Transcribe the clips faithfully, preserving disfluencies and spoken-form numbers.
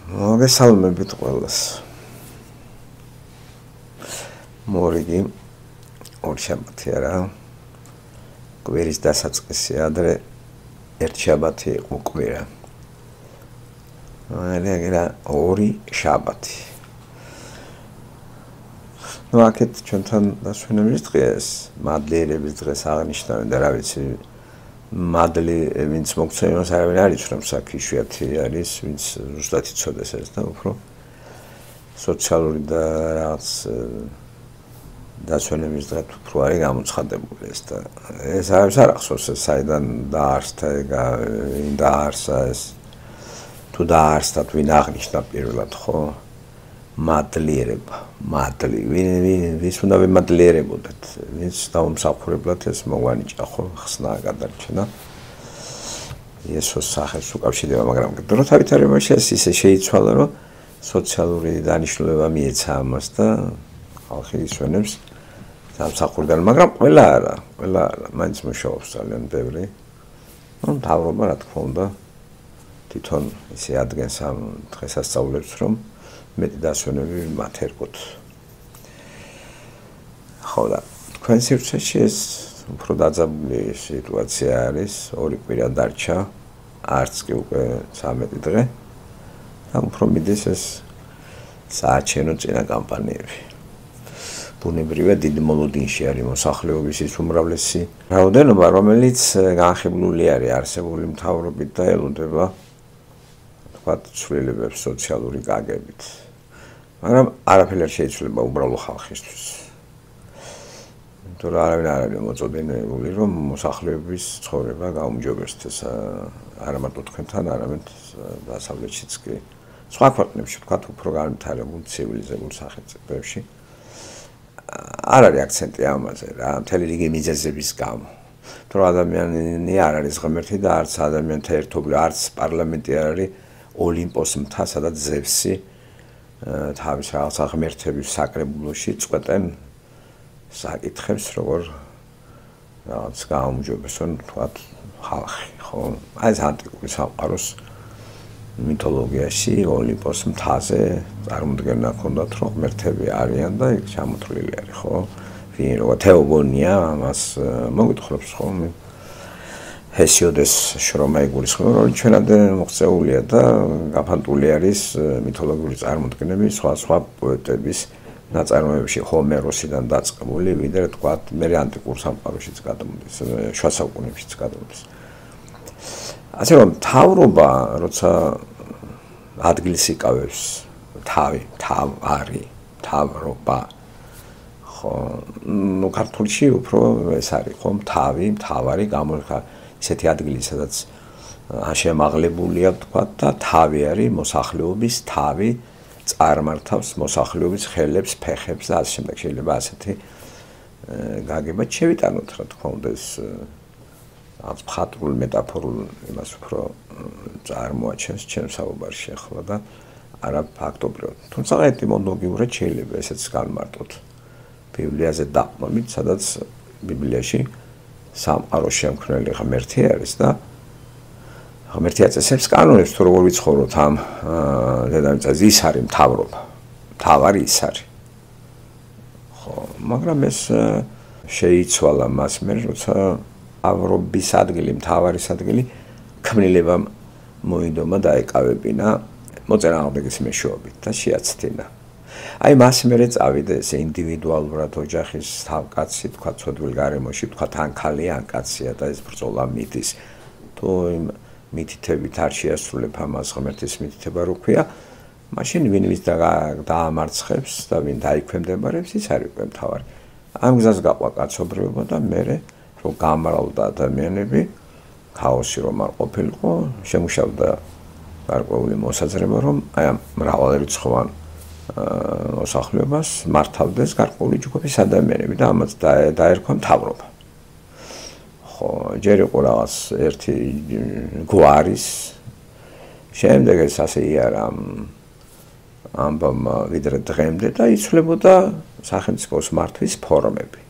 მოგესალმებით ყველას. მორიგი ორ შაბათი არა. კვირის დასაწყისი ადრე ერთ შაბათი იყო კვირა. ალა ორი შაბათი. ნუ აქეთ ჩვენთან დასვენების დღეს, მადლიერების დღეს აღნიშნავენ და რა ვიცი მადლი ვინც მოგცემს არავინ არ იცნობს აქ იშვიათი არის ვინც ზუსტად იცოდეს ეს და უფრო სოციალური და რაღაც დასვენების დღე უფრო არის გამოცხადებული ეს და ეს არის არ ახსოვს ეს საიდან დაარსდა ვინ დაარსა ეს თუ დაარსდა თუ ვინ აღნიშნა პირველად ხო მადლიერება მადლი ვინ ვის უნდა ვიმადლიერებოდეთ ვინც დაუმსახურებლად ეს მოგვანიჭა ხო ხსნა გადარჩენა იესოს სახეს უკავშირდება მაგრამ დროთა ვითარებაში ეს ისე შეიცვალა რომ სოციალური დანიშნულება მიეცა ამას და ხალხი ისვენებს დამსახურიდან მაგრამ ყველა არა ყველა არა მაინც მუშაობს ძალიან ბევრი ნუ მთავრობა რა თქმა უნდა თვითონ ისე ადგენს ამ დღესასწაულებს რომ მეტი დასვენები მათ ერგოთ. ხო და თქვენ სივრცეში ეს უფრო დაძაბული სიტუაცია არის, ორი კვირა დარჩა, არც კი უკვე ცამეტი დღე და უფრო მიდის ეს საარჩევნო წინა კამპანიები. ბუნებრივია დიდი მოლოდინში არის მოსახლეობის ის უმრავლესი რაოდენობა, რომელიც განხილული არის არსებული მთავრობით და ელოდება თქვათ ცვლილებებს სოციალური გაგებით. მაგრამ არაფერი არ შეიძლება უბრალო ხალხისთვის. იმიტომ რომ არავინ არ არის მოწოდებული რომ მოსახლეობის ცხოვრება გაუმჯობესდეს არა მარტო თქვენთან, არამედ დასავლეთშიც კი. სხვა ქვეყნებში თქვათ უფრო განვითარებულ ცივილიზებულ სახელმწიფოებში არ არის აქცენტი ამაზე რა, მთელი რიგი მიზეზების გამო. თუ ადამიანი არ არის ღმერთი და არც ადამიანთა ერთობლივ, არც პარლამენტი არ არის ოლიმპოს მთა, სადაც ზევსი თავის რაღაც ღმერთების საკრებულოში წყვეტენ საკითხებს, როგორ რაღაც გაუმჯობესონ თქვათ ხალხი, ხო? აი ეს ანტიკური სამყაროს მითოლოგიაში ოლიმპოს მთაზე წარმოდგენა ჰქონდათ, რომ ღმერთები არიან და იქ ჩამოთვლილი არის, ხო? ვინ როგორ თეოგონია ამას მოგვითხრობს, ხო? ჰესიოდეს შრომა იგულისხმება, რომ ჩვენამდე მოღწეულია და გაფანტული არის მითოლოგიური წარმოდგენები სხვა სხვა პოეტების ნაწარმოებებში ჰომეროსიდან დაწყებული, ვიდრე თქვათ მე ანტიკურ სამყაროშიც გადამოდის, შუა საუკუნეებშიც გადამოდის. ასე რომ მთავრობა, როცა ადგილს იკავებს, თავი, თავარი, მთავრობა ხო, ნუ ქართულში უფრო ეს არის, ხო, თავი, მთავარი გამოიხა ისეთი ადგილი, სადაც შემაღლებულია თქვათ და თავი არის მოსახლეობის თავი წარმართავს მოსახლეობის ხელებს, ფეხებს და ასე შემდეგ შეიძლება ასეთი გაგება შევიტანოთ რა თქმა უნდა ეს ამ მხატვრულ მეტაფორულ იმას უფრო წარმოაჩენს ჩემს საუბარში ახლა და არა ფაქტობრივად. თუმცა ეტიმოლოგიურად შეიძლება ესეც განმარტოთ ბიბლიაზე დაყრდნობით, სადაც ბიბლიაში სამყაროს შემქმნელი ღმერთი არის და ღმერთი აწესებს კანონებს თუ როგორ ვიცხოვროთ ამ დედამიწაზე ის არის მთავრობა. მთავარი ის არის. ხო, მაგრამ ეს შეიცვალა მას მერე, როცა მთავრობის ადგილი, მთავარის ადგილი ქმნილებამ მოიდომა და ეკავებინა მოწინააღმდეგის მეშვეობით და შეაცდინა. აი მას მერე წავიდა ეს ინდივიდუალურად ოჯახის თავკაცი, თქვა ცოდვილ გარემოში, თქვა თან ქალი ან კაცია და ეს ბრძოლა მიდის. თუ იმ მითითებით არ შეასრულებ ამას ღმერთის მითითება რო ქვია, მაშინ ვინ ვის დაამარცხებს და ვინ დაიქვემდებარებს, ის არის უკვე მთავარი. ამ გზას გაყვა კაცობრიობა და მერე რო გამრავლდა ადამიანები, ქაოსი რომ არ ყოფილიყო, შემუშავდა გარკვეული მოსაზრება, რომ აი ამ მრავალრიცხოვან მოსახლეობას მართავდეს გარკვეული ჯგუფის ადამიანები და ამაც დაერქვა მთავრობა. ხო, ჯერ იყო რაღაც ერთი გვარის შემდეგ ეს ასე იარა ამბავმა ვიდრე დღემდე და იცვლებოდა სახელმწიფოს მართვის ფორმები.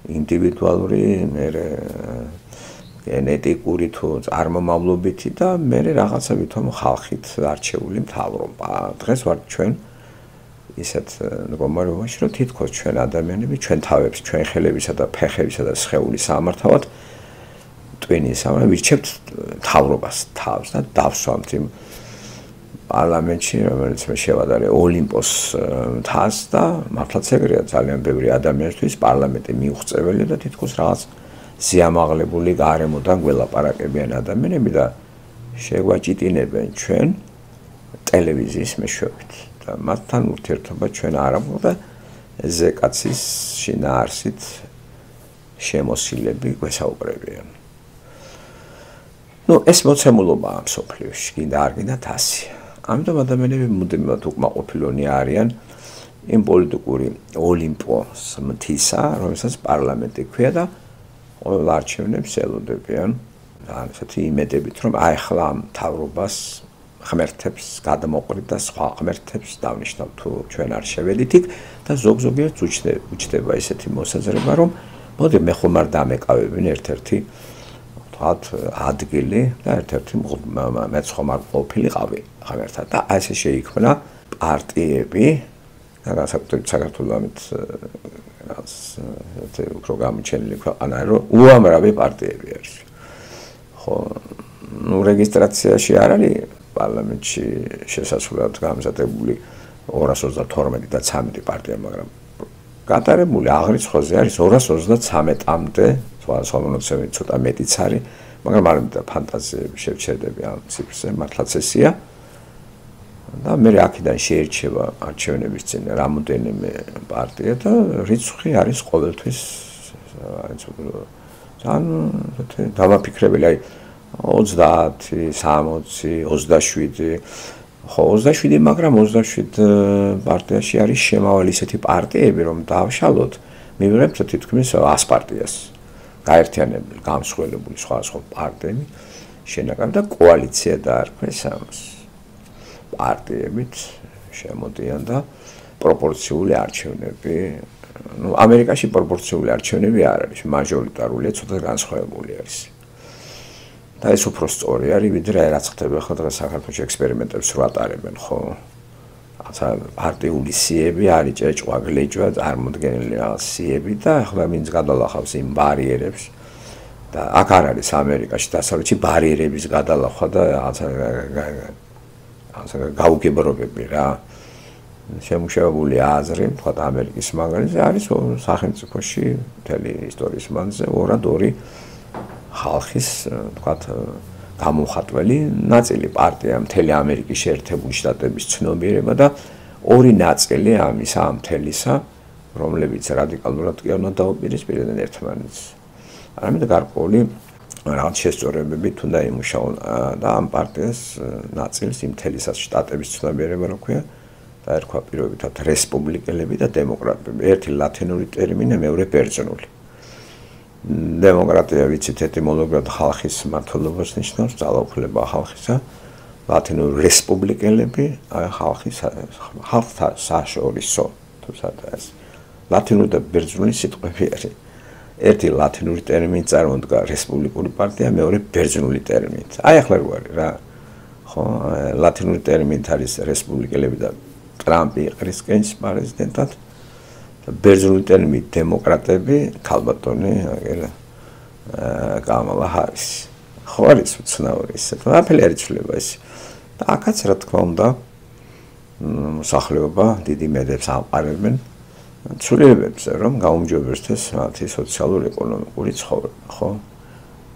ინდივიდუალური, მერე გენეტიკური თუ წარმომავლობითი და მე რაღაცა ვითომ ხალხით არჩეული მთავრობა. დღეს ვართ ჩვენ ისეთ მდგომარეობაში, რომ თითქოს ჩვენ ადამიანები ჩვენ თავებს, ჩვენ ხელებისა და ფეხებისა და სხეულის სამართავად ტვინის ამან ვირჩევთ მთავრობას თავს და დავსვამთ იმ პარლამენტში, რომელიც მე შევადარე ოლიმპოს მთას და მართლაც ეგრეა ძალიან ბევრი ადამიანისთვის პარლამენტი მიუღწეველი და თითქოს რაღაც სიამაღლებული გარემოდან გველაპარაკებიან ადამიანები და შეგვაჭიტინებენ ჩვენ ტელევიზიის მეშვეობით და მათთან ურთიერთობა ჩვენ არ აქვს და ზეკაცის შინაარსით შემოსილები გვესაუბრებიან. ნუ ეს მოცემულობაა მსოფლიოში, კიდე არ გინდათ ასი. ამიტომ ადამიანები მუდმივად უკმაყოფილონი არიან იმ პოლიტიკური ოლიმპოს მთისა, რომელსაც პარლამენტი ქვია და ყველა არჩევნებს ელოდებიან. ან ესეთი იმედებით, რომ აი ახლა მთავრობას ღმერთებს გადამოყრით და სხვა ღმერთებს დავნიშნავ თუ ჩვენ არ შევედით იქ და ზოგ-ზოგიერთს უჩნდება ესეთი მოსაზრება, რომ მოდი მე ხომ არ დამეკავებინ ერთ-ერთი თქვათ ადგილი და ერთ-ერთი მეც ხომ არ ყოფილიყავი ღმერთად და აი ესე შეიქმნა პარტიები და განსაკუთრებით საქართველოს ამით რაღაც უფრო გამოჩენილი ქვეყანა რომ უამრავი პარტიები არის. ხო, ნუ რეგისტრაციაში არ არის პარლამენტში შესაძლებლად გამზადებული ორას ოცდათორმეტი და ცამეტი პარტია, მაგრამ გატარებული აღრიცხვაზე არის ორას ოცდაცამეტამდე, სხვა მონაცემები ცოტა მეტიც არის, მაგრამ არ მინდა ფანტაზიები შევჩერდები ამ ციფრზე, მართლაც ესეა. და მე აქედან შეირჩევა არჩევნების წინ რამოდენიმე პარტია და რიცხვი არის ყოველთვის ძალიან დამაფიქრებელი, აი ოცდაათი, სამოცი, ოცდაშვიდი, ხო ოცდაშვიდი, მაგრამ ოცდაშვიდ პარტიაში არის შემავალი ისეთი პარტიები, რომ დავშალოთ, მივიღებთ თითქმის ას პარტიას. გაერთიანებული, გამსხველებული სხვა სხვა პარტიები შენაკრებ და კოალიცია დაარქვეს ამას. პარტიებით შემოდიან და პროპორციული არჩევნები, ნუ ამერიკაში პროპორციული არჩევნები არ არის, მაჟორიტარულია, ცოტა განსხვავებული არის. და ეს უფრო სწორი არის, ვიდრე რაც ხდება ხო დღეს საქართველოს ექსპერიმენტებს რო ატარებენ, ხო? რაცა პარტიული სიები არის ჭეჭვა, გლეჭვა, წარმოდგენილი რაღაც სიები და ახლა ვინც გადალახავს იმ ბარიერებს და აქ არ არის ამერიკაში დასავლეთში ბარიერების გადალახვა და რაცა რაცა გაუგებრობები რა. შემუშავებული აზრი, თქვა ამერიკის მაგალითზე არის სახელმწიფოში მთელი ისტორიის მანძილზე ორად ორი ხალხის, თქვა გამოხატველი ნაწილი პარტია მთელი ამერიკის შეერთებული შტატების ცნობიერება და ორი ნაწილი ამისა ამ მთელისა, რომლებიც რადიკალურად კი არ უნდა დაუპირისპირდნენ ერთმანეთს. არამედ გარკვეული რაღაც შესწორებებით უნდა იმუშაონ და ამ პარტიას ნაწილს იმ მთელისა შტატების ცნობიერება რო ქვია და ერქვა პირობითად რესპუბლიკელები და დემოკრატები. ერთი ლათინური ტერმინი, მეორე ბერძნული. დემოკრატია ვიცით ეტიმოლოგიურად ხალხის მმართველობას ნიშნავს, ძალაუფლება ხალხისა, ლათინური რესპუბლიკელები, აი ხალხის ხალხთა საშორისო, თუმცა ეს ლათინური და ბერძნული სიტყვები არის. ერთი ლათინური ტერმინი წარმოდგა რესპუბლიკური პარტია, მეორე ბერძნული ტერმინით. აი ახლა რო არის რა. ხო, ლათინური ტერმინით არის რესპუბლიკელები და ტრამპი იყრისკენს პრეზიდენტად. ბერძნული ტერმინით დემოკრატები, ქალბატონი აგერა კამალა ჰარისი. ხო არის უცნაური ისე. ყველაფერი არის ცვლილება ეს. და აქაც რა თქმა უნდა მოსახლეობა დიდი მედებს ამყარებენ ცვლილებებზე, რომ გაუმჯობესდეს მათი სოციალურ-ეკონომიკური ცხოვრება, ხო?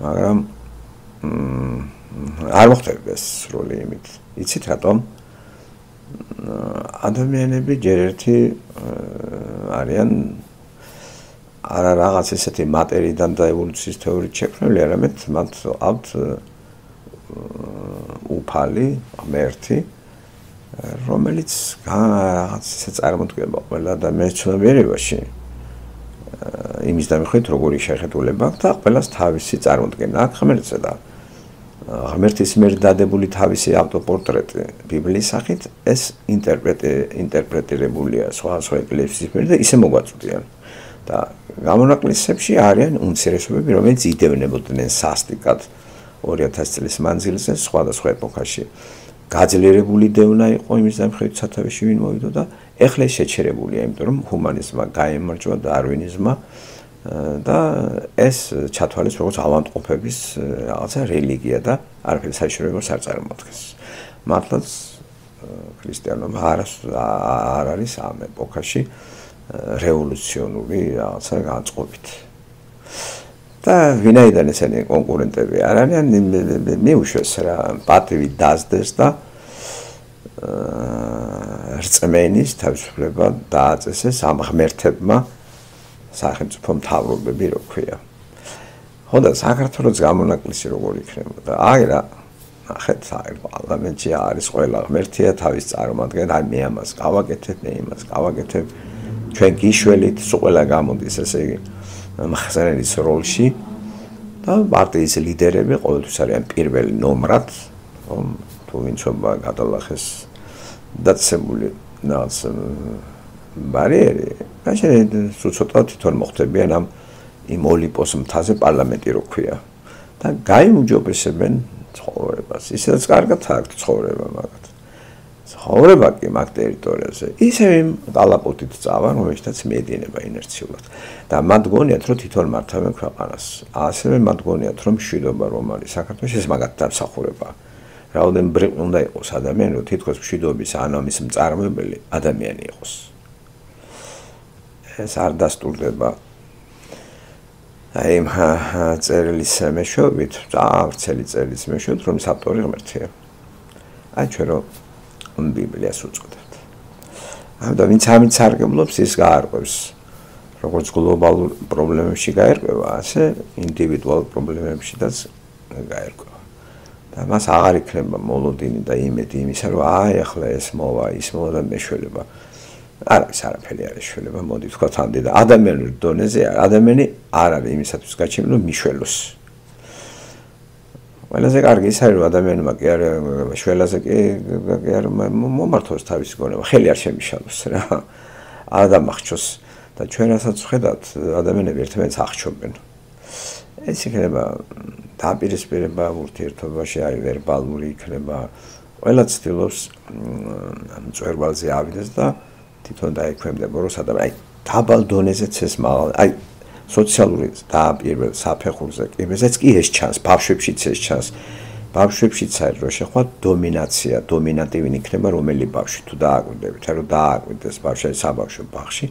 მაგრამ არ მოხდება ეს სრული იმით. იცით რატომ? ადამიანები ჯერ ერთი არიან არა რაღაც ესეთი მატერიიდან და ევოლუციის თეორიით შექმნილი, არამედ მათ აქვთ უფალი, ღმერთი, რომელიც რაღაც ესე წარმოდგება ყველა ადამიანის ცნობიერებაში. იმის დამიხით, როგორი შეხედულება აქვს და ყველას თავისი წარმოდგენა აქვს ღმერთზე და ღმერთის მიერ დადებული თავისი ავტოპორტრეტი ბიბლიის სახით ეს ინტერპრეტირებულია სხვა სხვა ეკლესიის მიერ და ისე მოგვაწვდიან. და გამონაკლისებში არიან უმცირესობები, რომელიც იდევნებოდნენ სასტიკად ორი ათასი წლის მანძილზე სხვადასხვა ეპოქაში. გაძლიერებული დევნა იყო იმის დამხევით სათავეში ვინ მოვიდა და ეხლა ეს შეჩერებულია, იმიტომ რომ ჰუმანიზმმა გაემარჯვა დარვინიზმმა და ეს ჩათვალეს როგორც ავადმყოფების რაღაცა რელიგია და არაფერი საშიშროებას არ წარმოადგენს. მართლაც ქრისტიანობა არ არის ამ ეპოქაში რევოლუციონური რაღაცა განწყობით. და ვინაიდან ესენი კონკურენტები არ არიან, მიუშვეს რა პატივი დასდეს და რწმენის თავისუფლება დააწესეს ამ ღმერთებმა სახელმწიფო მთავრობები რო ქვია. ხო და საქართველოს გამონაკლისი როგორ იქნებოდა? აი რა ნახეთ, აი პარლამენტში არის ყველა ღმერთია თავის წარმოადგენს, აი მე ამას გავაკეთებ, მე იმას გავაკეთებ. ჩვენ გიშველით, სულ ყველა გამოდის ესე იგი მხსარენის როლში და პარტიის ლიდერები ყოველთვის არიან პირველი ნომრად, რომ თუ ვინცობა გადალახეს დაცემული რაღაც ბარიერი, მაშინ ცოტა თვითონ მოხდებიან ამ იმ ოლიმპოს მთაზე პარლამენტი რო ქვია და გაიმუჯობესებენ ცხოვრებას. ისედაც კარგად აქვს ცხოვრება მაგათ. ცხოვრება კი მაგ ტერიტორიაზე ისევ იმ კალაპოტით წავა, რომელშიც მიედინება ინერციულად. და მათ გონიათ, რომ თვითონ მართავენ ქვეყანას. ასევე მათ გონიათ, რომ მშვიდობა რომ არის საქართველოში, ეს მაგათ დამსახურება. რაოდენ ბრიყ უნდა იყოს ადამიანი, რომ თითქოს მშვიდობის ან ამის მწარმოებელი ადამიანი იყოს. ეს არ დასტურდება აი იმ წერილის მეშვეობით, წარცელი წერილის მეშვეობით, რომ ავტორი ღმერთია. აი ჩვენ რომ ბიბლიას უწოდებთ. ამიტომ ვინც ამით სარგებლობს, ის გაარკვევს, როგორც გლობალურ პრობლემებში გაერკვევა, ასე ინდივიდუალურ პრობლემებშიც გაერკვევა. და მას აღარ იქნება მოლოდინი და იმედი იმისა, რომ აი ახლა ეს მოვა, ის მოვა და მეშველება. არ არის არაფერი არის შველება, მოდი ვთქვათ ამდე და ადამიანურ დონეზე ადამიანი არ არის იმისათვის გაჩენილი, რომ მიშველოს. ყველაზე კარგი ის არის, რომ ადამიანმა კი არ შველაზე კი არ მომართოს თავისი გონება, ხელი არ შემიშალოს რა. არ დამახჩოს და ჩვენ რასაც ვხედავთ, ადამიანები ერთმანეთს აღჩობენ. ეს იქნება დაპირისპირება ურთიერთობაში, აი ვერბალური იქნება. ყველა ცდილობს მწვერვალზე ავიდეს და თვითონ დაექვემდება, რომ სადაც აი დაბალ დონეზეც ეს მაღალ, აი სოციალური და პირველ საფეხურზე კი, ესეც კი ეს ჩანს, ბავშვებშიც ეს ჩანს. ბავშვებშიც არის რომ შეხვა დომინაცია, დომინანტივი იქნება რომელი ბავშვი თუ დააკვირდებით, რომ დააკვირდეს ბავშვი საბავშვო ბაღში,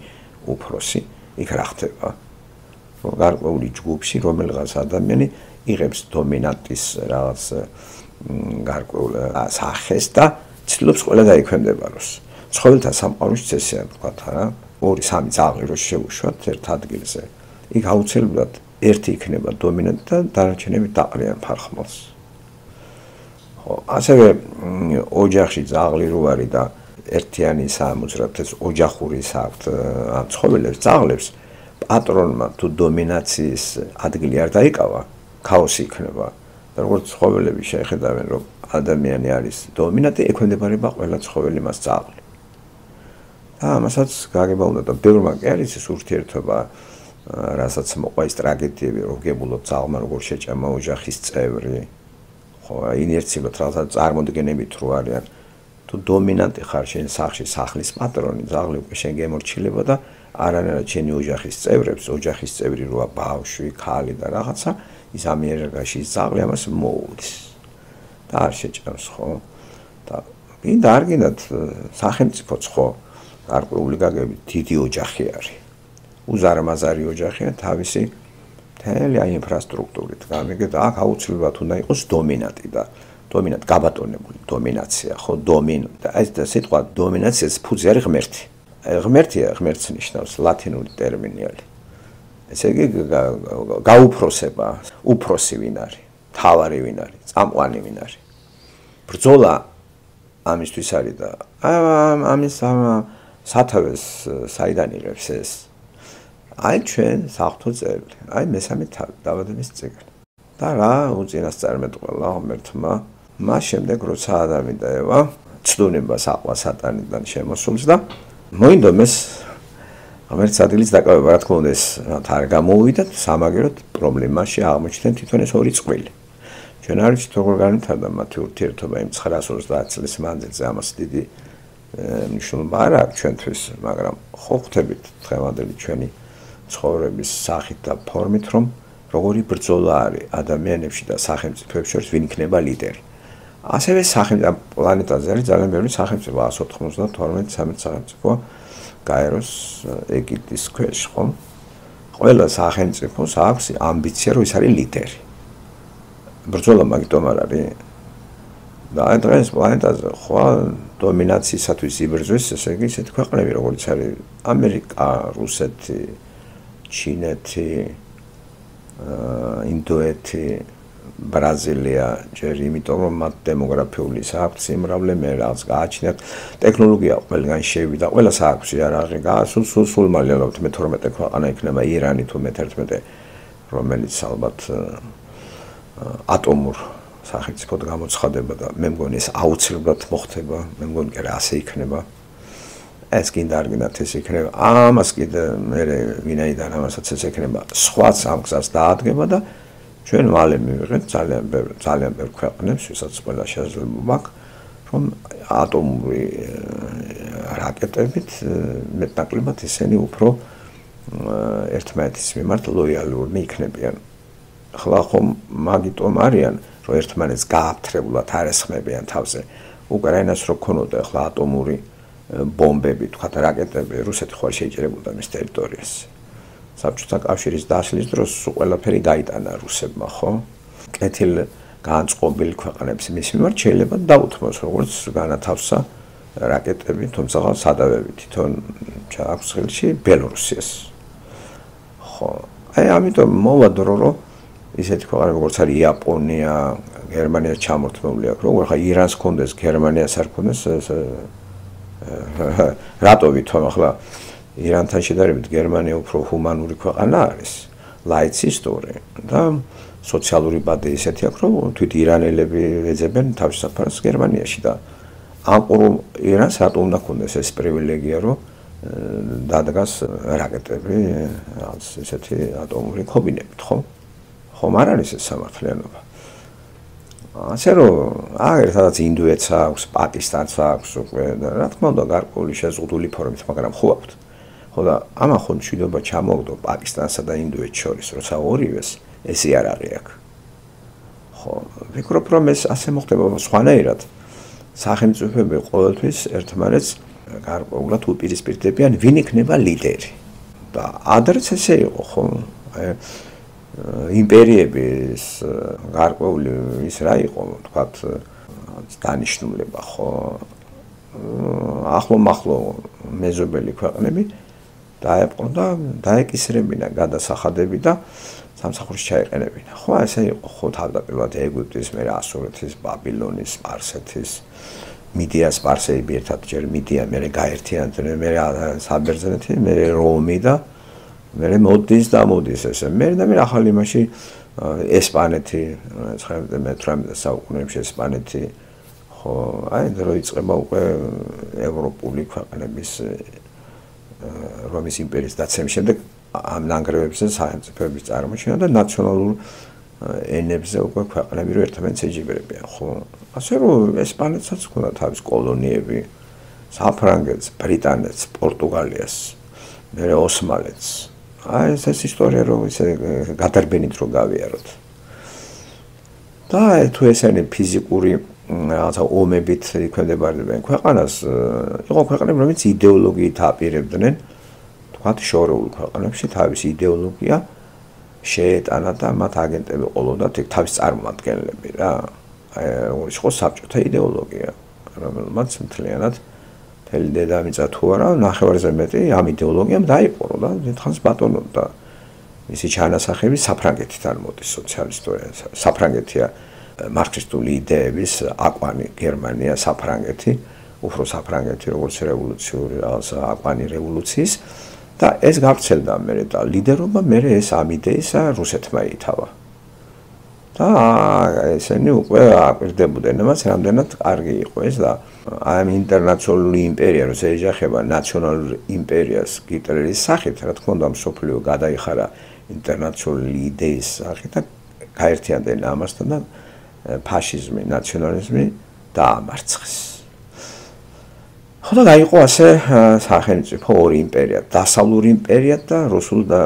უფროსი, იქ რა ხდება? რომ გარკვეული ჯგუფში რომელიღაც ადამიანი იღებს დომინანტის რაღაც გარკვეულ სახეს და ცდილობს ყველა დაექვემდებაროს. ცხოველთა სამყაროში ესეა ვთქვათ რა, ორი სამი ძაღლი რო შევუშვათ ერთ ადგილზე. იქ აუცილებლად ერთი იქნება დომინანტი და დანარჩენები დაყრიან ფარხმალს. ხო, ასევე ოჯახში ძაღლი რო არის და ერთიანი სამოძრაობთ ეს ოჯახურის აქვთ ამ ცხოველებს, ძაღლებს პატრონმა თუ დომინაციის ადგილი არ დაიკავა, ქაოსი იქნება. და როგორც ცხოველები შეხედავენ, რომ ადამიანი არის დომინანტი, ექვემდებარება ყველა ცხოველი მას ძაღლი. და ამასაც გაგება უნდა და ბევრმა კი არის ეს ურთიერთობა, რასაც მოყვა ის ტრაგედიები, რომ გებულობ ძაღლმა როგორ შეჭამა ოჯახის წევრი. ხო, ინერციულად რაღაცა წარმოდგენებით რო არიან. თუ დომინანტი ხარ შენ სახლში, სახლის პატრონი, ძაღლი უკვე შენ გემორჩილება და არანაირად შენი ოჯახის წევრებს, ოჯახის წევრი როა ბავშვი, ქალი და რაღაცა, ის ამიერკავკასიის ის ძაღლი ამას მოუვლის. და არ შეჭამს, ხო? და გინდა არ გინდათ სახელმწიფოც ხო გარკვეული გაგებით დიდი ოჯახი არის. უზარმაზარი ოჯახია თავისი მთელი აი ინფრასტრუქტურით. გამიგეთ, აქ აუცილებლად უნდა იყოს დომინანტი და დომინანტ გაბატონებული დომინაცია, ხო, დომინ და ეს სიტყვა დომინაციას ფუძე არის ღმერთი. ღმერთია, ღმერთს ნიშნავს ლათინური ტერმინი არის. ესე იგი გაუფროსება, უფროსი ვინ არის, თავარი ვინ არის, წამყვანი ვინ არის. ბრძოლა ამისთვის არის და ამის სათავეს საიდან იღებს ეს? აი ჩვენ საღვთო წერილი, აი მესამე თავი, დაბადების წიგნი. და რა უწინასწარმეტყველა ღმერთმა, მას შემდეგ როცა ადამი და ევა ცდუნებას აყვა სატანიდან შემოსულს და მოინდომეს ღმერთის ადგილის დაკავება, რა თქმა უნდა, ეს არ გამოვიდათ, სამაგეროდ პრობლემაში აღმოჩნდნენ თვითონ ეს ორი წყვილი. ჩვენ არ ვიცით როგორ განვითარდა მათი ურთიერთობა იმ ცხრაას ოცდაათ წლის მანძილზე, ამას დიდი მნიშვნელობა არ აქვს ჩვენთვის, მაგრამ ხო ხვდებით დღევანდელი ჩვენი ცხოვრების სახით და ფორმით, რომ როგორი ბრძოლა არის ადამიანებში და სახელმწიფოებში შორის ვინ იქნება ლიდერი. ასევე სახელმწიფო პლანეტაზე არის ძალიან ბევრი სახელმწიფო, ას ოთხმოცდათორმეტი სამეცნიერო სახელმწიფო გაეროს ეგიდის ქვეშ, ხო? ყველა სახელმწიფოს აქვს ამბიცია, რომ ის არის ლიდერი. ბრძოლა მაგიტომ არ არის. და აი დღეს პლანეტაზე ხო დომინაციისათვის იბრძვის, ესე იგი ისეთი ქვეყნები, როგორც არის ამერიკა, რუსეთი, ჩინეთი, ინდოეთი, ბრაზილია, ჯერ იმიტომ რომ მათ დემოგრაფიული საქმე სიმრავლე მე რაღაც გააჩნიათ, ტექნოლოგია ყველგან შევიდა, ყველას აქვს იარაღი, გასულ სულ სულ მალე ალბათ მე თორმეტე ქვეყანა იქნება ირანი თუ მე თერთმეტე, რომელიც ალბათ ატომურ სახელმწიფოდ გამოცხადება და მე მგონი ეს აუცილებლად მოხდება, მე მგონი კი რა ასე იქნება. ეს კიდე არ გინდათ ეს იქნება. ამას კიდე მე ვინაიდან ამასაც ეს იქნება, სხვაც ამ გზას დაადგება და ჩვენ მალე მივიღეთ ძალიან ბევრი ძალიან ბევრი ქვეყნებს, ვისაც ყველა შესაძლებლობა აქვს, რომ ატომური რაკეტებით მეტნაკლებად ისინი უფრო ერთმანეთის მიმართ ლოიალურნი იქნებიან. ახლა ხომ მაგიტომ არიან, რომ ერთმანეთს გააფთრებულად არ ესხმებიან თავზე. უკრაინას რო ქონოდა ახლა ატომური ბომბები, თქვა რაკეტები, რუსეთი ხوار შეიჭრებოდა მის ტერიტორიას. საბჭოთა კავშირის დაშლის დროს ყველაფერი გაიტანა რუსებმა, ხო? კეთილ განწყობილ ქვეყნებს მის მიმართ შეიძლება დაუთმოს, როგორც განათავსა რაკეტები, თუმცა სადავები თვითონ ჩააქვს ხელში ბელორუსიას. ხო, აი ამიტომ მოვა დრო, რომ ისეთი ქვეყნები როგორც არის იაპონია, გერმანია ჩამორთმეული აქვს, როგორ ხა ირანს კონდეს, გერმანიას არ კონდეს, რატო ვითომ ახლა ირანთან შედარებით გერმანია უფრო ჰუმანური ქვეყანა არის, ლაიცისტური და სოციალური ბადე ისეთი აქვს, რომ თვით ირანელები ეძებენ თავის საფარს გერმანიაში და ამ ყურულ ირანს რატო უნდა ქონდეს ეს პრივილეგია, რომ დადგას რაკეტები, რაღაც ესეთი ატომური ქობინებით, ხო? ხომ არ არის ეს სამართლიანობა. ასე რომ აგერ სადაც ინდოეთს აქვს, პაკისტანს აქვს უკვე და რა თქმა უნდა გარკვეული შეზღუდული ფორმით, მაგრამ ხო აქვთ. ხო და ამა ხომ მშვიდობა ჩამოვდო პაკისტანსა და ინდოეთს შორის, როცა ორივეს ეს იარაღი აქვს. ხო, ვფიქრობ რომ ეს ასე მოხდება სხვანაირად. სახელმწიფოები ყოველთვის ერთმანეთს გარკვეულად უპირისპირდებიან, ვინ იქნება ლიდერი. და ადრეც ესე იყო, ხო? აი იმპერიების გარკვეული ის რა იყო, თქვათ, დანიშნულება, ხო? ახლო-მახლო მეზობელი ქვეყნები დაეპყრო და დაეკისრებინა გადასახადები და სამსახურში ჩაეყენებინა. ხო, ესე იყო, ხო, თავდაპირველად ეგვიპტის, მერე ასურეთის, ბაბილონის, სპარსეთის, მიდიას, სპარსეები ერთად ჯერ მიდია, მერე გაერთიანდნენ, მერე საბერძნეთი, მერე რომი და მერე მოდის და მოდის ესე. მე და მე ახალი იმაში ესპანეთი, მეცხრამეტე საუკუნეებში ესპანეთი, ხო, აი დრო იწყება უკვე ევროპული ქვეყნების რომის იმპერიის დაცემის შემდეგ ამ ნანგრევებზე სახელმწიფოების წარმოჩენა და ნაციონალურ ენებზე უკვე ქვეყნები რო ერთმანეთს ეჯიბრებიან, ხო? ასე რომ ესპანეთსაც ჰქონდა თავის კოლონიები, საფრანგეთს, ბრიტანეთს, პორტუგალიას, მერე ოსმალეთს. აი ეს ეს ისტორია რო ისე გადარბენით რო გავიაროთ. და თუ ესენი ფიზიკური რაღაცა ომებით იქმნებარებიან ქვეყანას, იყო ქვეყნები, რომელიც იდეოლოგიით აპირებდნენ, თქვათ შორეულ ქვეყნებში თავის იდეოლოგია შეეტანა და მათ აგენტები ყოლოდათ იქ თავის წარმომადგენლები რა. აი როგორ იყო საბჭოთა იდეოლოგია, რომელმაც მთლიანად მთელი დედამიწა თუ არა, ნახევარზე მეტი ამ იდეოლოგიამ დაიპყრო და დიდხანს ბატონობდა. მისი ჩანასახები საფრანგეთიდან მოდის სოციალისტური, საფრანგეთია მარქსისტული იდეების აკვანი, გერმანია, საფრანგეთი, უფრო საფრანგეთი როგორც რევოლუციური რაღაცა აკვანი რევოლუციის და ეს გავრცელდა მერე და ლიდერობა მერე ეს ამ იდეისა რუსეთმა ითავა. და ესენი უკვე აკვირდებოდნენ, მას რამდენად კარგი იყო ეს და ამ ინტერნაციონალური იმპერია, რომ შეეჯახება ნაციონალურ იმპერიას ჰიტლერის სახით, რა თქმა უნდა, მსოფლიო გადაიხარა ინტერნაციონალური იდეის სახით და გაერთიანდნენ ამასთან და ფაშიზმი, ნაციონალიზმი დაამარცხეს. ხო და გაიყო ასე სახელმწიფო ორი იმპერია, დასავლური იმპერია და რუსულ და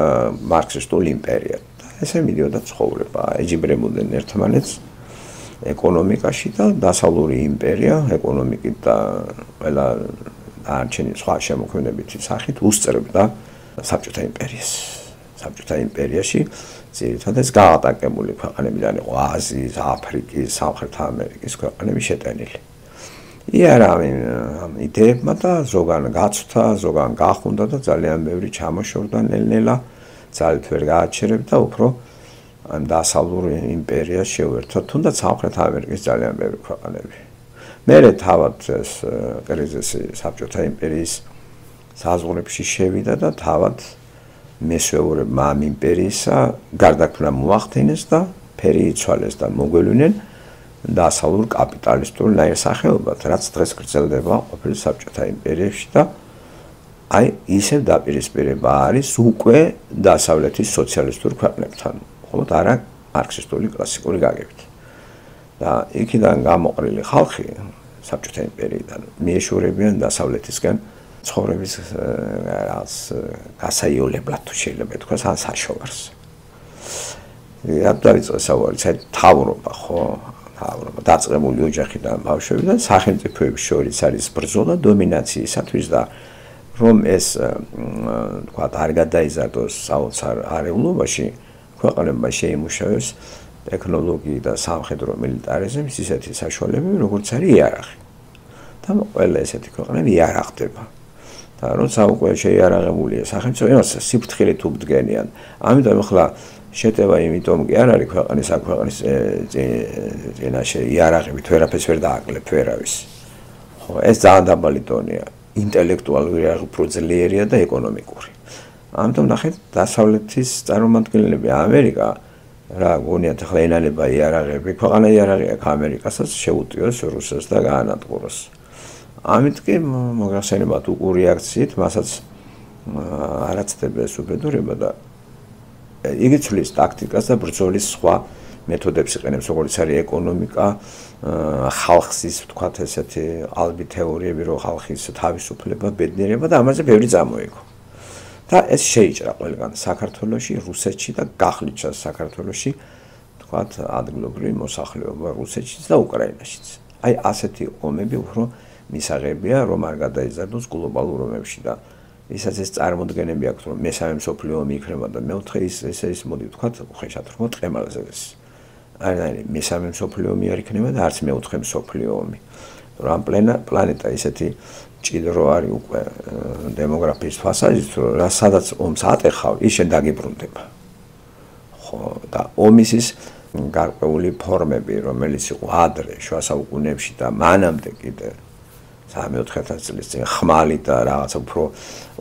მარქსისტული იმპერია. ესე მიდიოდა ცხოვრება, ეჯიბრებოდნენ ერთმანეთს ეკონომიკაში და დასავლური იმპერია ეკონომიკით და ყველა არჩენი სხვა შემოქმედებითი სახით უსწრებდა საბჭოთა იმპერიას. საბჭოთა იმპერიაში ძირითადად გაატაკებული ქვეყნებიდან იყო აზიის, აფრიკის, სამხრეთ ამერიკის ქვეყნები შეტანილი. იარაღი ამ იდეებმა და ზოგან გაცვთა, ზოგან გახუნდა და ძალიან ბევრი ჩამოშორდა ნელ-ნელა, ძალით ვერ გააჩერებდა უფრო ამ დასავლური იმპერიას შეუერთდა, თუნდაც სამხრეთ ამერიკის ძალიან ბევრი ქვეყნები. მერე თავად ეს კრიზისი საბჭოთა იმპერიის საზღვრებში შევიდა და თავად მესვეურებმა ამ იმპერიისა გარდაქმნა მოახდინეს და ფერი იცვალეს და მოგველვნენ დასავლურ კაპიტალისტურ ნაირსახეობად, რაც დღეს გრძელდება ყოფილი საბჭოთა იმპერიაში და აი ისევ დაპირისპირება არის უკვე დასავლეთის სოციალისტურ ქვეყნებთან, მხოლოდ არა მარქსისტული კლასიკური გაგებით. და იქიდან გამოყრილი ხალხი საბჭოთა იმპერიიდან მიეშორებიან დასავლეთისკენ ცხოვრების რაღაც გასაიოლებლად თუ შეიძლება ითქვას ან საშოვარს. აბდარიწყე საუბარი, თავრობა ხო, თავრობა დაწყებული ოჯახიდან ბავშვებიდან სახელმწიფოების შორის არის ბრძოლა დომინაციისათვის და რომ ეს თქვა არ გადაიზარდოს საოცარ არეულობაში, ქვეყნებმა შეიმუშავეს ტექნოლოგია და სამხედრო მილიტარიზმის ისეთი საშუალებები, როგორც არის იარაღი. და ყველა ესეთი ქვეყნები იარაღდება. და როცა უკვე შეიარაღებულია სახელმწიფო, იმას სიფრთხილით უბდგენიან. ამიტომ ახლა შეტევა იმიტომ კი არ არის ქვეყნის აქ ქვეყნის წინაშე იარაღებით ვერაფერს ვერ დააკლებ ვერავის. ხო, ეს ძალიან დაბალი დონეა. ინტელექტუალური იარაღი უფრო ძლიერია და ეკონომიკური. ამიტომ ნახეთ, დასავლეთის წარმომადგენლები ამერიკა რა გონიათ ახლა ენანება იარაღები, ქვეყანა იარაღი აქვს ამერიკასაც შეუტიოს რუსეთს და გაანადგუროს. ამით კი მოგახსენებათ უყურ რეაქციით, მასაც არაცდება ეს უბედურება და იგი ცვლის ტაქტიკას და ბრძოლის სხვა მეთოდებს იყენებს, როგორც არის ეკონომიკა, ხალხის ვთქვათ ესეთი ალბი თეორიები, რომ ხალხის თავისუფლება, ბედნიერება და ამაზე ბევრი წამოიღო. და ეს შეიჭრა ყველგან საქართველოში, რუსეთში და გახლიჩა საქართველოში, ვთქვათ, ადგილობრივი მოსახლეობა რუსეთშიც და უკრაინაშიც. აი ასეთი ომები უფრო მისაღებია, რომ არ გადაიზარდოს გლობალურ ომებში და ისაც ეს წარმოდგენები აქვს, რომ მესამე მსოფლიო ომი იქნება და მეოთხე ის ესე ის მოდი ვთქვათ, უხეშად რომ ტყემალზე ეს. აი მესამე მსოფლიო ომი არ იქნება და არც მეოთხე მსოფლიო ომი. რომ პლანეტა ისეთი ჭიდრო არის უკვე დემოგრაფიის თვალსაზრისით, რომ სადაც ომს ატეხავ, ის შენ დაგიბრუნდება. ხო, და ომის ის გარკვეული ფორმები, რომელიც იყო ადრე შუა საუკუნეებში და მანამდე კიდე სამი-ოთხი ათასი წლის წინ ხმალი და რაღაც უფრო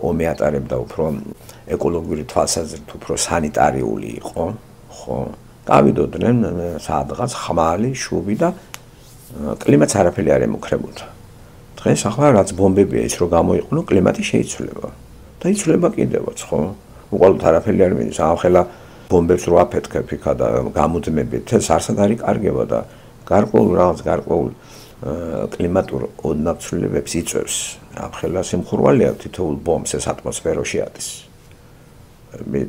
ომი ატარებდა უფრო ეკოლოგიური თვალსაზრისით უფრო სანიტარიული იყო, ხო? გავიდოდნენ სადღაც ხმალი, შუბი და კლიმატს არაფერი არ ემუქრებოდა. დღეს ახლა რაც ბომბებია ის რომ გამოიყენო, კლიმატი შეიცვლება. და იცვლება კიდევაც, ხო? უყალოდ არაფერი არ მიდის, ახლა ბომბებს რო აფეთქებ იქა და გამუდმებით, ეს არსად არის კარგება და გარკვეულ რაღაც გარკვეულ კლიმატურ ოდნავ-ცვლილებებს იწვევს. ახლა სიმხურვალეა თითოეულ ბომბს ეს ატმოსფეროში ადის.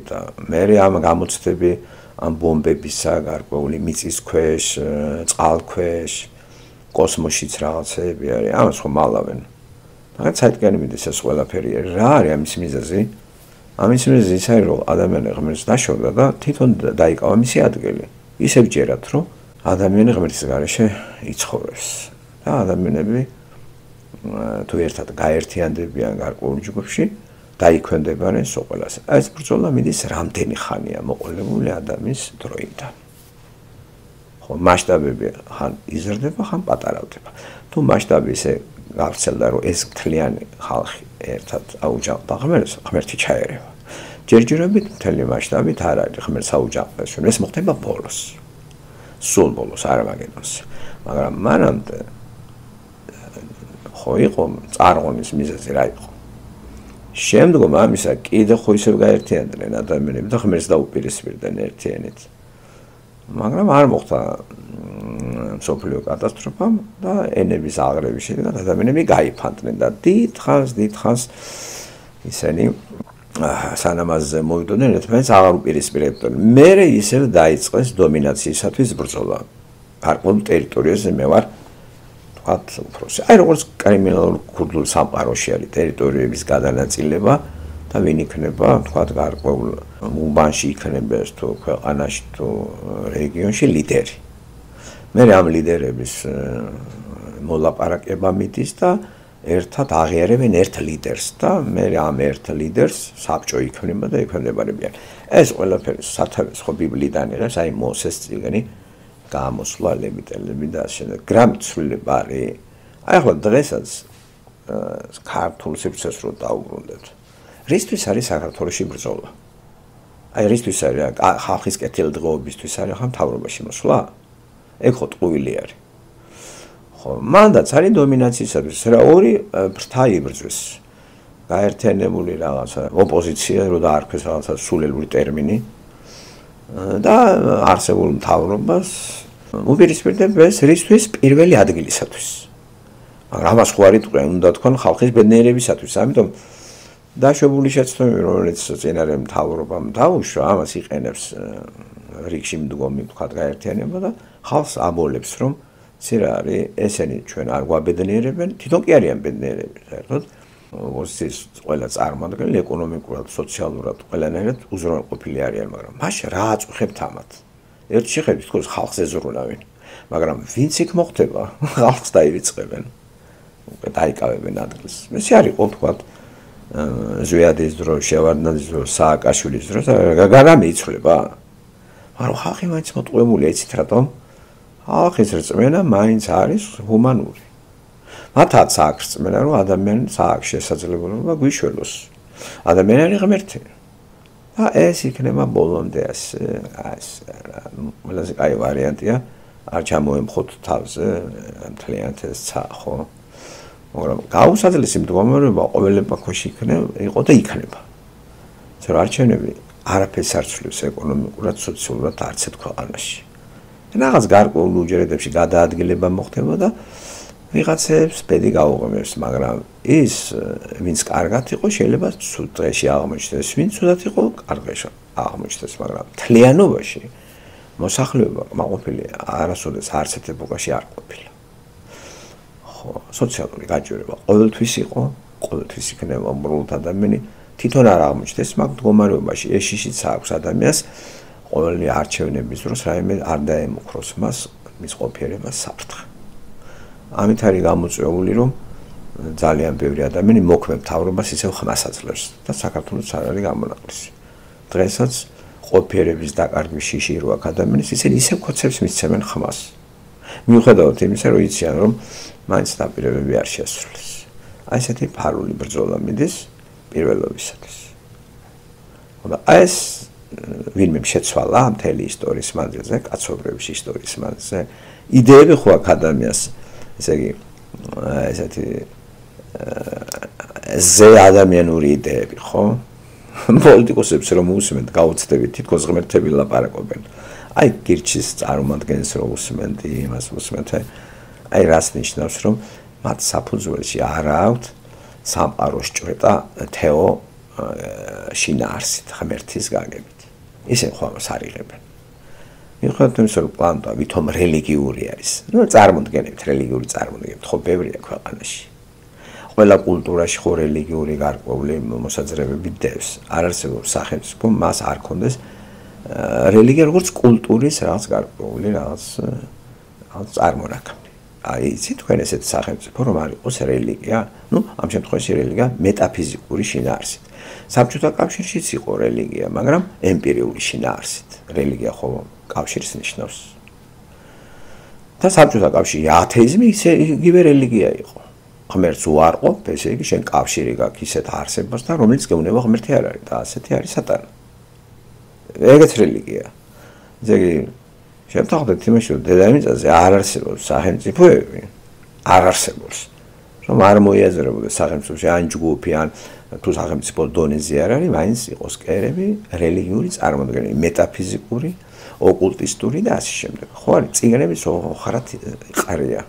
და მე ამ გამოცდები ამ ბომბებისა გარკვეული მიწის ქვეშ, წყალქვეშ, კოსმოსშიც რაღაცეები არის, ამას ხომ ალავენ. რაღაც საერთგანი მიდის ეს ყველაფერი. რა არის ამის მიზეზი? ამის მიზეზი ის არის, რომ ადამიანი ღმერთს დაშორდა და თვითონ დაიკავა მისი ადგილი. ისევ ჯერათ, რომ ადამიანი ღმერთის გარეშე იცხოვრებს. და ადამიანები თუ ერთად გაერთიანდებიან გარკვეულ ჯგუფში, დაიქვემდებარენ სოყველას. ეს ბრძოლა მიდის რამდენი ხანია მოყოლებული ადამიანის დროიდან. ხო, მასშტაბები ხან იზრდება, ხან პატარავდება. თუ მასშტაბი ისე გავრცელდა, რომ ეს მთლიანი ხალხი ერთად აუჯანყდა ღმერთს, ღმერთი ჩაერევა. ჯერჯერობით მთელი მასშტაბით არ არის ღმერთს აუჯანყდეს, ეს მოხდება ბოლოს. სულ ბოლოს არამაგედონს. მაგრამ მანამდე ხო იყო წარღვნის მიზეზი რა იყო. შემდგომ ამისა კიდე ხო ისევ გაერთიანდნენ ადამიანები და ღმერთს დაუპირისპირდნენ ერთიანით. მაგრამ არ მოხდა მსოფლიო კატასტროფა და ენების აღრევის შედეგად ადამიანები გაიფანტნენ და დიდხანს დიდხანს ისინი სანამაზე მოვიდოდნენ ერთმანეთს აღარ უპირისპირებდნენ. მერე ისევ დაიწყეს დომინაციისათვის ბრძოლა. გარკვეულ ტერიტორიაზე მე ვარ თქვათ უფროსი. აი როგორც კრიმინალურ ქურდულ სამყაროში არის ტერიტორიების გადანაწილება და ვინ იქნება თქვათ გარკვეულ უბანში იქნება თუ ქვეყანაში თუ რეგიონში ლიდერი. მე ამ ლიდერების მოლაპარაკება მიდის და ერთად აღიარებენ ერთ ლიდერს და მე ამ ერთ ლიდერს საბჭო იქნება და ექვემდებარებიან. ეს ყველაფერი სათავეს ხო ბიბლიიდან იღებს, აი მოსეს წიგნი გამოსვლა ლევიტელები და შემდეგ გრამცვლილება არის. აი ახლა დღესაც ქართულ სივრცეს რო დაუბრუნდეთ. რისთვის არის საქართველოში ბრძოლა? აი რისთვის არის ხალხის კეთილდღეობისთვის არის ხა მთავრობაში მოსვლა? ეგ ხო ტყუილი არის. ხო, მანდაც არის დომინაციისათვის რა ორი ფრთა იბრძვის. გაერთიანებული რაღაცა ოპოზიცია რო დაარქვეს რაღაცა სულელური ტერმინი და არსებულ მთავრობას უპირისპირდებს რისთვის პირველი ადგილისათვის. მაგრამ ამას ხო არ იტყვიან, უნდა თქვენ ხალხის ბედნიერებისათვის. ამიტომ დაშვებული შეცდომები, რომელიც წინარე მთავრობამ დაუშვა, ამას იყენებს რიგში მდგომი თქვა გაერთიანება და ხალხს აბოლებს, რომ ცირა არის ესენი ჩვენ არ გვაბედნიერებენ, თვითონ კი არიან ბედნიერები, საერთოდ ოპოზიციის ყველა წარმომადგენელი ეკონომიკურად, სოციალურად ყველანაირად უზრუნველყოფილი არიან, მაგრამ მაშინ რა აწუხებთ ამათ? ერთ შეხედვით თქოს ხალხს ეზრუნავენ, მაგრამ ვინც იქ მოხდება, ხალხს დაივიწყებენ, უკვე დაიკავებენ ადგილს. ესე არ იყო თქვა ზვიადის დრო, შევარდნაძის დრო, სააკაშვილის დრო, გაგარა მიიცვლება. მაგრამ ხალხი მაინც მოტყუებულია, იცით რატომ? ხალხის რწმენა მაინც არის ჰუმანური. მათაც აქვს რწმენა, რომ ადამიანს აქვს შესაძლებლობა გვიშველოს. ადამიანი არის ღმერთი. და ეს იქნება ბოლომდე ასე, ეს ყველაზე კაი ვარიანტია, არ ჩამოემხოთ თავზე მთლიანად ეს ცა, ხო? მაგრამ გაუსაძლისი მდგომარეობა ყოველ ეპოქაში იქნება, იყო და იქნება. ზოგადად არჩევნები არაფერს არ ცვლის ეკონომიკურად, სოციალურად არც ერთ ქვეყანაში. რაღაც გარკვეულ უჯრედებში გადაადგილება მოხდება და ვიღაცებს ბედი გაუღიმებს, მაგრამ ის ვინც კარგად იყო, შეიძლება ცუდ დღეში აღმოჩნდეს, ვინც ცუდად იყო, კარგში აღმოჩნდეს, მაგრამ მთლიანობაში მოსახლეობა მაყოფილი არასოდეს არც ერთ ეპოქაში არ ყოფილა. ხო, სოციალური გაჭირვება ყოველთვის იყო, ყოველთვის იქნება უბრალოდ ადამიანი თვითონ არ აღმოჩნდეს, მაგ მდგომარეობაში ეს შიშიც აქვს ადამიანს ყოველი არჩევნების დროს რაიმე არ დაემუქროს მას მის ყოფიერებას საფრთხე. ამით არის გამოწვეული, რომ ძალიან ბევრი ადამიანი მოქმედ მთავრობას ისევ ხმას აძლევს და საქართველოს არ არის გამონაკლისი. დღესაც ყოფიერების დაკარგვის შიში რო აქვს ადამიანის, ისინი ისევ ქოცებს მისცემენ ხმას. მიუხედავად იმისა, რომ იციან, რომ მაინც დაპირებები არ შეასრულეს. აი ესეთი ფარული ბრძოლა მიდის პირველობისათვის. და ეს ვინმე შეცვალა მთელი ისტორიის მანძილზე, კაცობრიობის ისტორიის მანძილზე. იდეები ხო აქვს ადამიანს, ესე იგი, ესეთი ზე ადამიანური იდეები, ხო? პოლიტიკოსებს რომ უსმენთ, გაუცდებით, თითქოს ღმერთები ლაპარაკობენ. აი გირჩის წარმომადგენელს რომ უსმენთ, იმას უსმენთ, აი რას ნიშნავს, რომ მათ საფუძველში არ აქვთ სამყაროს ჭრეტა თეო შინაარსით, ღმერთის გაგებით. ისე ხო ამას არ იღებენ. მიუხედავად იმისა, რომ პლანეტა ვითომ რელიგიური არის. ნუ წარმოდგენებით, რელიგიური წარმოდგენებით ხო ბევრია ქვეყანაში. ყველა კულტურაში ხო რელიგიური გარკვეული მოსაძრებები დევს. არ არსებობს სახელმწიფო მას არ კონდეს რელიგია როგორც კულტურის რაღაც გარკვეული რაღაც რაღაც წარმონაქმნი. აი იცით თქვენ ესეთ სახელმწიფო რომ არ იყოს რელიგია, ნუ ამ შემთხვევაში რელიგია მეტაფიზიკური შინაარსით. საბჭოთა კავშირშიც იყო რელიგია, მაგრამ ემპირიული შინაარსით. რელიგია ხო კავშირს ნიშნავს. და საბჭოთა კავშირში ათეიზმი ისე იგივე რელიგია იყო. ღმერთს უარყოფ, ესე იგი შენ კავშირი გაქვს ისეთ არსებასთან, რომელიც გეუბნება ღმერთი არ არის და ასეთი არის სატანა. ეგეც რელიგია. ესე იგი შევთანხმდეთ იმაში, რომ დედამიწაზე არ არსებობს სახელმწიფოები, არ არსებობს. რომ არ მოიაზრებოდეს სახელმწიფოში ან ჯგუფი, ან თუ სახელმწიფო დონეზე არ არის, მაინც იყოს კერები, რელიგიური წარმოდგენები, მეტაფიზიკური, ოკულტისტური და ასე შემდეგ. ხო არის, წიგნების ხარად იყარია.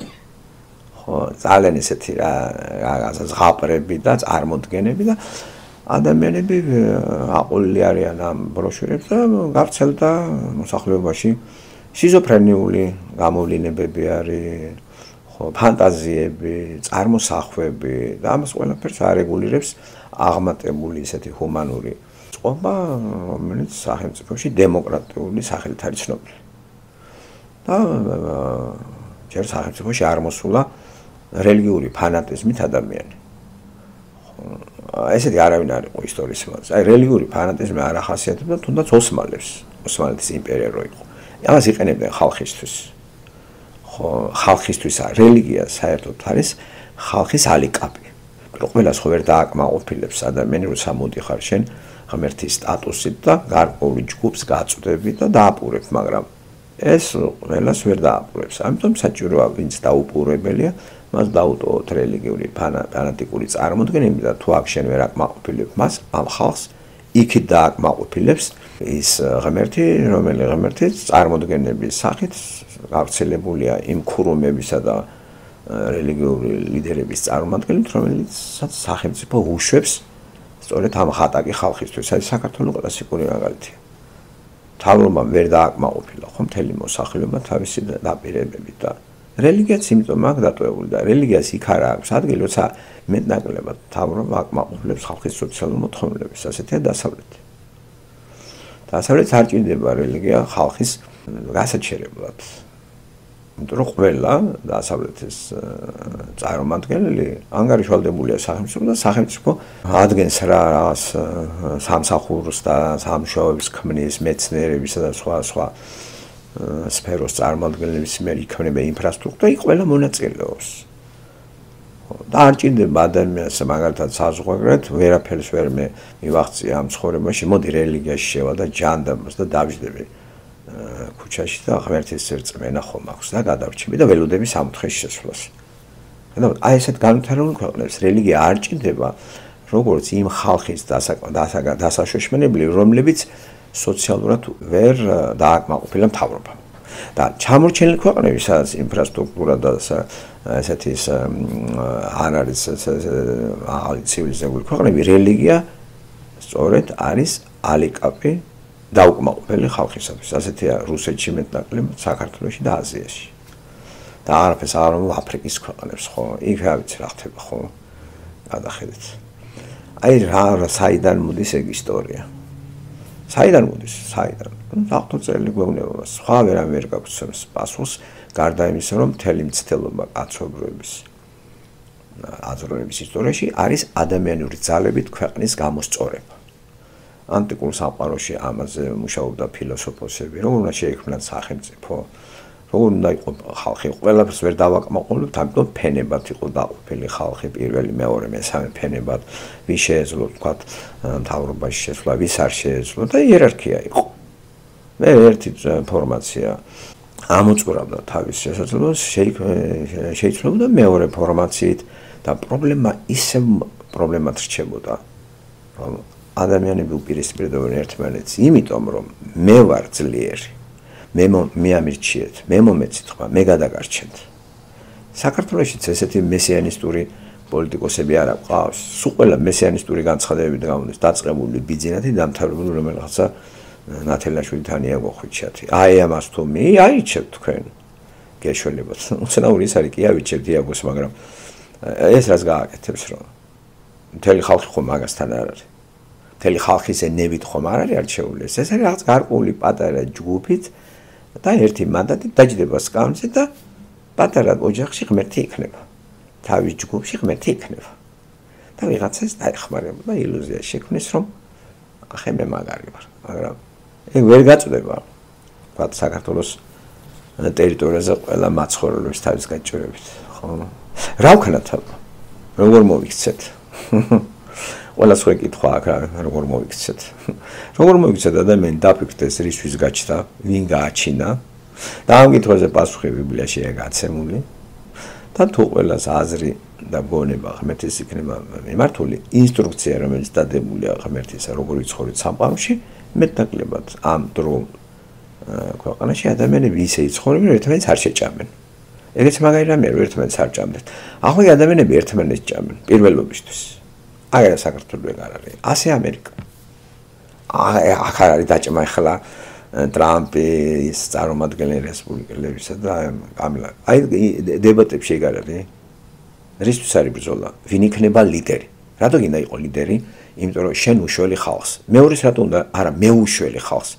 ხო, ძალიან ესეთი რა, რაღაცა ზღაპრები და წარმოდგენები და ადამიანები აყოლილი არიან ამ ბროშურებს და გავრცელდა მოსახლეობაში შიზოფრენიული გამოვლინებები არის, ხო, ფანტაზიები, წარმოსახვები და ამას ყველაფერს არეგულირებს აღმატებული ესეთი ჰუმანური წყობა, რომელიც სახელმწიფოში დემოკრატიული სახელით არის ცნობილი. და ჯერ სახელმწიფოში არ მოსულა რელიგიური ფანატიზმით ადამიანი. ესეთი არავინ არ იყო ისტორიის მასზე. აი რელიგიური ფანატიზმი არ ახასიათებდა თუნდაც ოსმალებს, ოსმალეთის იმპერია რო იყო. ამას იყენებდნენ ხალხისთვის. ხო, ხალხისთვის რელიგია საერთოდ არის ხალხის ალიკაპი. ყველას ხო ვერ დააკმაყოფილებს ადამიანი, როცა მოდიხარ შენ ღმერთის სტატუსით და გარკვეული ჯგუფს გაწვდები და დააპურებ, მაგრამ ეს ყველას ვერ დააპურებს. ამიტომ საჭიროა ვინც დაუპურებელია, მას დაუტოვოთ რელიგიური ფანატიკური წარმოდგენები და თუ აქ შენ ვერ აკმაყოფილებ მას, ამ ხალხს იქით დააკმაყოფილებს ის ღმერთი, რომელიც ღმერთის წარმოდგენების სახით გავრცელებულია იმ ქურუმებისა და რელიგიური ლიდერების წარმოადგენლით, რომელიცაც სახელმწიფო უშვებს სწორედ ამ ხატაკი ხალხისთვის. აი საქართველოს კლასიკური მაგალითია. მთავრობამ ვერ დააკმაყოფილა ხო მთელი მოსახლეობა თავისი დაპირებებით და რელიგიაც იმიტომ აქ დატოვებული და რელიგიას იქ არ აქვს ადგილი, როცა მეტნაკლებად მთავრობა აკმაყოფილებს ხალხის სოციალურ მოთხოვნილებას, ასეთია დასავლეთი. დასავლეთს არ ჭირდება რელიგია ხალხის გასაჩერებლად. იმიტომ რომ ყველა დასავლეთის წარმომადგენელი ანგარიშვალდებულია სახელმწიფო და სახელმწიფო ადგენს რა რაღაც სამსახურს და სამუშაოებს ქმნის მეცნიერებისა და სხვა სხვა სფეროს წარმომადგენლების მიერ იქმნება ინფრასტრუქტურა, იქ ყველა მონაწილეობს. და არ ჭირდება ადამიანს მაგალითად საზღვარგარეთ ვერაფერს ვერ მე მივაღწია ამ ცხოვრებაში, მოდი რელიგიაში შევა და ჯანდაბას და დავждები ქუჩაში და ღმერთის წრწმენა ხომ აქვს და გადავრჩები და ველოდები სამოთხეში შესვლას. აი ესეთ განვითარებულ ქვეყნებს რელიგია არ ჭირდება როგორც იმ ხალხის დასაშოშმენებელი, რომლებიც სოციალურად ვერ დააკმაყოფილა მთავრობამ. და ჩამორჩენილი ქვეყნები, სადაც ინფრასტრუქტურა და ესეთი არ არის ახალი ცივილიზებული ქვეყნები, რელიგია სწორედ არის ალიკაპი დაუკმაყოფილი ხალხისათვის. ასეთია რუსეთში მეტნაკლებად, საქართველოში და აზიაში. და არაფერს არ ამბობ აფრიკის ქვეყნებს, ხო? იქ რა ვიცი რა ხდება, ხო? გადახედეთ. აი რა საიდან მოდის ეგ ისტორია? საიდან მოდის? საიდან? საფუძველი გვეუბნება, სხვა ვერა ვერ გაგვცემს პასუხს, გარდა იმისა, რომ მთელი მცდელობა კაცობრიობის აზროვნების ისტორიაში არის ადამიანური ძალებით ქვეყნის გამოსწორება. ანტიკურ სამყაროში ამაზე მუშაობდა ფილოსოფოსები, როგორ უნდა შეიქმნათ სახელმწიფო, როგორ უნდა იყო ხალხი, ყველაფერს ვერ დავაკმაყოფილებთ, ამიტომ ფენებად იყო დაყოფილი ხალხი, პირველი, მეორე, მესამე ფენებად, ვის შეეძლო თქვათ მთავრობაში შესვლა, ვის არ შეეძლო და იერარქია იყო. მე ერთი ფორმაცია ამოწურავდა თავის შესაძლებლობას, შეიცვლებოდა მეორე ფორმაციით და პრობლემა ისევ პრობლემად რჩებოდა, რომ ადამიანები უპირისპირდებიან ერთმანეთს, იმიტომ რომ მე ვარ ძლიერი, მე მე ამირჩიეთ, მე მომეცით ხმა, მე გადაგარჩენთ. საქართველოშიც ესეთი მესიანისტური პოლიტიკოსები არ აქვს. სულ ყველა მესიანისტური განცხადებებით გამოდის დაწყებული ბიძინათი დამთავრებული რომელიღაცა ნათელაშვილთან იაგოხვიჩათი. აი ამას თუ მე აიჩევთ თქვენ გეშველებათ. უცნაური ის არის კი ავიჩევთ იაგოს, მაგრამ ეს რაც გააკეთებს რომ მთელი ხალხი ხომ მაგასთან არ არის. მთელი ხალხის ენებით ხომ არ არის არჩეული. ეს არის რაღაც გარკვეული პატარა ჯგუფით და ერთი მანდატით დაჯდება სკამზე და პატარა ოჯახში ღმერთი იქნება. თავის ჯგუფში ღმერთი იქნება. და ვიღაცას დაეხმარება და ილუზია შექმნის რომ ახე მე მაგარი ვარ. მაგრამ ეგ ვერ გაწდება. ვთქვათ საქართველოს ტერიტორიაზე ყველა მაცხოვრებლებს თავის გაჭირებით. ხო? რა ვქნათ აბა? როგორ მოვიქცეთ? ყველა სხვა კითხვა აქ როგორ მოვიქცეთ? როგორ მოვიქცეთ ადამიანი დაფიქრდეს რისთვის გაჩნდა, ვინ გააჩინა და ამ კითხვაზე პასუხი ბიბლიაში გაცემული და თუ ყველას აზრი და გონება ღმერთის იქნება მიმართული ინსტრუქცია რომელიც დადებულია ღმერთისა როგორ იცხოვრეთ სამყაროში მეტნაკლებად ამ დრო ქვეყანაში ადამიანები ისე იცხოვრებენ ერთმანეთს არ შეჭამენ ეგეც მაგარი რამეა რომ ერთმანეთს არ ჭამდნენ ახლა ადამიანები ერთმანეთს ჭამენ პირველობისთვის აგერა საქართველოს ეგ არ არის ასე ამერიკა აქ არ არის დაჭმა ახლა ტრამპის წარმომადგენელი რესპუბლიკელებისა და კამილა აი დებატებში ეგ არ არის რისთვის არის ბრძოლა ვინ იქნება ლიდერი რატო გინდა იყო ლიდერი იმიტომ რომ შენ უშველი ხალხს მეორეს რატო უნდა არა მე უშველი ხალხს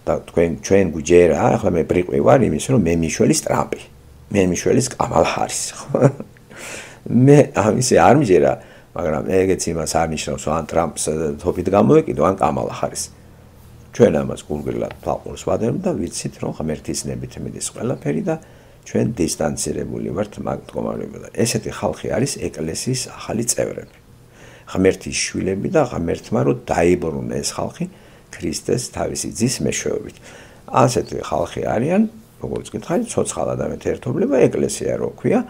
და თქვენ ჩვენ გუჯერა ახლა მე ბრიყვი ვარ იმის რომ მე მიშველის ტრამპი მე მიშველის კამალ ჰარის ხო მე ამისი არ მჯერა მაგრამ ეგეც იმას არ ნიშნავს ან ტრამპს თოფით გამოვეკიდო ან კამალ ჰარის ჩვენ ამას გულგრილად თვალყურს ვადევნ და ვიცით რომ ღმერთის ნებით მიდის ყველაფერი და ჩვენ დისტანცირებული ვართ მაგ მდგომარეობიდან ესეთი ხალხი არის ეკლესიის ახალი წევრები ღმერთის შვილები და ღმერთმა რომ დაიბრუნა ეს ხალხი ქრისტეს თავისი ძის მეშვეობით ასეთი ხალხი არიან როგორც გითხარით ცოცხალ ადამიანთა ერთობლება ეკლესია რო ქვია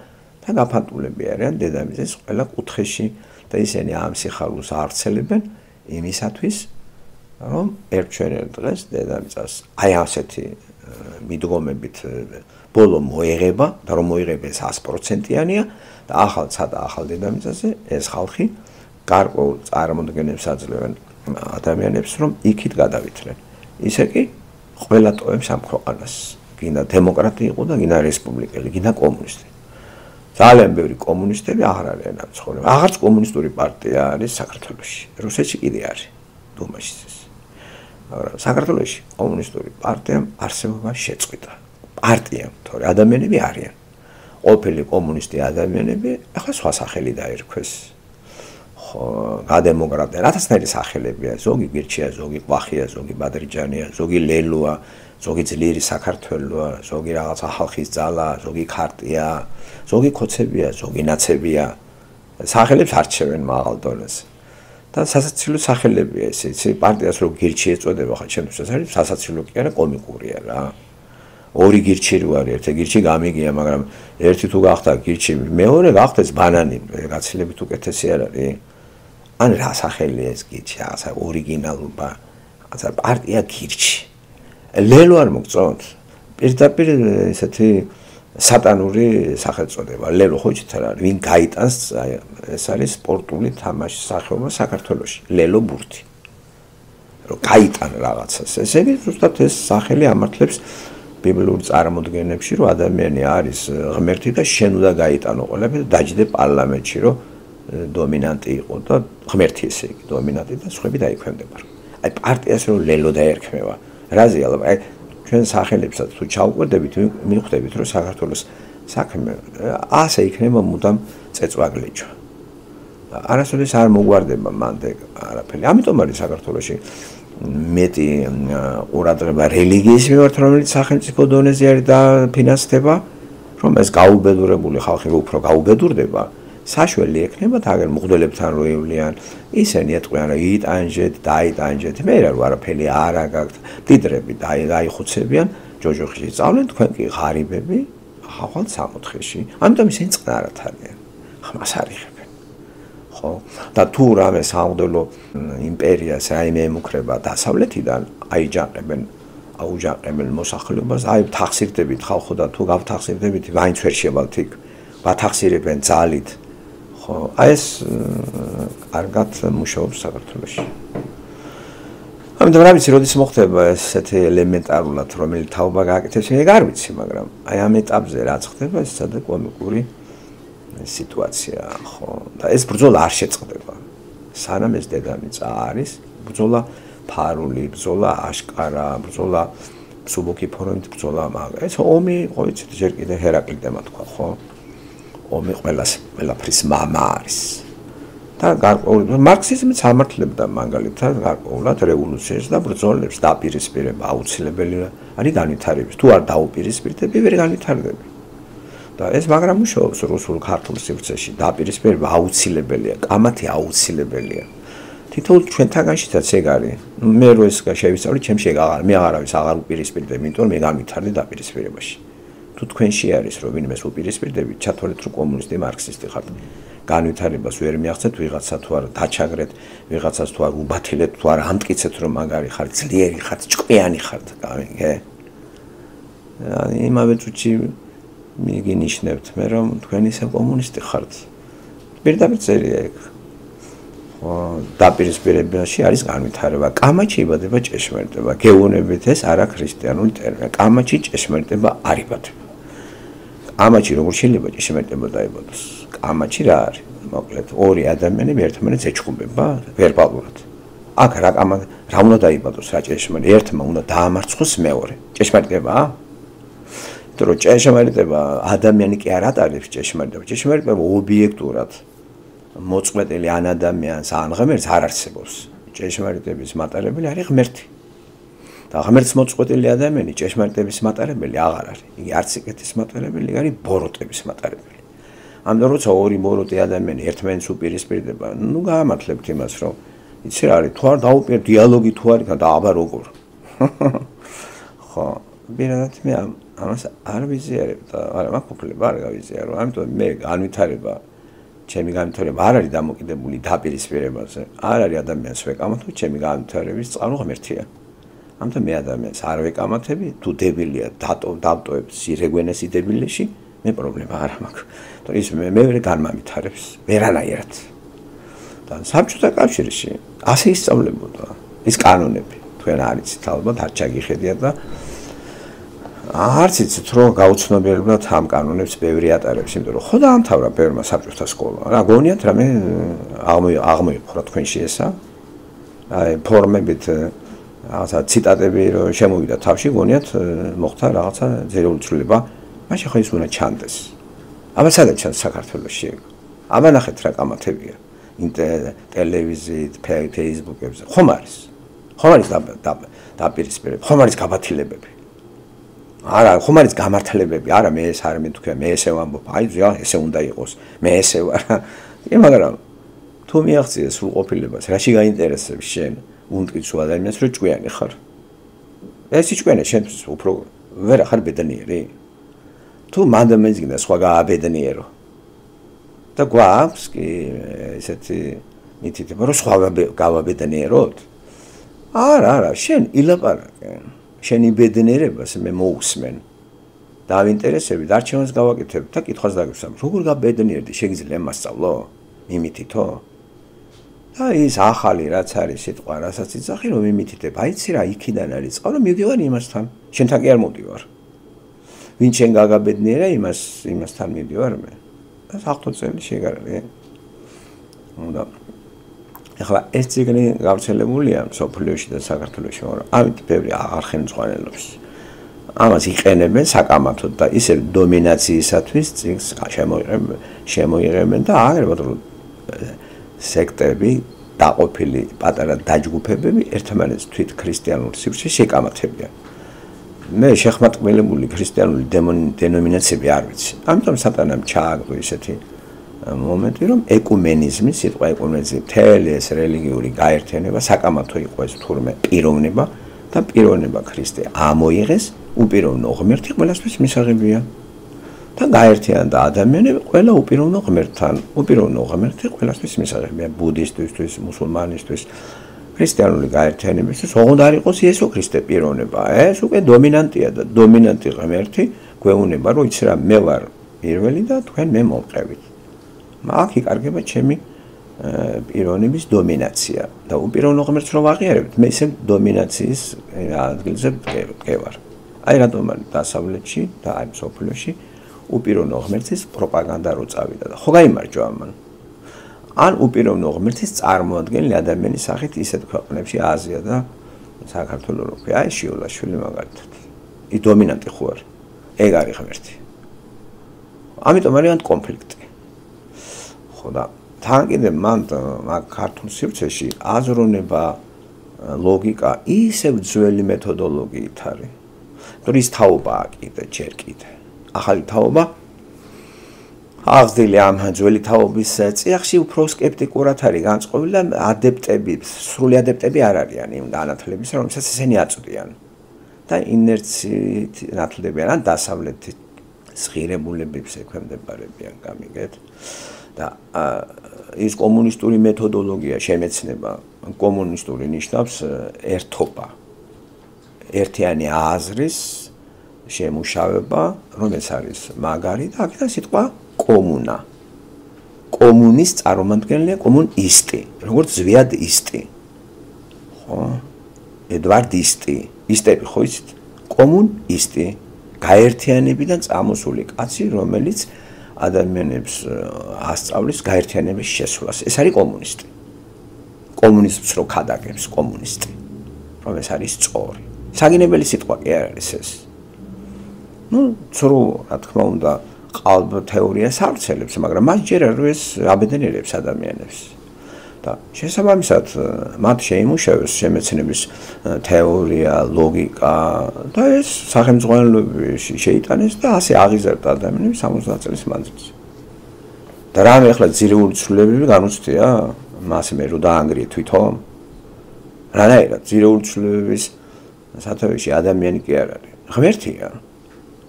და გაფანტულები არიან დედამიწის ყველა კუთხეში და ისინი ამ სიხარულს ავრცელებენ იმისათვის რომ ერთჩვენერ დღეს დედამიწას აი ასეთი მიდგომებით ბოლო მოიღება და რომ მოიღებეს ას პროცენტიანია და ახალ ცადა ახალ დედამიწაზე ეს ხალხი გარკვეულ წარმოდგენებს აძლევენ ადამიანებს რომ იქით გადავითრენ ისე კი ყველა ტოვებს ამ ქვეყანას გინდა დემოკრატი იყო და გინდა რესპუბლიკელი გინდა კომუნისტი ძალიან ბევრი კომუნისტები აღარ არიან ამ ცხოვრება აღარც კომუნისტური პარტია არის საქართველოში რუსეთში კიდე არის დუმაში ეს მაგრამ საქართველოში კომუნისტური პარტიამ არსებობა შეწყვიტა პარტიამ თორე ადამიანები არიან ყოფილი კომუნისტი ადამიანები ახლა სხვა სახელი დაერქვეს ხო გადემოკრატია რათასნაირი სახელებია ზოგი გირჩია ზოგი ყვახია ზოგი ბადრიჯანია ზოგი ლელოა ზოგი ძლიერი საქართველოა ზოგი რაღაცა ხალხის ძალა ზოგი ქარტია ზოგი ქოცებია ზოგი ნაცებია სახელებს არჩევენ მაღალ დონეზე და სასაცილო სახელებია ესე იცი პარტიას რო გირჩი ეწოდება ხა ჩემთვის არის სასაცილო კი არა კომიკურია რა ორი გირჩი რო არის ერთი გირჩი გამიგია მაგრამ ერთი თუ გახდა გირჩი მეორე გახდეს ბანანი გაცილებით უკეთესი არ არის ან რა სახელია ეს გირჩი ასა ორიგინალობა ასა პარტია გირჩი ლელო არ მოგწონთ პირდაპირ ესეთი სატანური სახელწოდება ლელო ხო იცით რა ვინ გაიტანს ეს არის სპორტული თამაშის სახეობა საქართველოში ლელო ბურთი რომ გაიტან რაღაცას ესე იგი ზუსტად ეს სახელი ამართლებს ბიბლიურ წარმოდგენებში რომ ადამიანი არის ღმერთი და შენ უნდა გაიტანო ყველაფერი და დაჯდე პარლამენტში რომ დომინანტი იყო და ღმერთი ესე იგი დომინანტი და სხვები დაიქვემდება აი პარტიას რომ ლელო დაერქმევა რაზე ალბათ აი ჩვენ სახელებსაც თუ ჩავყვდებით მიხვდებით რომ საქართველოს საქმე ასე იქნება მუდამ წეწვაგლეჯვა არასოდეს არ მოგვარდება მანდ არაფერი ამიტომ არის საქართველოში მეტი ყურადღება რელიგიის მიმართ რომელიც სახელმწიფო დონეზე არის და ფინანსდება რომ ეს გაუბედურებული ხალხი უფრო გაუბედურდება საშველი ექნება თაგერ მუხდელებთან რო ივლიან ისინი ეტყვიან რომ იტანჯეთ დაიტანჯეთ მე რა არაფერი არა გაქვთ დიდრები დაიხუცებიან ჯოჯოხში წავლენ თქვენ კი ღარიბები ახალ სამოთხეში ამიტომ ისინი წყნარად არიან ხმას არიღებენ ხო და თუ რამე სამღვდელო იმპერიას რაიმე ემუქრება დასავლეთიდან აიჯანყებენ აუჯანყებენ მოსახლეობას აი თახსირდებით ხალხო და თუ გავთახსირდებით ვაინც ვერ შევალთ იქ ვათახსირებენ ძალით აი ეს კარგად მუშაობს საქართველოში. ამიტომ რა ვიცი, როდის მოხდება ესეთი ელემენტარულად, რომელიც თაობა გააკეთებს, ეგ არ ვიცი, მაგრამ აი ამ ეტაპზე რაც ხდება, ეს სადა კომიკური სიტუაციაა, ხო? და ეს ბრძოლა არ შეწყდება. სანამ ეს დედამიწა არის, ბრძოლა ფარული, ბრძოლა აშკარა, ბრძოლა სუბოქი ფორმით ბრძოლა მაგ. ეს ომი, ხო იცით, ჯერ კიდე ჰერაკლიტემა თქვა, ხო? ომი ყველას ყველაფრის მამა არის. და გარკვეულ მარქსიზმიც ამართლებდა მაგალითად გარკვეულად რევოლუციებს და ბრძოლებს დაპირისპირება აუცილებელი არის განვითარების. თუ არ დაუპირისპირდები, ვერ განვითარდები. და ეს მაგრამ მუშაობს რუსულ ქართულ სივრცეში. დაპირისპირება აუცილებელია, კამათი აუცილებელია. თითოეულ ჩვენთაგანშიცაც ეგ არის. მე რო ეს შევისწავლე, ჩემში ეგ აღარ, მე აღარავის აღარ უპირისპირდები, იმიტომ რომ მე გამვითარდი დაპირისპირებაში. თუ თქვენში არის რომ ვინმეს უპირისპირდებით, ჩათვალეთ რომ კომუნისტი, მარქსისტი ხართ. განვითარებას ვერ მიაღწევთ ვიღაცა თუ არ დაჩაგრეთ, ვიღაცას თუ არ უბათილეთ, თუ არ ამტკიცეთ რომ მაგარი ხართ, ძლიერი ხართ, ჭკვიანი ხართ, გამიგე? იმავე წუთში მიგინიშნებთ მე რომ თქვენ ისე კომუნისტი ხართ. პირდაპირ წერია ეგ. დაპირისპირებაში არის განვითარება. კამაჩი იბადება ჭეშმარიტება. გეუბნებით ეს არა ქრისტიანული ტერმინი. კამაჩი ჭეშმარიტება არ იბადება. კამაჩი როგორ შეიძლება ჭეშმარიტება დაიბადოს? კამაჩი რა არის? მოკლედ ორი ადამიანები ერთმანეთს ეჩხუბება ვერბალურად. აქ რა კამა რა უნდა დაიბადოს რა ჭეშმარიტება? ერთმა უნდა დაამარცხოს მეორე. ჭეშმარიტებაა? იმიტომ რომ ჭეშმარიტება ადამიანი კი არ ატარებს ჭეშმარიტება. ჭეშმარიტება ობიექტურად მოწყვეტილი ან ადამიანს ან ღმერთს არ არსებობს. ჭეშმარიტების მატარებელი არის ღმერთი. და ღმერთს მოწყვეტილი ადამიანი ჭეშმარიტების მატარებელი აღარ არის. იგი არც იკეთის მატარებელი, არის ბოროტების მატარებელი. ამიტომ როცა ორი ბოროტი ადამიანი ერთმანეთს უპირისპირდება, ნუ გაამართლებთ იმას, რომ იცი რა არის, თუ არ დაუპირ დიალოგი თუ არის და აბა როგორ. ხო, ბინადად მე ამას არ ვიზიარებ და არა მაქვს უფლება არ გავიზიარო. ამიტომ მე განვითარება ჩემი განვითარება არ არის დამოკიდებული დაპირისპირებაზე. არ არის ადამიანს ვეკამათო, ჩემი განვითარების წყარო ღმერთია. ამიტომ მე ადამიანს არ ვეკამათები, თუ დებილია დატო დავტოებს სირეგვენეს იდებილეში, მე პრობლემა არ მაქვს. თორე ის მე მე ვერ განმამითარებს, ვერანაირად. და საბჭოთა კავშირში ასე ისწავლებოდა ის კანონები. თქვენ არიცით ალბათ არ ჩაგიხედიათ და არც იცით რომ გაუცნობიერებლად ამ კანონებს ბევრი ატარებს, იმიტომ რომ ხო დაამთავრა ბევრმა საბჭოთა სკოლა. რა გონიათ რამე აღმოიყო თქვენში ესა? აი ფორმებით რაღაცა ციტატები რომ შემოვიდა თავში, გონიათ მოხდა რაღაცა ძერეული ცვლილება. მაშინ ხო ის უნდა ჩანდეს. აბა სადაც ჩანს საქართველოში? აბა ნახეთ რა კამათებია. ტელევიზიით, ფეისბუქებზე. ხომ არის? ხომ არის დაპირისპირება? ხომ არის გაბათილებები? არა, ხომ არის გამართლებები? არა, მე ეს არ მეთქვია, მე ესე ვამბობ. აი, ზია, ესე უნდა იყოს. მე ესე ვარ. კი, მაგრამ თუ მიაღწიე სრულყოფილებას, რაში გაინტერესებს შენ? უნტკიცო ადამიანს, რომ ჭკვიანი ხარ. ეს ჭკვიანი შენთვის უფრო ვერ ხარ ბედნიერი. თუ მანდ მეძგნა სხვა გააბედნიერო. და გვაქვს კი ესეთი მითითება, რომ სხვა გავაბედნიეროთ? არა, არა, შენ ილაპარაკე. შენი ბედნიერებას მე მოусმენ. დავინტერესებით, არჩევანს გავაკეთებ და კითხვას დაგისვამ. როგორ გაბედნიერდი, შეგიძლია მასწავლო? მიმითითო? და ის ახალი რაც არის სიტყვა, რასაც იცახი, რომ მიმითითებ. აიცი რა, იქიდან არის წყარო, მივდივარ იმასთან. შენთან კი არ მოვდივარ. ვინ შენ გაგაბედნიერა, იმას იმასთან მივდივარ მე. და საერთოდ წელი შეგარია. უნდა ეხლა ეს ციგნი გავრცელებულია სოფლიოში და საქართველოში, მაგრამ ამით ბევრი აღარხენწყვანელობს. ამას იყენებენ საკამათოდ და ისე დომინაციისათვის ციგს შემოიღებენ, შემოიღებენ და აღერბათ რომ სექტები, დაყოფილი პატარა დაჯგუფებები ერთმანეთს თვით ქრისტიანულ სივრცეში შეკამათებიან. მე შეხმატყმელებული ქრისტიანული დენომინაციები არ ვიცი. ამიტომ სატანამ ჩააგდო ისეთი მომენტი, რომ ეკუმენიზმი, სიტყვა ეკუმენიზმი, მთელი ეს რელიგიური გაერთიანება, საკამათო იყო ეს თურმე პიროვნება და პიროვნება ქრისტე ამოიღეს, უპიროვნო ღმერთი ყველასთვის მისაღებია. და გაერთიანდა ადამიანები ყველა უპიროვნო ღმერთთან, უპიროვნო ღმერთი ყველასთვის მისაღებია, ბუდისტისთვის, მუსულმანისთვის, ქრისტიანული გაერთიანებისთვის, ოღონდ არ იყოს იესო ქრისტე პიროვნება. ეს უკვე დომინანტია და დომინანტი ღმერთი გვეუბნება, რომ იცი რა, მე ვარ პირველი და თქვენ მე მომყევით. აქ იკარგება ჩემი პიროვნების დომინაცია და უპიროვნო ღმერთს რო ვაღიარებთ, მე ისე დომინაციის ადგილზე ვარ. აი რატომ არის დასავლეთში და აი სოფლიოში უპიროვნო ღმერთის პროპაგანდა რო წავიდა და ხო გაიმარჯვა ამან. ან უპიროვნო ღმერთის წარმოადგენელი ადამიანის სახით ისეთ ქვეყნებში, აზია და საქართველო რო ქვია, აი შიოლაშვილი მაგალითად. ის დომინანტი ხო არის. ეგ არის ღმერთი. ამიტომ არის კონფლიქტი. ხო და თან კიდე მან მაგ ქართულ სივრცეში აზროვნება, ლოგიკა ისევ ძველი მეთოდოლოგიით არის. თორე ის თაობაა კიდე ჯერ კიდე. ახალი თაობა აღზრდილი ამ ძველი თაობის წიაღში უფრო სკეპტიკურად არის განწყობილი და ადეპტები, სრული ადეპტები არ არიან იმ განათლების, რომელსაც ისინი აწვდიან. და ინერციით ნათლდებიან ან დასავლეთის ღირებულებებს ექვემდებარებიან, გამიგეთ? და ის კომუნისტური მეთოდოლოგია შემეცნება, კომუნისტური ნიშნავს ერთობა. ერთიანი აზრის შემუშავება, რომელიც არის მაგარი და აქედან სიტყვა კომუნა. კომუნის წარმომადგენელია კომუნისტი, როგორც ზვიადისტი. ხო? ედვარდისტი.ისტები ხო იცით? კომუნისტი. გაერთიანებიდან წამოსული კაცი, რომელიც ადამიანებს ასწავლის გაერთიანების შესვლას. ეს არის კომუნისტი. კომუნიზმს რო ქადაგებს კომუნისტი. რომელიც არის სწორი. საგინებელი სიტყვა კი არ არის ეს. ну, ცრუ, რა თქმა უნდა, ყალბ თეორიას ავრცელებს, მაგრამ მას ჯერ არ ეს აბედნიერებს ადამიანებს. და შესაბამისად, მათ შეიმუშავეს შემეცნების თეორია, ლოგიკა და ეს სახელმძღვანელოებში შეიტანეს და ასე აღიზარდა ადამიანები სამოცდაათ წლის მანძილზე. და რამე ახლა ძირეული ცვლილებები განუცდია? მას მე რო დაანგრიე თვითონ? რანაირად ძირეული ცვლილებების სათავეში ადამიანი კი არ არის. ღმერთია.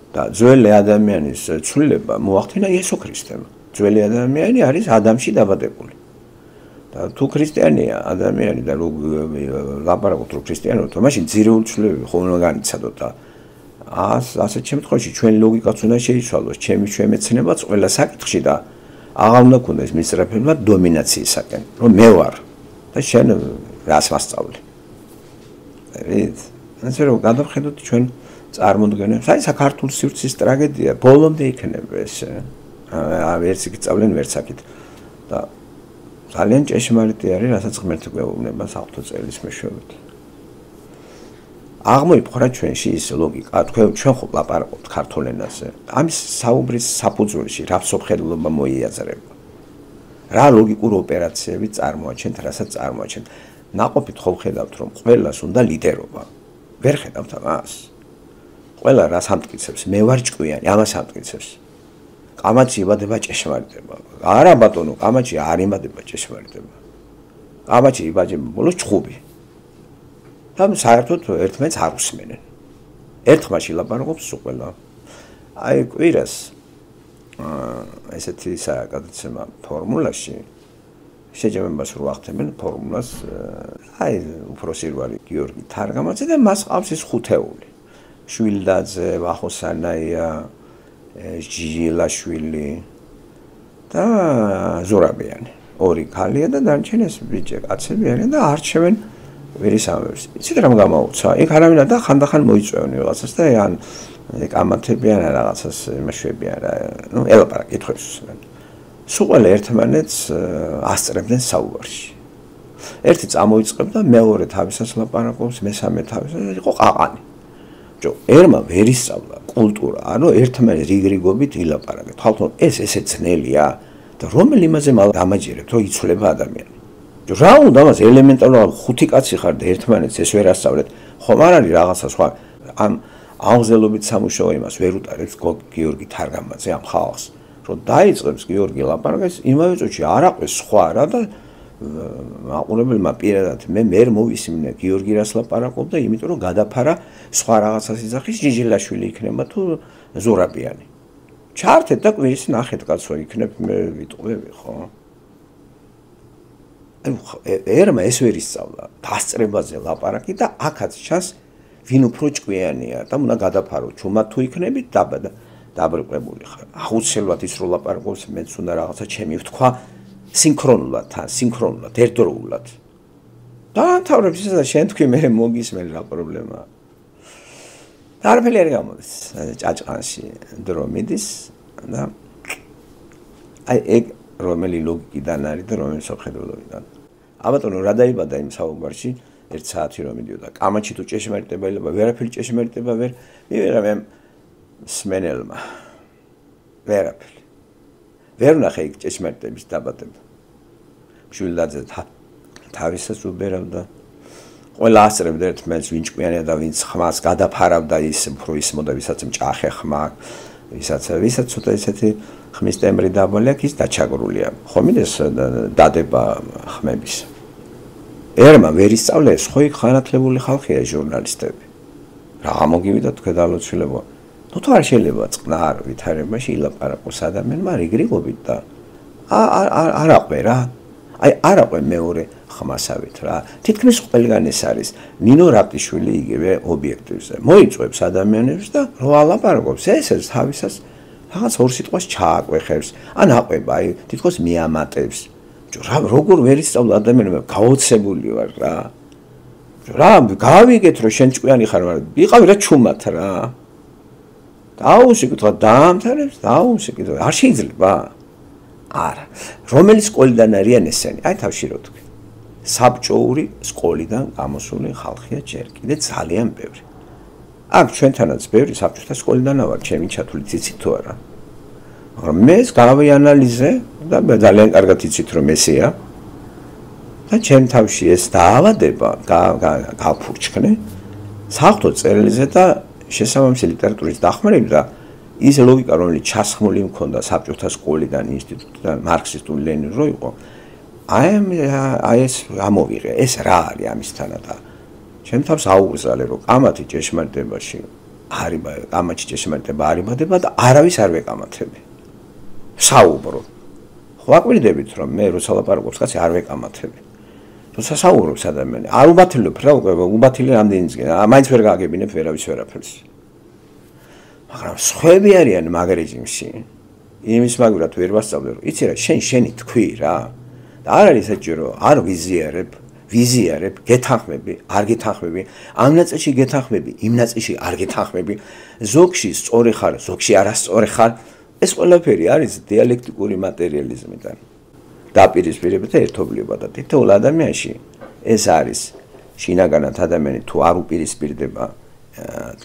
და ძველი ადამიანის ცვლილება მოახდინა იესო ქრისტემ. ძველი ადამიანი არის ადამიანში დაბადებული. და თუ ქრისტიანია ადამიანი და ლაპარაკობთ რომ ქრისტიანობა, მაშინ ძირეული ცვლილებები ხომ უნდა განიცადოთ და ასეთ შემთხვევაში ჩვენი ლოგიკაც უნდა შეიცვალოს, ჩემი შემეცნებაც ყველა საკითხში და აღარ უნდა ქონდეს მისწრაფება დომინაციისაკენ, რომ მე ვარ და შენ რას მასწავლი. ვით? ასე რომ გადავხედოთ ჩვენ წარმოდგენებს. აი საქართველოს სივრცის ტრაგედია ბოლომდე იქნება ეს. ვერც იქ წავლენ, ვერც აქეთ. და ძალიან ჭეშმარიტი არის, რასაც ღმერთი გვეუბნება საღვთო წერილის მეშვეობით. აღმოიფხვრა ჩვენში ის ლოგიკა, თქვენ ჩვენ ხო ლაპარაკობთ ქართულ ენაზე. ამის საუბრის საფუძველში რა მსოფლმხედველობა მოიაზრება. რა ლოგიკურ ოპერაციები წარმოაჩენთ, რასაც წარმოაჩენთ. ნაყოფით ხო ხედავთ, რომ ყველას უნდა ლიდერობა. ვერ ხედავთ ამას. ყველა რას ამტკიცებს, მე ვარ ჭკვიანი, ამას ამტკიცებს. კამაჩი იბადება ჭეშმარიტება. არა ბატონო, კამაჩი არ იბადება ჭეშმარიტება. კამაჩი იბადება ბოლოს ჭხუბი. და საერთოდ ერთმანეთს არ უსმენენ. ერთხმაში ლაპარაკობს ყველა. აი კვირას აა ესეთი საკადაცემა ფორმულაში შეჯამებას რო ახდენენ ფორმულას აი უფროსი რო არის გიორგი თარგამაძე და მას ყავს ის ხუთეული. შვილდაძე, ვახოსანაია, ჟიჟილაშვილი და ზურაბიანი. ორი ქალია და დარჩენ ეს ბიჭი კაცები არიან და არჩევენ ვერისამებს. იცით რამ გამოუცა? იქ არავინ და ხანდახან მოიწვევენ რაღაცას და ან კამათებიან რაღაცას იმაშვებიან რა. ნუ ელაპარაკ კითხვებს უსმენ. სულ ყველა ერთმანეთს ასწრებდნენ საუბარში. ერთი წამოიწყებდა, მეორე თავისას ლაპარაკობს, მესამე თავისას იყო ყაყანი. ჯო ერმა ვერ ისწავლა კულტურა, ანუ ერთმანეთს რიგრიგობით ილაპარაკეთ. თვალთვალ ეს ესე ძნელია და რომელი იმაზე დამაჯერებთ, რომ იცვლება ადამიანი. ჯო რა უნდა მას ელემენტარულად ხუთი კაცი ხარ და ერთმანეთს ეს ვერ ასწავლეთ. ხომ არ არის რაღაცა სხვა ამ აღზელობით სამუშაო იმას ვერ უტარებს გიორგი თარგამაძე ამ ხალხს. რომ დაიწყებს გიორგი ლაპარაკს, იმავე წუთში არ აყვეს სხვა რა და მაყურებელმა პირადად მე მერ მოვისმინე გიორგი რას ლაპარაკობდა, იმიტომ რომ გადაფარა სხვა რაღაცას იძახის ჟიჟილაშვილი იქნება თუ ზურაბიანი. ჩართეთ და კვირის ნახეთ კაცო იქნებ მე ვიტყვევი ხო? ერმა ეს ვერ ისწავლა, დასწრებაზე ლაპარაკი და აქაც ჩანს ვინ უფრო ჭკვიანია და უნდა გადაფარო ჩუმად თუ იქნებით დაბადა დაბრუნებული ხარ. აუცილებლად ის რო ლაპარაკობს, მეც უნდა რაღაცა ჩემი ვთქვა სინქრონულად, თან სინქრონულად, ერთდროულად. დაამთავრებს ისა და შენ თქვი მე მოგისმენ რა პრობლემაა. და არაფერი არ გამოდის ჭაჭყანში დრო მიდის და აი ეგ რომელი ლოგიკიდან არის და რომელი სამხედროებიდან. აბატონო რა დაიბადა იმ საუბარში ერთ საათი რომ მიდიოდა. კამაჩი თუ ჭეშმარიტება ელება, ვერაფერი ჭეშმარიტება ვერ მივიღე მე სმენელმა. ვერაფერი. ვერ ნახე იქ ჭეშმარიტების დაბადება. შვილდაძე თავისას უბერავდა. ყველა ასწრებდა ერთმანეთს ვინ ჭკვიანია და ვინ ხმას გადაფარავდა ის უფრო ისმოდა ვისაც მჭახე ხმა ვისაც ვისაც ცოტა ისეთი ხმის ტემბრი დაბალი აქვს, ის დაჩაგრულია. ხომიდეს დადება ხმების. ერმა ვერ ისწავლეს, ხო იქ ხანათლებული ხალხია ჟურნალისტები. რა მოგივიდა თქვენ დალოცვილებო. ნუ თუ არ შეიძლება წყნარ ვითარებაში ილაპარაკოს ადამიანმა რიგრიგობით და არ აყვე რა. აი არ აყვე მეორე ხმასავით რა. თითქმის ყველგან ეს არის. ნინო რაპტიშვილი იგივე ობიექტივზე. მოიწვევს ადამიანებს და რო ალაპარაკობს, ეს ეს თავისას რაღაც ორ სიტყვას ჩააკვეხებს. ან აყვება, აი თითქოს მიამატებს. რა როგორ ვერ ისწავლა ადამიანებმა გაოცებული ვარ რა. რა გავიგეთ რომ შენ ჭკვიანი ხარ, მაგრამ იყავი რა ჩუმად რა. დაუსიკეთ რა დაამთავრებს, დაუსიკეთ არ შეიძლება. არა. რომელი სკოლიდან არიან ესენი? აი თავშირო თქვი. საბჭოური სკოლიდან გამოსული ხალხია ჯერ კიდე ძალიან ბევრი. აქ ჩვენთანაც ბევრი საბჭოთა სკოლიდან ვარ, ჩემი ჩათვლით იცით თუ არა. მაგრამ მე ეს გავიანალიზე და ძალიან კარგად იცით რომ ესეა. და ჩემ თავში ეს დაავადება გავფურჩქნე საერთო წერილზე და შესაბამისი ლიტერატურის დახმარებით და ის ლოგიკა რომელიც ჩასხმული მქონდა საბჭოთა სკოლიდან ინსტიტუტიდან მარქსისტული ლენინური რო იყო აი აი ეს ამოვიღე ეს რა არის ამისთანა და ჩემ თავს აუგზალე რომ კამათი ჭეშმარიტებაში არიბა კამათი ჭეშმარიტება არიბადება და არავის არ ვეკამათები საუბრო ხო აკვირდებით რომ მე როცა ლაპარაკობს კაცი არ ვეკამათები თორსა საუბრობს ადამიანი არ უბათილებ რა უკვე უბათილი ამდენიცგენ მაინც ვერ გაგებინებ ვერავის ვერაფერს მაგრამ სხვები არიან მაგ რეჟიმში იმის მაგურად ვერ ვასწავლე რომ იცი რა შენ შენი თქვი რა და არ არის საჭირო არ ვიზიარებ ვიზიარებ გეთანხმები არ გეთანხმები ამ ნაწილში გეთანხმები იმ ნაწილში არ გეთანხმები ზოგში სწორი ხარ ზოგში არასწორი ხარ ეს ყველაფერი არის დიალექტიკური მატერიალიზმიდან დაპირისპირება და ერთობლიობა და თითოეულ ადამიანში ეს არის შინაგანად ადამიანი თუ არ უპირისპირდება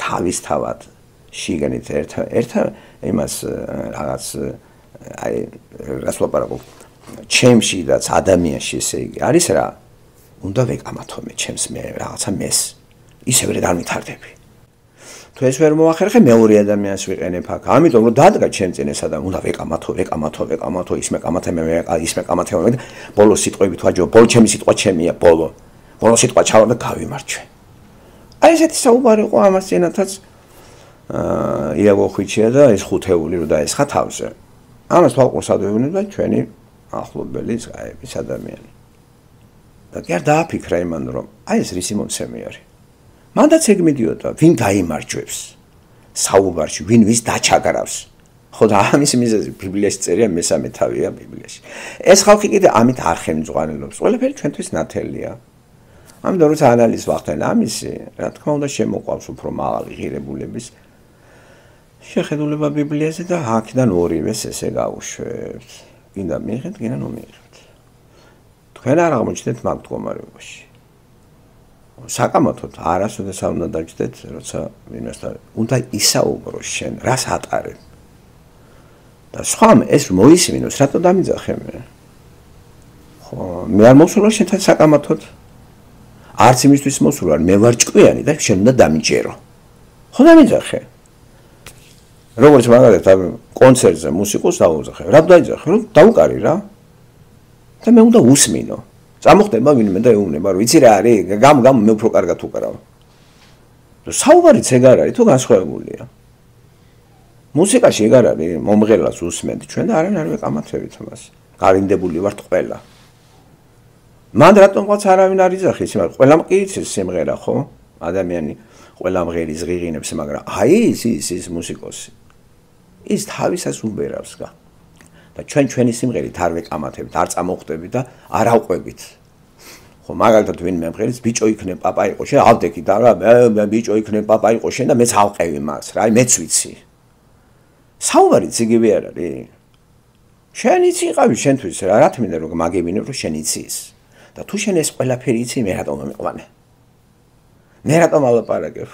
თავისთავად შიგნით ერთ ერთ იმას რაღაც აი რას ვაპარაკობ ჩემში და ადამიანში ესე იგი არის რა უნდა ვეკამათო მე ჩემს მე რაღაცა მეს ისევ ვერ დამითარდები თუ ეს ვერ მოახერხე მეორე ადამიანს ვიყენებ აქ ამიტომ რომ დადგა ჩემ წინ ეს ადამიანი უნდა ვეკამათო ვეკამათო ვეკამათო ის მეკამათე მე ის მეკამათე მე ბოლო სიტყვებით ვაჯო ბოლო ჩემი სიტყვა ჩემია ბოლო ბოლო სიტყვა ჩავა და გავიმარჯვე აი ესეთი საუბარი ყო ამას წინათაც აა იაგო ხვიჩია და ეს ხუთეული რო დაესხა თავზე ამას თვალყურს ადვევნებდა ჩვენი ახლობელი ზღაების ადამიანი და კი არ დააფიქრა იმან რომ აი ეს რისი მომცემი არის მანდაც ეგ მიდიოდა ვინ გაიმარჯვებს საუბარში ვინ ვის დაჩაგრავს ხო და ამის მიზეზი ბიბლიაში წერია მესამე თავია ბიბლიაში ეს ხალხი კიდე ამით არ ხელმძღვანელობს ყველაფერი ჩვენთვის ნათელია ამიტომ როცა ანალიზს ვახდენ ამისი რა თქმა უნდა შემოყვავს უფრო მაღალი ღირებულების შეხედულება ბიბლიაზე და აქედან ორივეს ესე გავუშვებთ გინდა მიიღეთ გინდა ნუ მიიღეთ თქვენ არ აღმოჩნდეთ მაგ მდგომარეობაში საკამათოდ არასოდეს არ უნდა დაჯდეთ როცა ვინმესთან უნდა ისაუბრო შენ რას ატარებ და სხვამ ეს მოისმინოს რატო დამიძახე მე ხო მე არ მოსულა შენთან საკამათოდ არც იმისთვის მოსულა მე ვარ ჭკვიანი და შენ უნდა დამიჯერო ხო დამიძახე როგორც მაგალითად კონცერტზე მუსიკოს დაუძახე რა დაიძახე რომ დაუკარი რა და მე უნდა უსმინო წამოხდება ვინმე და ეუბნება რომ იცი რა არის გამ გამ მე უფრო კარგად უკრავ საუბარიც ეგ არ არის თუ განსხვავებულია მუსიკაში ეგ არ არის მომღერლას უსმენთ ჩვენ და არიან არ ვეკამათებით მას გარინდებული ვართ ყველა მან რატომღაც არავინ არ იძახის მაგრამ ყველამ კი იცის სიმღერა ხო ადამიანი ყველა მღერის ღიღინებს მაგრამ აი ის ის ის მუსიკოსი ის თავისას უბერავს გა და ჩვენ ჩვენი სიმღერით არ ვეკამათებით, არ წამოხვდებით და არ ავყვებით. ხო, მაგალითად ვინმე მღერის ბიჭო იქნებ პაპა იყო, შენ ავდექი და რა მე ბიჭო იქნებ პაპა იყო შენ და მეც ავყევი მას, რა, მეც ვიცი. საუბარიც იგივე არ არის. შენ იცი იყავი შენთვის რა, რა თქმა უნდა რომ მაგებინებ რომ შენ იცის. და თუ შენ ეს ყველაფერი იცი, მე რატომ მომიყვანე? მე რატომ ალაპარაკებ?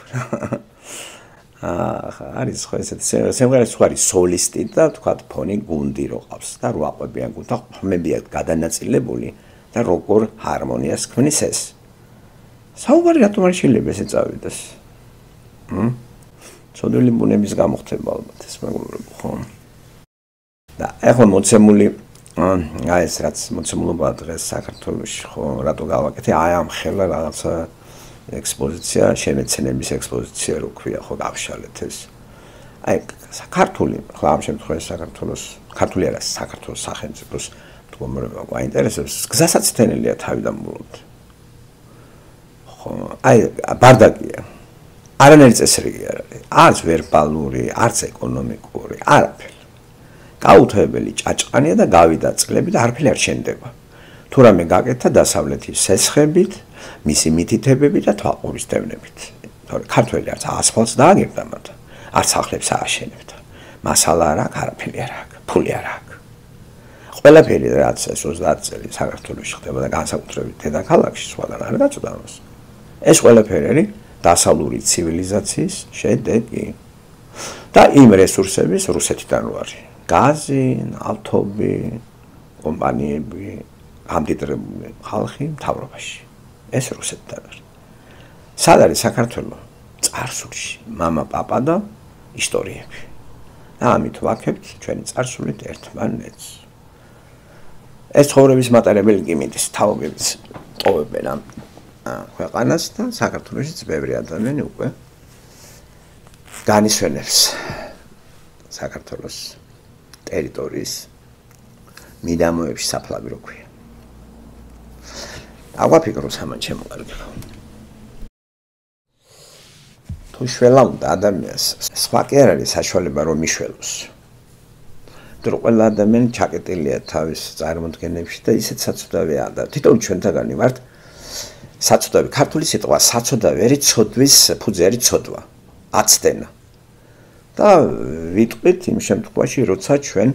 აა არის ხო ესეთ სიმღერას ხო არის სოლისტი და თქვათ ფონი გუნდი რო ყავს და რო აყვებიან გუნდა ხმებია გადანაწილებული და როგორ ჰარმონიას ქმნის ეს საუბარი რატომ არ შეიძლება ესე წავიდეს მ ცოდვილი ბუნების გამოხდება ალბათ ეს მეგობრებო, ხო? და ახლა მოცემული აი ეს რაც მოცემულობა დღეს საქართველოში, ხო, რატო გავაკეთე? აი ამ ხელა რაღაცა ექსპოზიცია, შემეცნების ექსპოზიცია რო ქვია, ხო, გავშალეთ ეს. აი საქართველი, ხო, ამ შემთხვევაში საქართველოს, ქართული არა, საქართველოს სახელმწიფოს მდგომარეობა გვაინტერესებს, გზასაცდენელია თავიდან ბოლომდე. ხო, აი ბარდაკია. არანაირი წესრიგი არ არის. არც ვერბალური, არც ეკონომიკური, არაფერი. გაუთავებელი ჭაჭყანია და გავიდა წლები და არაფერი არ შენდება. თუ რამე გაკეთა დასავლეთის სესხებით, მისი მითითებებით და თვალყურის დევნებით. თორე ქართველი არც ასფალტს დააგებდა მათ, არც სახლებს ააშენებდა. მასალა არ აქვს, არაფერი არ აქვს, ფული არ აქვს. ყველაფერი რაც ეს ოცდაათი წელი საქართველოში ხდება და განსაკუთრებით დედაქალაქში სხვაგან არ გაწვდა ამას. ეს ყველაფერი არის დასავლური ცივილიზაციის შედეგი და იმ რესურსების რუსეთიდან ვარი. გაზი, ნავთობი, კომპანიები, ამდიდრებული ხალხი მთავრობაში. ეს რუსეთიდან არის. სად არის საქართველო? წარსულში, მამა, პაპა და ისტორიები. და ამით ვაქებთ ჩვენი წარსულით ერთმანეთს. ეს ცხოვრების მატარებელი გიმიტის თაობებს ტოვებენ ამ ქვეყანას და საქართველოშიც ბევრი ადამიანი უკვე განისვენებს საქართველოს ტერიტორიის მიდამოებში საფლავი რო ქვია. აგვაფიქროს ამან ჩემო კარგო. თუ შველა უნდა ადამიანს, სხვა კი არ არის საშუალება რომ მიშველოს. თუ ყველა ადამიანი ჩაკეტილია თავის წარმოდგენებში და ისეთ საცუდავია და თვითონ ჩვენთაგანი ვართ საცუდავი, ქართული სიტყვა საცუდავი არის ცოდვის ფუძე არის ცოდვა, აცდენა. და ვიტყვით იმ შემთხვევაში, როცა ჩვენ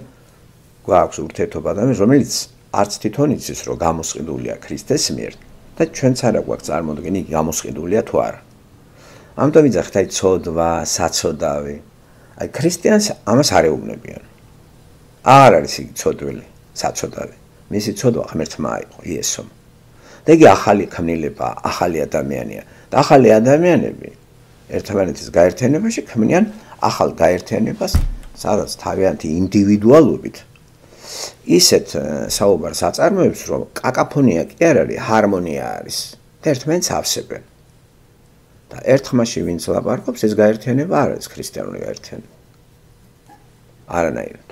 გვაქვს ურთიერთობა ადამიანს, რომელიც არც თვითონ იცის, რომ გამოსყიდულია ქრისტეს მიერ და ჩვენც არა გვაქვს წარმოდგენი, გამოსყიდულია თუ არა. ამიტომ ვიძახით აი ცოდვა, საცოდავი. აი ქრისტიანს ამას არ ეუბნებიან. არ არის იგი ცოდვილი, საცოდავი. მისი ცოდვა ღმერთმა აიყო იესომ. და იგი ახალი ქმნილება, ახალი ადამიანია. და ახალი ადამიანები ერთმანეთის გაერთიანებაში ქმნიან ახალ გაერთიანებას, სადაც თავიანთი ინდივიდუალობით ისეთ საუბარს აწარმოებს, რომ კაკაფონია კი არ არის, ჰარმონია არის. და ერთმანეთს ავსებენ. და ერთხმაში ვინც ლაპარაკობს, ეს გაერთიანება არ არის ქრისტიანული გაერთიანება. არანაირად.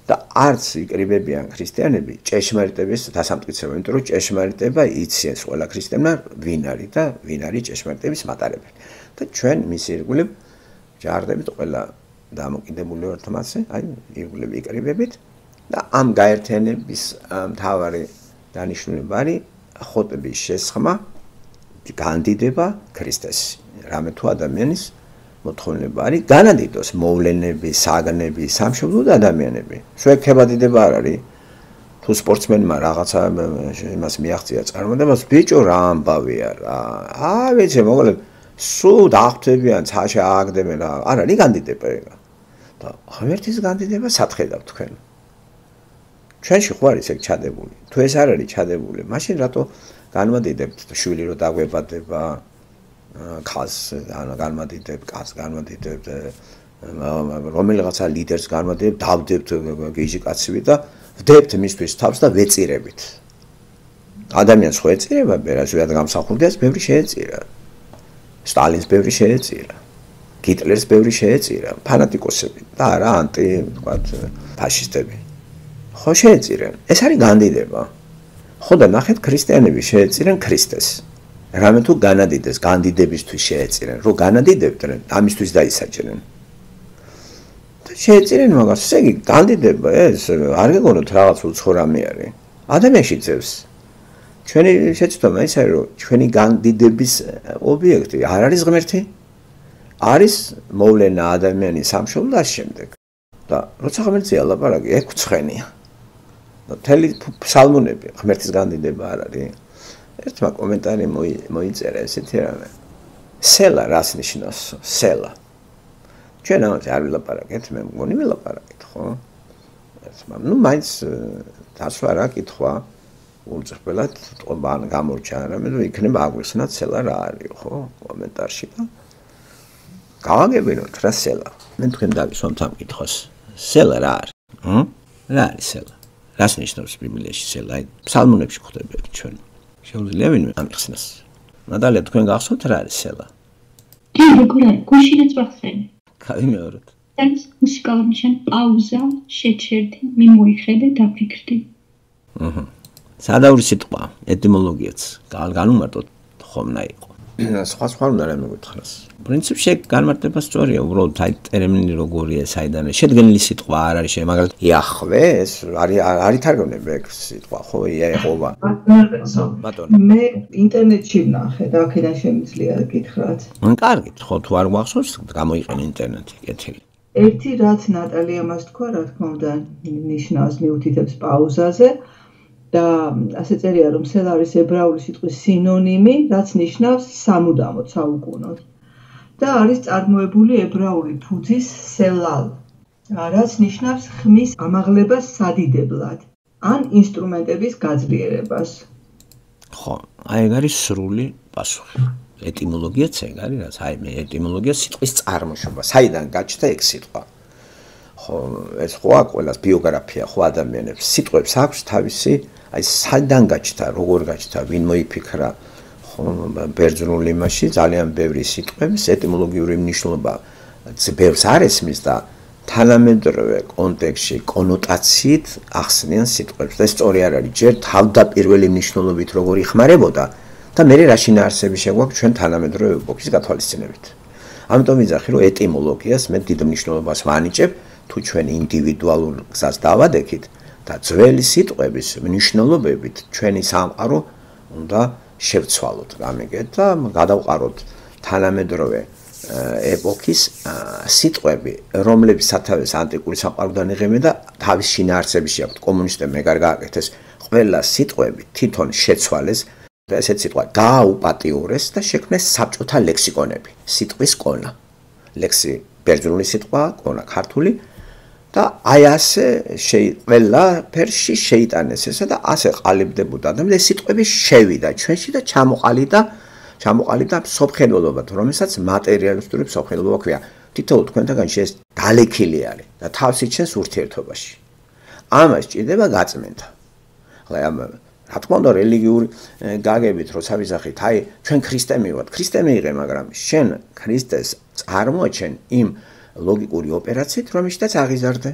და არც იკრიბებიან ქრისტიანები ჭეშმარიტების დასამტკიცება, იმიტომ რომ ჭეშმარიტება იციან ყველა ქრისტიანმა ვინ არის და ვინ არის ჭეშმარიტების მატარებელი. და ჩვენ მის ირგვლივ ჯარდებით ყველა დამოკიდებული ვართ მასზე, აი ირგვლივ იკრიბებით და ამ გაერთიანების მთავარი დანიშნულება არის ხოტების შესხმა, განდიდება ქრისტეს. რამე თუ ადამიანის მოთხოვნილება არის განადიდოს მოვლენები, საგნები, სამშობლო და ადამიანები. სვექება დიდება არ არის. თუ სპორტსმენმა რაღაცა იმას მიაღწია წარმოდებას, ბიჭო რა ამბავია რა. აა ვიცი, მოკლედ სულ დახვდებიან, ცაში ააგდებენ რა. არ არის განდიდება ეგა. და ღმერთის განდიდება სათხედავ თქვენ. ჩვენში ხო არის ეგ ჩადებული. თუ ეს არ არის ჩადებული, მაშინ რატო განვადიდებთ შვილი რო დაგვებადება ქალს განვადიდებ, კაცს განვადიდებ, რომელიღაცა ლიდერს განვადიდებ, დავდებთ გიჟი კაცივი და ვდებთ მისთვის თავს და ვეწირებით. ადამიანს ხო ეწირება, ბერაზვიად გამსახურდიას ბევრი შეეწირა. სტალინს ბევრი შეეწირა. გიტლერს ბევრი შეეწირა, ფანატიკოსები და არა ანტი, ვთქვათ, ფაშისტები. ხო შეეწირენ. ეს არის განდიდება. ხო და ნახეთ ქრისტიანები შეეწირენ ქრისტეს. რამე თუ განადიდეს, განდიდებისთვის შეეწირენ, რომ განადიდებდნენ, ამისთვის დაისაჯნენ. და შეეწირენ მაგას, ესე იგი განდიდება ეს არ გეგონოთ რაღაც უცხო რამე არის. ადამიანში ძევს. ჩვენი შეცდომა ის არის, რომ ჩვენი განდიდების ობიექტი არ არის ღმერთი, არის მოვლენა ადამიანის სამშობლო და შემდეგ. და როცა ღმერთზე ალაპარაკი, ეგ ცხენია. და თელი ფსალმუნები ღმერთის განდიდება არ არის. ერთმა კომენტარი მოიწერა ესეთი რამე. სელა რას ნიშნავს? სელა. ჩვენ ამაზე არ ვილაპარაკეთ, მე მგონი ვილაპარაკეთ, ხო? ერთმა, ნუ მაინც დასვა რა კითხვა უწყებელად ტყობან გამორჩა რამე და იქნება აგვიხსნათ სელა რა არის, ხო? კომენტარში და გავაგებინოთ რა სელა. მე თქვენ დავისვამთ ამ კითხვას. სელა რა არის? ჰმ? რა არის სელა? რას ნიშნავს ბიბლიაში სელა? აი, ფსალმუნებში გვხვდება ჩვენ. შეუძლია ვინმე ამიხსნას. ნადალია თქვენ გახსოვთ რა არის სელა? კი, როგორ არის? გუშინაც ვახსენე. გავიმეოროთ. ეს მუსიკალური ნიშანი პაუზა, შეჩერდი, მიმოიხედე, დაფიქრდი. აჰა. სადავრი სიტყვა, ეტიმოლოგიაც განუმარტოთ ხომ უნდა იყო. სხვა სხვა უნდა რამე გითხრას. პრინციპში განმარტება სწორია, უბრალოდ აი ტერმინი როგორია, საიდან შედგენილი სიტყვა არ არის, მაგალითად იახვე, ეს არის არის თარგმნები ეგ სიტყვა, ხო, იაეყობა. ბატონო. მე ინტერნეტში ვნახე და აქედან შემიძლია გითხრათ. მან კარგით, ხო, თუ არ გვახსოვს, გამოიყენ ინტერნეტი, კეთილი. ერთი რაც ნატალია მას თქვა, რა თქმა უნდა, ნიშნავს მიუთითებს პაუზაზე. და ასე წერია რომ სელა არის ებრაული სიტყვის სინონიმი, რაც ნიშნავს სამუდამოდ, საუკუნოდ. და არის წარმოებული ებრაული ფუძის სელალ, რაც ნიშნავს ხმის ამაღლებას სადიდებლად, ან ინსტრუმენტების გაძლიერებას. ხო, აი ეგ არის სრული პასუხი. ეტიმოლოგიაც ეგ არის, რაც აი მე ეტიმოლოგია სიტყვის წარმოშობა, საიდან გაჩნდა ეგ სიტყვა. ხო, ეს ხო ყველას ბიოგრაფია ხო ადამიანებს, სიტყვებს აქვს თავისი აი საიდან გაჩნდა, როგორ გაჩნდა, ვინ მოიფიქრა, ხო, ბერძნულ იმაში ძალიან ბევრი სიტყვების ეტიმოლოგიური მნიშვნელობა ბევრს არ ესმის და თანამედროვე კონტექსტში კონოტაციით ახსნიან სიტყვებს. და სწორი არ არის, ჯერ თავდაპირველი მნიშვნელობით როგორ იხმარებოდა და მე რაში ნაარსები შეგვაქვს ჩვენ თანამედროვე ეპოქის გათვალისწინებით. ამიტომ ვიძახი, რომ ეტიმოლოგიას მე დიდ მნიშვნელობას ვანიჭებ, თუ ჩვენ ინდივიდუალურ გზას დავადექით და ძველი სიტყვების მნიშვნელობებით ჩვენი სამყარო უნდა შევცვალოთ გამიგეთ და გადავყაროთ თანამედროვე ეპოქის სიტყვები, რომლებიც სათავეს ანტიკური სამყაროდან იღებენ და თავის შინაარსებში აქვთ. კომუნისტებმა ეგ არ გააკეთეს, ყველა სიტყვები თვითონ შეცვალეს და ესეთ სიტყვა გააუპატიურეს და შექმნეს საბჭოთა ლექსიკონები, სიტყვის კონა. ლექსი ბერძნული სიტყვა, კონა ქართული. და აი ასე ყველა ფერში შეიტანეს ესა და ასე ყალიბდებოდა და ეს სიტყვები შევიდა ჩვენში და ჩამოყალიბდა ჩამოყალიბდა სოფხელობად, რომელსაც მატერიალისტური სოფხელობა ქვია. თითოეულ თქვენთაგანში ეს დალექილი არის და თავს იჩენს ურთიერთობაში. ამას ჭირდება გაწმენდა. ახლა ამ რა თქმა უნდა რელიგიური გაგებით როცა ვიზახით, აი ჩვენ ქრისტე მივიღეთ, ქრისტე მიიღე, მაგრამ შენ ქრისტეს წარმოაჩენ იმ ლოგიკური ოპერაციით, რომელშიც აღიზარდე.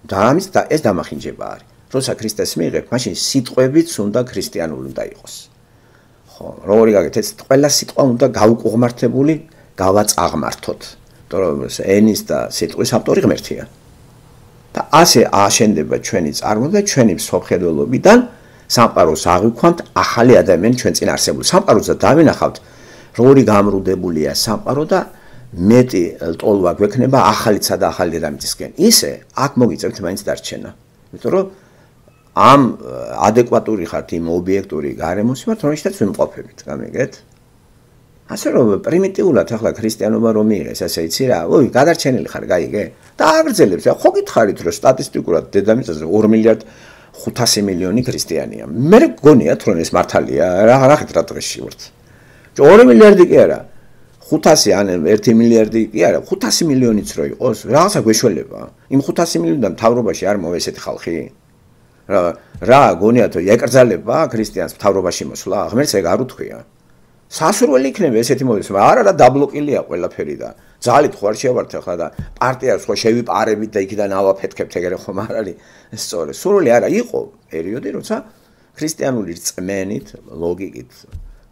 და ამის და ეს დამახინჯება არის. როცა ქრისტეს მიიღებ, მაშინ სიტყვებიც უნდა ქრისტიანული უნდა იყოს. ხო, როგორი გაგეთ, ყველა სიტყვა უნდა გაუკუღმართებული, გავაწაღმართოთ. იმიტომ რომ ენის და სიტყვის ავტორი ღმერთია. და ასე აშენდება ჩვენი წარმოება და ჩვენი მსოფლმხედველობიდან სამყაროს აღვიქვამთ ახალი ადამიანი ჩვენ წინ არსებული. სამყაროზე დავინახავთ, როგორი გამრუდებულია სამყარო და მეტი ტოლვა გვექნება ახალიცა და ახალი დედამიწისკენ. ისე აქ მოგიწევთ მაინც დარჩენა. იმიტომ რომ ამ ადეკვატური ხართ იმ ობიექტური გარემოს ვართ, რომელშიც ვიმყოფებით, გამიგეთ? ასე რომ პრიმიტიულად ახლა ქრისტიანობა რომ მიიღეს, ასე იცი რა, ой, გადარჩენილი ხარ, გაიგე? და აგრძელებს, ხო გითხარით რომ სტატისტიკურად დედამიწაზე ორი მილიარდ ხუთასი მილიონი ქრისტიანია. მე გგონიათ რომ ეს მართალია, რა რახეთ რა დღეში ვართ. ორი მილიარდი კი არა. ხუთასი ან ერთი მილიარდი კი არა, ხუთასი მილიონიც რო იყოს, რაღაცა გვეშველება. იმ ხუთასი მილიონიდან მთავრობაში არ მოვა ესეთი ხალხი? რა რა გონიათ რომ ეკრძალება ქრისტიანს მთავრობაში მოსვლა? ღმერთს ეგ არ უთქვია. სასურველი იქნება ესეთი მოდის, მაგრამ არა რა დაბლოკილია ყველაფერი და ძალით ხო არ შევართ ახლა და პარტიას ხო შევიპარებით და იქიდან ავაფეთქებთ ეგრე ხომ არ არის სწორი. სურვილი არა იყო პერიოდი, როცა ქრისტიანული რწმენით, ლოგიკით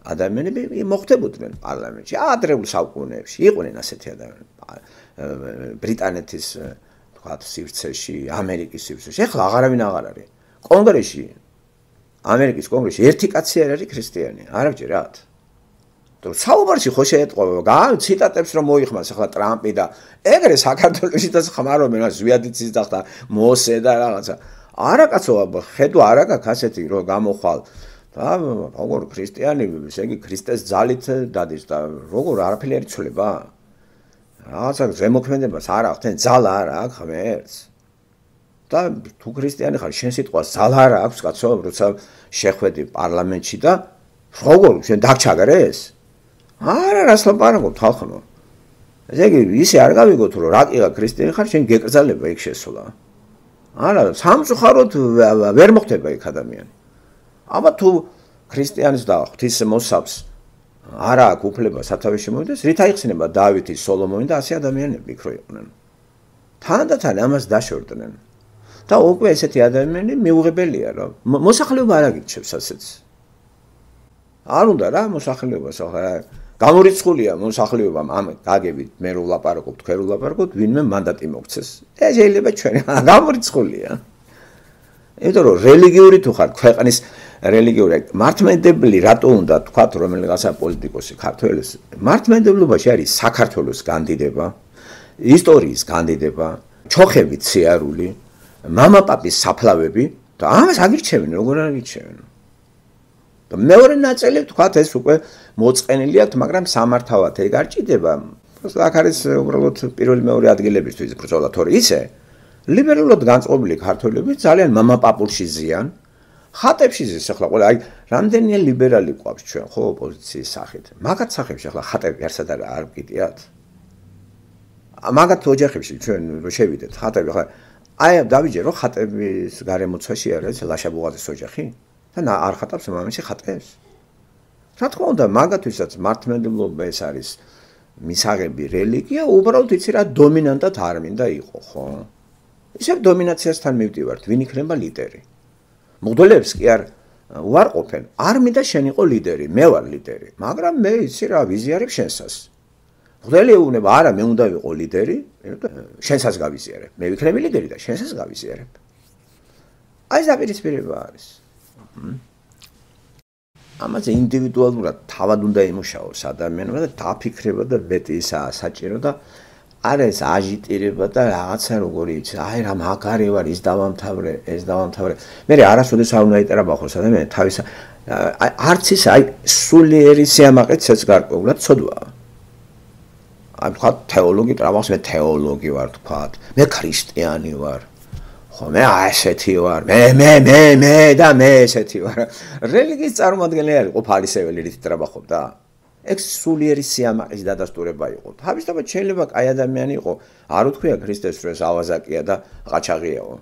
ადამიანები მოხდებოდნენ პარლამენტში, ადრეულ საუკუნეებში იყვნენ ასეთი ადამიანები. ბრიტანეთის თქვათ სივრცეში, ამერიკის სივრცეში, ეხლა აღარავინ აღარ არის. კონგრესში, ამერიკის კონგრესში ერთი კაცი არ არის ქრისტიანი, არ ვჯერათ. საუბარში ხო შეეტყობა, გა ციტატებს რომ მოიხმას ახლა ტრამპი და ეგრე საქართველოშიც ხმარობენ ზვიადიცის და ხა მოსე და რაღაცა. არა კაცო, ხედვა არა გაქვს ასეთი რომ გამოხვალ და როგორ ქრისტიანი, ესე იგი ქრისტეს ძალით დადის და როგორ არაფერი არ იცვლება. რაღაცა ზემოქმედებას არ აქვს, თენ ძალა არ აქვს ღმერთს. და თუ ქრისტიანი ხარ, შენ სიტყვას ძალა არ აქვს კაცო, როცა შეხვედი პარლამენტში და როგორ შენ დაგჩაგრეს? არა, რას ლაპარაკობ ხალხო. ესე იგი ისე არ გავიგოთ რომ რაკიღა ქრისტიანი ხარ შენ გეკრძალება იქ შესვლა. არა, სამწუხაროდ ვერ მოხდება იქ ადამიანი. აბა თუ ქრისტიანის და ღვთის მოსავს არა აქვს უფლება სათავეში შემოვიდეს, რით აიხსნება დავითი, სოლომონი და ასე ადამიანები იქ რო იყვნენ. თანდათან ამას დაშორდნენ. და უკვე ესეთი ადამიანები მიუღებელია რა. მოსახლეობა არ აგიჩნევს ასეთს. არ უნდა რა მოსახლეობას ახლა გამორიცხულია მოსახლეობამ ამ გაგებით მე რო ვლაპარაკობ თქვენ რო ვლაპარაკობთ ვინმე მანდატი მოგცეს. ეს შეიძლება ჩვენ გამორიცხულია. იმიტომ რომ რელიგიური თუ ხარ ქვეყნის რელიგიური მართლმადიდებელი რატო უნდა თქვათ რომელიღაცა პოლიტიკოსი ქართველის მართლმადიდებლობაში არის საქართველოს განდიდება, ისტორიის განდიდება, ჩოხებით სიარული, მამაპაპის საფლავები და ამას აგირჩევენ როგორ არ აგირჩევენ. და მეორე ნაწილი თქვათ ეს უკვე მოწყენილი აქვს, მაგრამ სამართავად ეგ არ ჭირდება. აქ არის უბრალოდ პირველი მეორე ადგილებისთვის ბრძოლა, თორე ისე ლიბერალურად განწყობილი ქართველები ძალიან მამაპაპულში ზიან. ხატებში ზის ახლა ყველა აი რამდენია ლიბერალი ყავს ჩვენ ხო ოპოზიციის სახით. მაგათ სახებში ახლა ხატები არსად არ გიტიათ. მაგათ ოჯახებში ჩვენ რო შევიდეთ ხატები ახლა აი დავიჯერო რომ ხატების გარემოცვაში არის ლაშაბუღაზის ოჯახი და არ ხატავს მამამისი ხატებს. რა თქმა უნდა მაგათვისაც მართლმადიდებლობა ეს არის მისაღები რელიგია უბრალოდ იცი რა დომინანტად არ მინდა იყო ხო. ისევ დომინაციასთან მივდივართ ვინ იქნება ლიდერი. მღვდლებს კი არ უარყოფენ, არ მინდა შენ იყო ლიდერი, მე ვარ ლიდერი, მაგრამ მე იცი რა ვიზიარებ შენსას. მღვდელი ეუბნება, არა, მე უნდა ვიყო ლიდერი, შენსას გავიზიარებ. მე ვიქნები ლიდერი და შენსას გავიზიარებ. აი ეს დაპირისპირება არის. ამაზე ინდივიდუალურად თავად უნდა იმუშაოს ადამიანმა და დაფიქრება და მეტისაა საჭირო და არა ეს აჟიტირება და რაღაცა როგორი იცი, აი რა მაგარი ვარ, ის დავამთავრე, ეს დავამთავრე. მე არასოდეს არ უნდა იტერაბახოს ადამიანი თავის არც ის აი სულიერი სიამაყეც ეს გარკვეულად ცოდვაა. აი თქვა თეოლოგი ტრაბახს, მე თეოლოგი ვარ თქვა, მე ქრისტიანი ვარ. ხო მე ასეთი ვარ, მე მე მე მე და მე ესეთი ვარ. რელიგიის წარმომადგენელი არის ყოფალისეველი რით ტრაბახობდა. ეგ სულიერი სიამაყის დადასტურება იყო. თავისთავად შეიძლება კაი ადამიანი იყო, არ უთქვია ქრისტეს რომ ეს ავაზაკია და ყაჩაღიაო.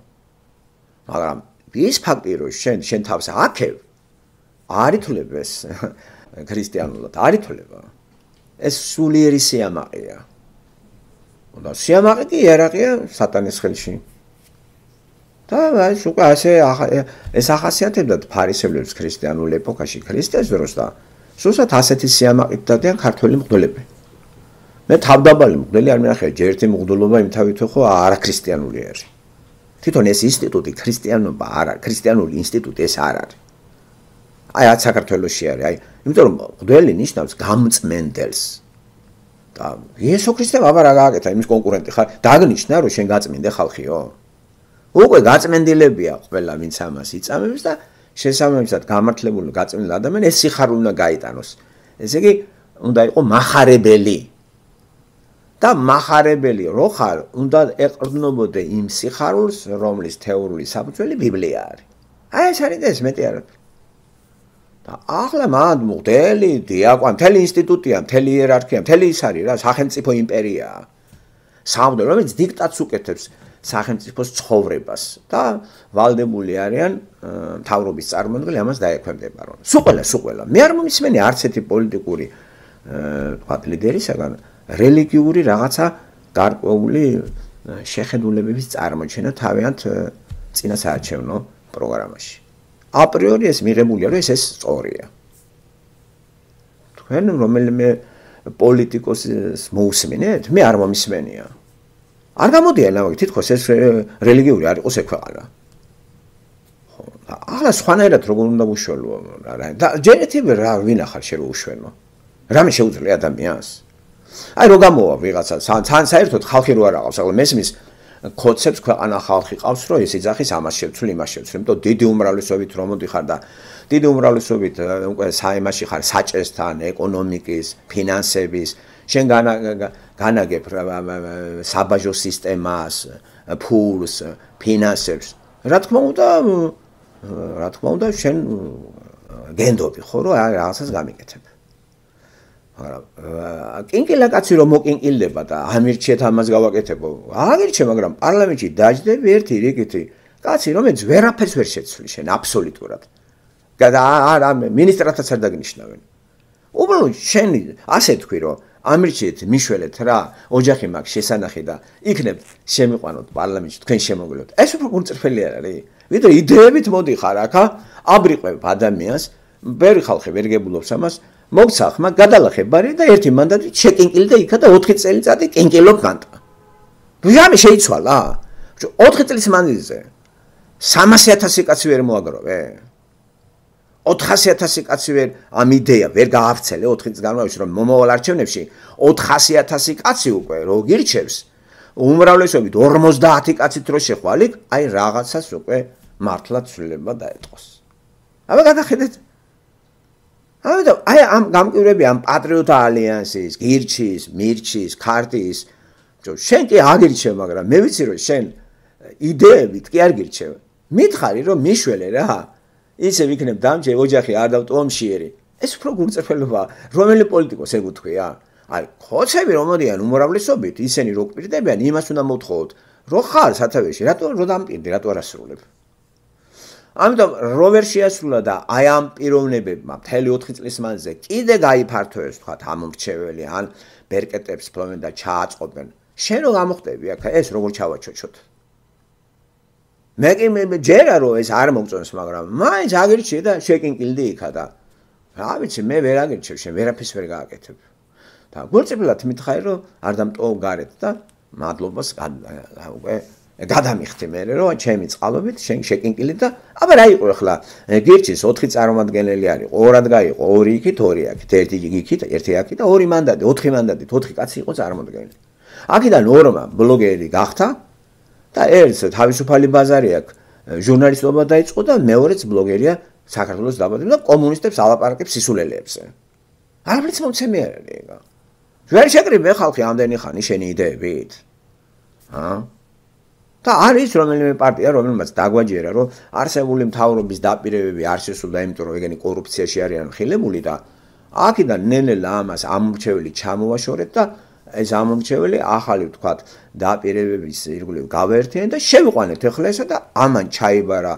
მაგრამ ის ფაქტი რომ შენ შენ თავს აქევ არ ითვლებს ქრისტიანულად, არ ითვლება. ეს სულიერი სიამაყეა. და სიამაყე კი იარაღია სატანის ხელში. და აი უკვე ასე ეს ახასიათებდა ფარისევლებს ქრისტიანულ ეპოქაში ქრისტეს დროს და სულსაც ასეთი სიამაყით დადიან ქართველი მღვდლები. მე თავდაბალი მღვდელი არ მინახია, ჯერ ერთი მღვდლობა იმთავითო ხო არაქრისტიანული არის. თვითონ ეს ინსტიტუტი ქრისტიანობა არ არის, ქრისტიანული ინსტიტუტი ეს არ არის. აი აქ საქართველოში არის, აი, იმიტომ რომ მღვდელი ნიშნავს გამწმენდელს. და იესო ქრისტემ აბა რა გააკეთა იმის კონკურენტი ხარ, დაგნიშნა რომ შენ გაწმინდე ხალხიო. უკვე გაწმენდილებია ყველა ვინც ამას იწამებს და შესაბამისად გამართლებული გაწმენდილი ადამიანი ეს სიხარული უნდა გაიტანოს. ესე იგი უნდა იყოს מחარებელი. და מחარებელი რო ხარ, უნდა ეყრდნობოდე იმ სიხარულს, რომლის თეორიული საფუძველი ბიბლია არის. აი ეს არის ეს მეტი არა. და ახლა მან მღვდელი, დიაკვანი, მთელი ინსტიტუტია, მთელი იერარქია, მთელი ის არის რა, სახელმწიფო იმპერიაა. სამღვდელო, რომელიც დიქტატს უკეთებს სახელმწიფოს ცხოვრებას და ვალდებული არიან მთავრობის წარმომადგენლები ამას დაექვემდებარონ. სულ ყველა, სულ ყველა. მე არ მომისმენი არც ერთი პოლიტიკური თქვა ლიდერისაგან რელიგიური რაღაცა გარკვეული შეხედულებების წარმოჩენა თავიანთ წინა საარჩევნო პროგრამაში. აპრიორი ეს მიღებულია, რომ ეს ეს სწორია. თქვენ რომელიმე პოლიტიკოსს მოусმენთ? მე არ მომისმენია. არ გამოდიან ამაგ თითქოს ეს რელიგიური არ იყოს ექვეყანა. ხო, ახლა სხვანაირად როგორ უნდა უშველო რა და ჯერეთივე რა ვინახარ შეიძლება უშვენო. რამე შეუძლია ადამიანს. აი რო გამოვა ვიღაცა თან საერთოდ ხალხი რო არ აღავს, ახლა მესმის კონცეფტს ქვეყანა ხალხი ყავს, რომ ეს იძახის ამას შევცვლი, იმას შევცვლი, იმიტომ დიდი უმრავლესობით რომ მოდიხარ და დიდი უმრავლესობით უკვე საიმაში ხარ საჭესთან, ეკონომიკის, ფინანსების შენ განაგებ საბაჟო სისტემას, ფულს, ფინანსებს. რა თქმა უნდა, რა თქმა უნდა შენ გენდობი ხო, რომ რაღაცას გამიკეთებ. მაგრამ კინკილა კაცი რომ მოკინკილდება და ამირჩიეთ ამას გავაკეთებო. აგირჩე, მაგრამ პარლამენტში დაждები ერთი რიგითი კაცი, რომელიც ვერაფერს ვერ შეცვლი შენ აბსოლუტურად. და არა მინისტრათაც არ დაგნიშნავენ. უბრალოდ შენ ასე თქვი რომ ამირჩიეთ მიშველეთ რა, ოჯახი მაქვს შესანახი და იქნებ შემიყვანოთ პარლამენტში თქვენ შემოგვიდოთ. ეს უფრო გულწრფელი არ არის. ვიდრე იდეებით მოდიხარ აქა, აბრიყვებ ადამიანს, ბევრი ხალხი ვერ გებულობს ამას, მოგცა ხმა, გადალახებ ბარი და ერთი მანდატით შეკინკილდა იქა და ოთხი წელიწადი კინკილობ განტა. ვიღამე შეიცვალა? ოთხი წლის მანძილზე სამასი ათასი კაცი ვერ მოაგროვე? ოთხასი ათასი კაცი ვერ ამ იდეა ვერ გაავრცელე ოთხი წლის განმავლობაში რომ მომავალ არჩევნებში ოთხასი ათასი კაცი უკვე რო გირჩევს უმრავლესობით ორმოცდაათი კაცით რო შეხვალიქ აი რაღაცას უკვე მართლაც ცვლილება დაეთყოს. აბა გადახედეთ. ამიტომ აი ამ გამკვირვები ამ პატრიოტთა ალიანსის, გირჩის, მირჩის, ქარტიის შენ კი აგირჩევ, მაგრამ მე ვიცი რომ შენ იდეებით კი არ გირჩევ. მითხარი რომ მიშველე რა ისე ვიქნებ დამჭე ოჯახი არ დავტომშიერი. ეს უფრო გულწრფელობაა. რომელი პოლიტიკოს ეგუთქვია? აი, ხოცები რომ მოდიან უმრავლესობით, ისინი რო კვირდებიან, იმას უნდა მოთხოვოთ. რო ხარ სათავეში, რატო რო დამპირდი, რატო არ ასრულებ? ამიტომ რო ვერ შეასრულა და აი ამ პიროვნებებმა მთელი ოთხი წლის მანძილზე კიდე გაიფართოეს თქვა ამ მრჩეველი ან ბერკეტებს ფლობენ და ჩააწყობენ. შენ რო გამოხდები აქ ეს როგორ ჩავაჩოჩოთ? მე კი მე ჯერა რომ ეს არ მოგწონს, მაგრამ მაინც აგირჩიე და შეკინკილდი იქა და რა ვიცი, მე ვერ აგირჩევ, შენ ვერაფერს ვერ გააკეთებ. და გულწრფელად მითხარი რომ არ დამტოვ გარეთ და მადლობას უკვე გადამიხდი მე რომ ჩემი წყალობით შენ შეკინკილი და აბა რა იყო ახლა გირჩის ოთხი წარმომადგენელი არის, ორად გაიყო, ორი იქით, ორი აქეთ, ერთი იქით, ერთი აქეთ და ორი მანდატი, ოთხი მანდატით, ოთხი კაცი იყო წარმომადგენელი. აქედან ორმა ბლოგერი გახდა და ერთს თავისუფალი ბაზარი აქვს, ჟურნალისტობა დაიწყო და მეორეც ბლოგერია საქართველოს დაბადება და კომუნისტებს ალაპარაკებს სისულელეებზე. არაფერს მომცემი არ არის ეგა. ვერ შეკრიბე ხალხი ამდენი ხანი შენი იდეებით. ჰა? და არის რომელიმე პარტია, რომელმაც დაგვაჯერა, რომ არსებული მთავრობის დაპირებები არ შესრულდა, იმიტომ რომ ეგენი კორუფციაში არიან ხილებული და აქედან ნელ-ნელა ამას ამორჩეველი ჩამოვაშორეთ და ეს ამორჩეველი ახალი ვთქვათ დაპირებების ირგვლივ გავაერთიანეთ და შევიყვანეთ ახლა ესა და ამან ჩაიბარა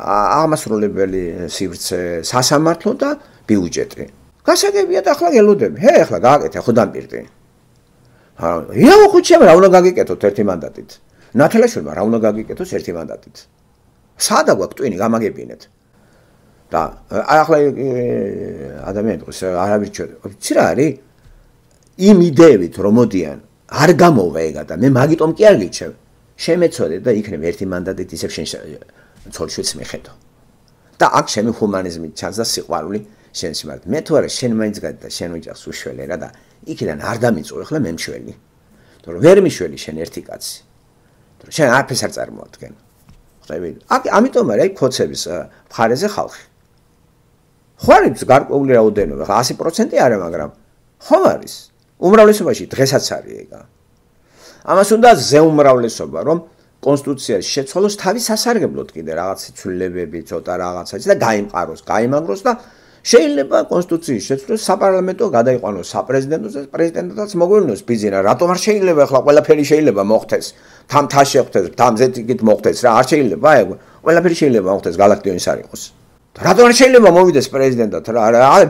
აღმასრულებელი სივრცე, სასამართლო და ბიუჯეტი. გასაგებია და ახლა გელოდები. ჰე, ახლა გააკეთე ხო დამპირდი. ჰა, იაო ხუჩემ რა უნდა გაგიკეთოთ ერთი მანდატით. ნათელაშვილმა რა უნდა გაგიკეთოს ერთი მანდატით. სადა გვაქვს ტვინი გამაგებინეთ. და ახლა ადამიანი დღეს არავის ჩვენ. იცი რა არის? იმ იდეებით რომ მოდიან არ გამოვა ეგა და მე მაგიტომ კი არ გიჩევ. შემეცოდე და იქნებ ერთი მანდატით ისევ შენ ცოლშვილს მიხედო. და აქ ჩემი ჰუმანიზმი ჩანს და სიყვარული შენ სიმართ. მე თუ არა შენ მაინც გადი და შენ ოჯახს უშველე რა და იქიდან არ დამიწო ახლა მე მშველი. თორე ვერ მიშველი შენ ერთი კაცი. თორე შენ არაფერს არ წარმოადგენ. ხვდები? აქ ამიტომ არის ქოცების მხარეზე ხალხი. ხო არის გარკვეული რაოდენობა, ასი პროცენტი არა, მაგრამ ხომ არის. უმრავლესობაში დღესაც არის ეგა. ამას უნდა ზეუმრავლესობა, რომ კონსტიტუციაში შეცვალოს თავის სასარგებლოდ კიდე რაღაც ცვლილებები, ცოტა რაღაცაც და გაიმყაროს, გაიმაგროს და შეიძლება კონსტიტუციის შეცვლას საპარლამენტო გადაიყვანოს საპრეზიდენტოს და პრეზიდენტადაც მოგვევლინოს ბიზინა. რატომ არ შეიძლება ახლა ყველაფერი შეიძლება მოხდეს? თან თა შეხვდეს, თამზე იქით მოხდეს რა, არ შეიძლება ეგ. ყველაფერი შეიძლება მოხდეს, galaktionis არ იყოს. რატომ არ შეიძლება მოვიდეს პრეზიდენტად რა?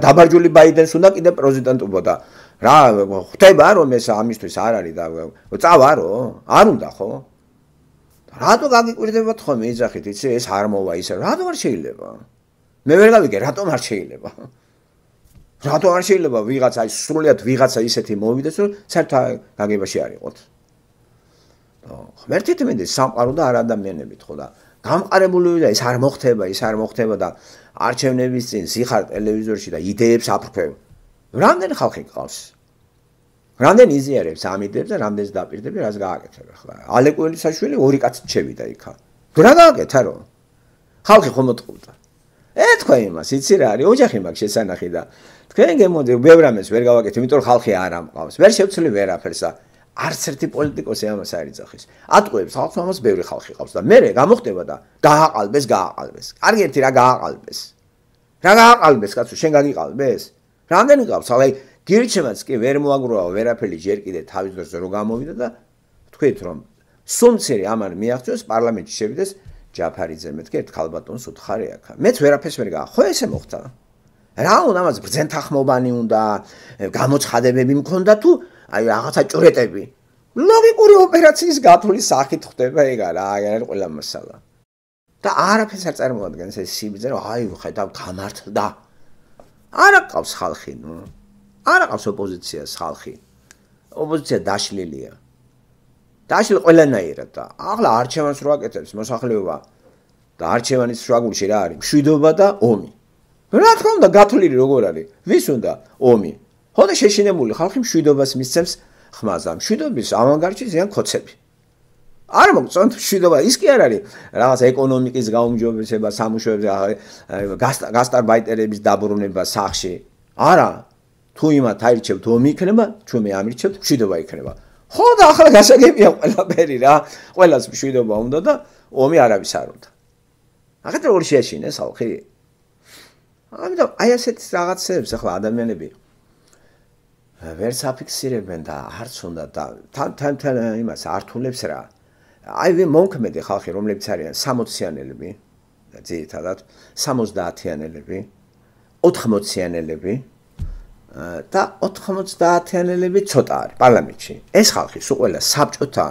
დაბარჯული ბაიდენს უნდა კიდე პრეზიდენტობა და რა ხდება რომ ეს ამისთვის არ არის და წავარო? არ უნდა ხო? რატო გაგიკვირდებათ ხოლმე იძახით, იცი ეს არ მოვა ისე. რატომ არ შეიძლება? მე ვერ გავიგე, რატომ არ შეიძლება? რატომ არ შეიძლება ვიღაცა აი სრულიად ვიღაცა ისეთი მოვიდეს, რომ საერთოდ გაგებაში არ იყოთ. ღმერთით მინდა სამყარო და არ ადამიანებით ხო და გამყარებული და ეს არ მოხდება, ის არ მოხდება და არჩევნების წინ სიხარ ტელევიზორში და იდეებს აფრქვევ. რამდენი ხალხი გყავს? რამდენი იზიარებს ამ იდეებს და რამდენს დაპირდები, რას გააკეთებ ახლა? ალეკო ელისაშვილი ორი კაცით შევიდა იქა. რა გააკეთა რომ? ხალხი ხომ მოტყუდა. ეთქვა იმას, იცი რა არის, ოჯახი მაქვს შესანახი და თქვენ გემოდე ბევრ ამას ვერ გავაკეთე, იმიტომ რომ ხალხი არ ამყავს. ვერ შევცვლი ვერაფერს და არც ერთი პოლიტიკოსი ამას არ იძახის. ატყუებს ხალხს ამას ბევრი ხალხი ყავს და მე გამოხდება და გააყალბეს, გააყალბეს. კარგი ერთი რა გააყალბეს. რა გააყალბეს კაცო, შენ გაგიყალბეს? რამდენი ყავს? აი გირჩევაც კი ვერ მოაგროვა ვერაფერი ჯერ კიდე თავის დროზე რო გამოვიდა და თქვით რომ სუმცერი ამან მიაღწიოს პარლამენტში შევიდეს ჯაფარიძე მეთქი ერთ ხალბატონს უთხარი აქ მეც ვერაფერს ვერ გა ხო ესე მოხდა რა უნდა ამას ბრძენთახმობანი უნდა გამოცხადებები მქონდა თუ აი რაღაცა ჭურეტები ლოგიკური ოპერაციის გათვლის სახით ხდება ეგ არა აი არ ყველა მასალა და არაფერს არ წარმოადგენს ეს სიბიძე რომ აი ხედავ გამართლდა არა ყავს ხალხი ნუ არა ყავს ოპოზიციას ხალხი ოპოზიცია დაშლილია დაშლილი ყველანაირად და ახლა არჩევანს რო აკეთებს მოსახლეობა და არჩევანის შუაგულში რა არის მშვიდობა და ომი რა თქმა უნდა გათვლილი როგორ არის ვის უნდა ომი ხოდა შეშინებული ხალხი მშვიდობას მისცემს ხმაზე მშვიდობის ავანგარდში ზიან ქოცები არ მოგწონთ მშვიდობა ის კი არ არის რაღაც ეკონომიკის გაუმჯობესება სამუშაოებზე გასტარბაიტერების დაბრუნება სახში არა თუ იმათ აირჩევთ ომი იქნება ჩვენ ამირჩევთ მშვიდობა იქნება ხო და ახლა გასაგებია ყველაფერი რა ყველას მშვიდობა უნდა და ომი არავის არ უნდა ახლა როგორ შეაშინეს ხალხი ამიტომ აი ასეთ რაღაცებს ახლა ადამიანები ვერც აფიქსირებენ და არც უნდა და თან თან იმას ართულებს რა აი მომქმედი ხალხი რომლებიც არიან სამოციანელები და ძირითადად სამოცდაათიანელები ოთხმოციანელები და ოთხმოცდაათიანელები ცოტა არის პარლამენტში ეს ხალხი სულ ყველა საბჭოთა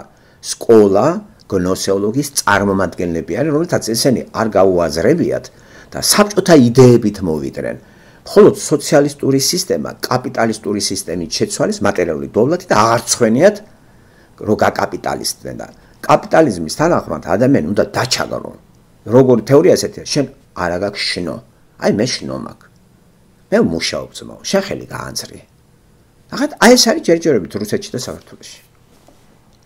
სკოლა გნოსეოლოგიის წარმომადგენლები არიან რომელთაც ესენი არ გაუაზრებიათ და საბჭოთა იდეებით მოვიდნენ მხოლოდ სოციალისტური სისტემა კაპიტალისტური სისტემით შეცვალეს მატერიული დოვლათი და აღარ ცხვენიათ რო გაკაპიტალისტდნენ და კაპიტალიზმის თანახმად ადამიანი უნდა დაჩაგრო როგორი თეორია ესეთია შენ არა გაქვს შნო აი მე შნო მაქვს მე მუშაობ ძმაო შენ ხელი გაანძრი ახლა აი ეს არის ჯერჯერობით რუსეთში და საქართველოში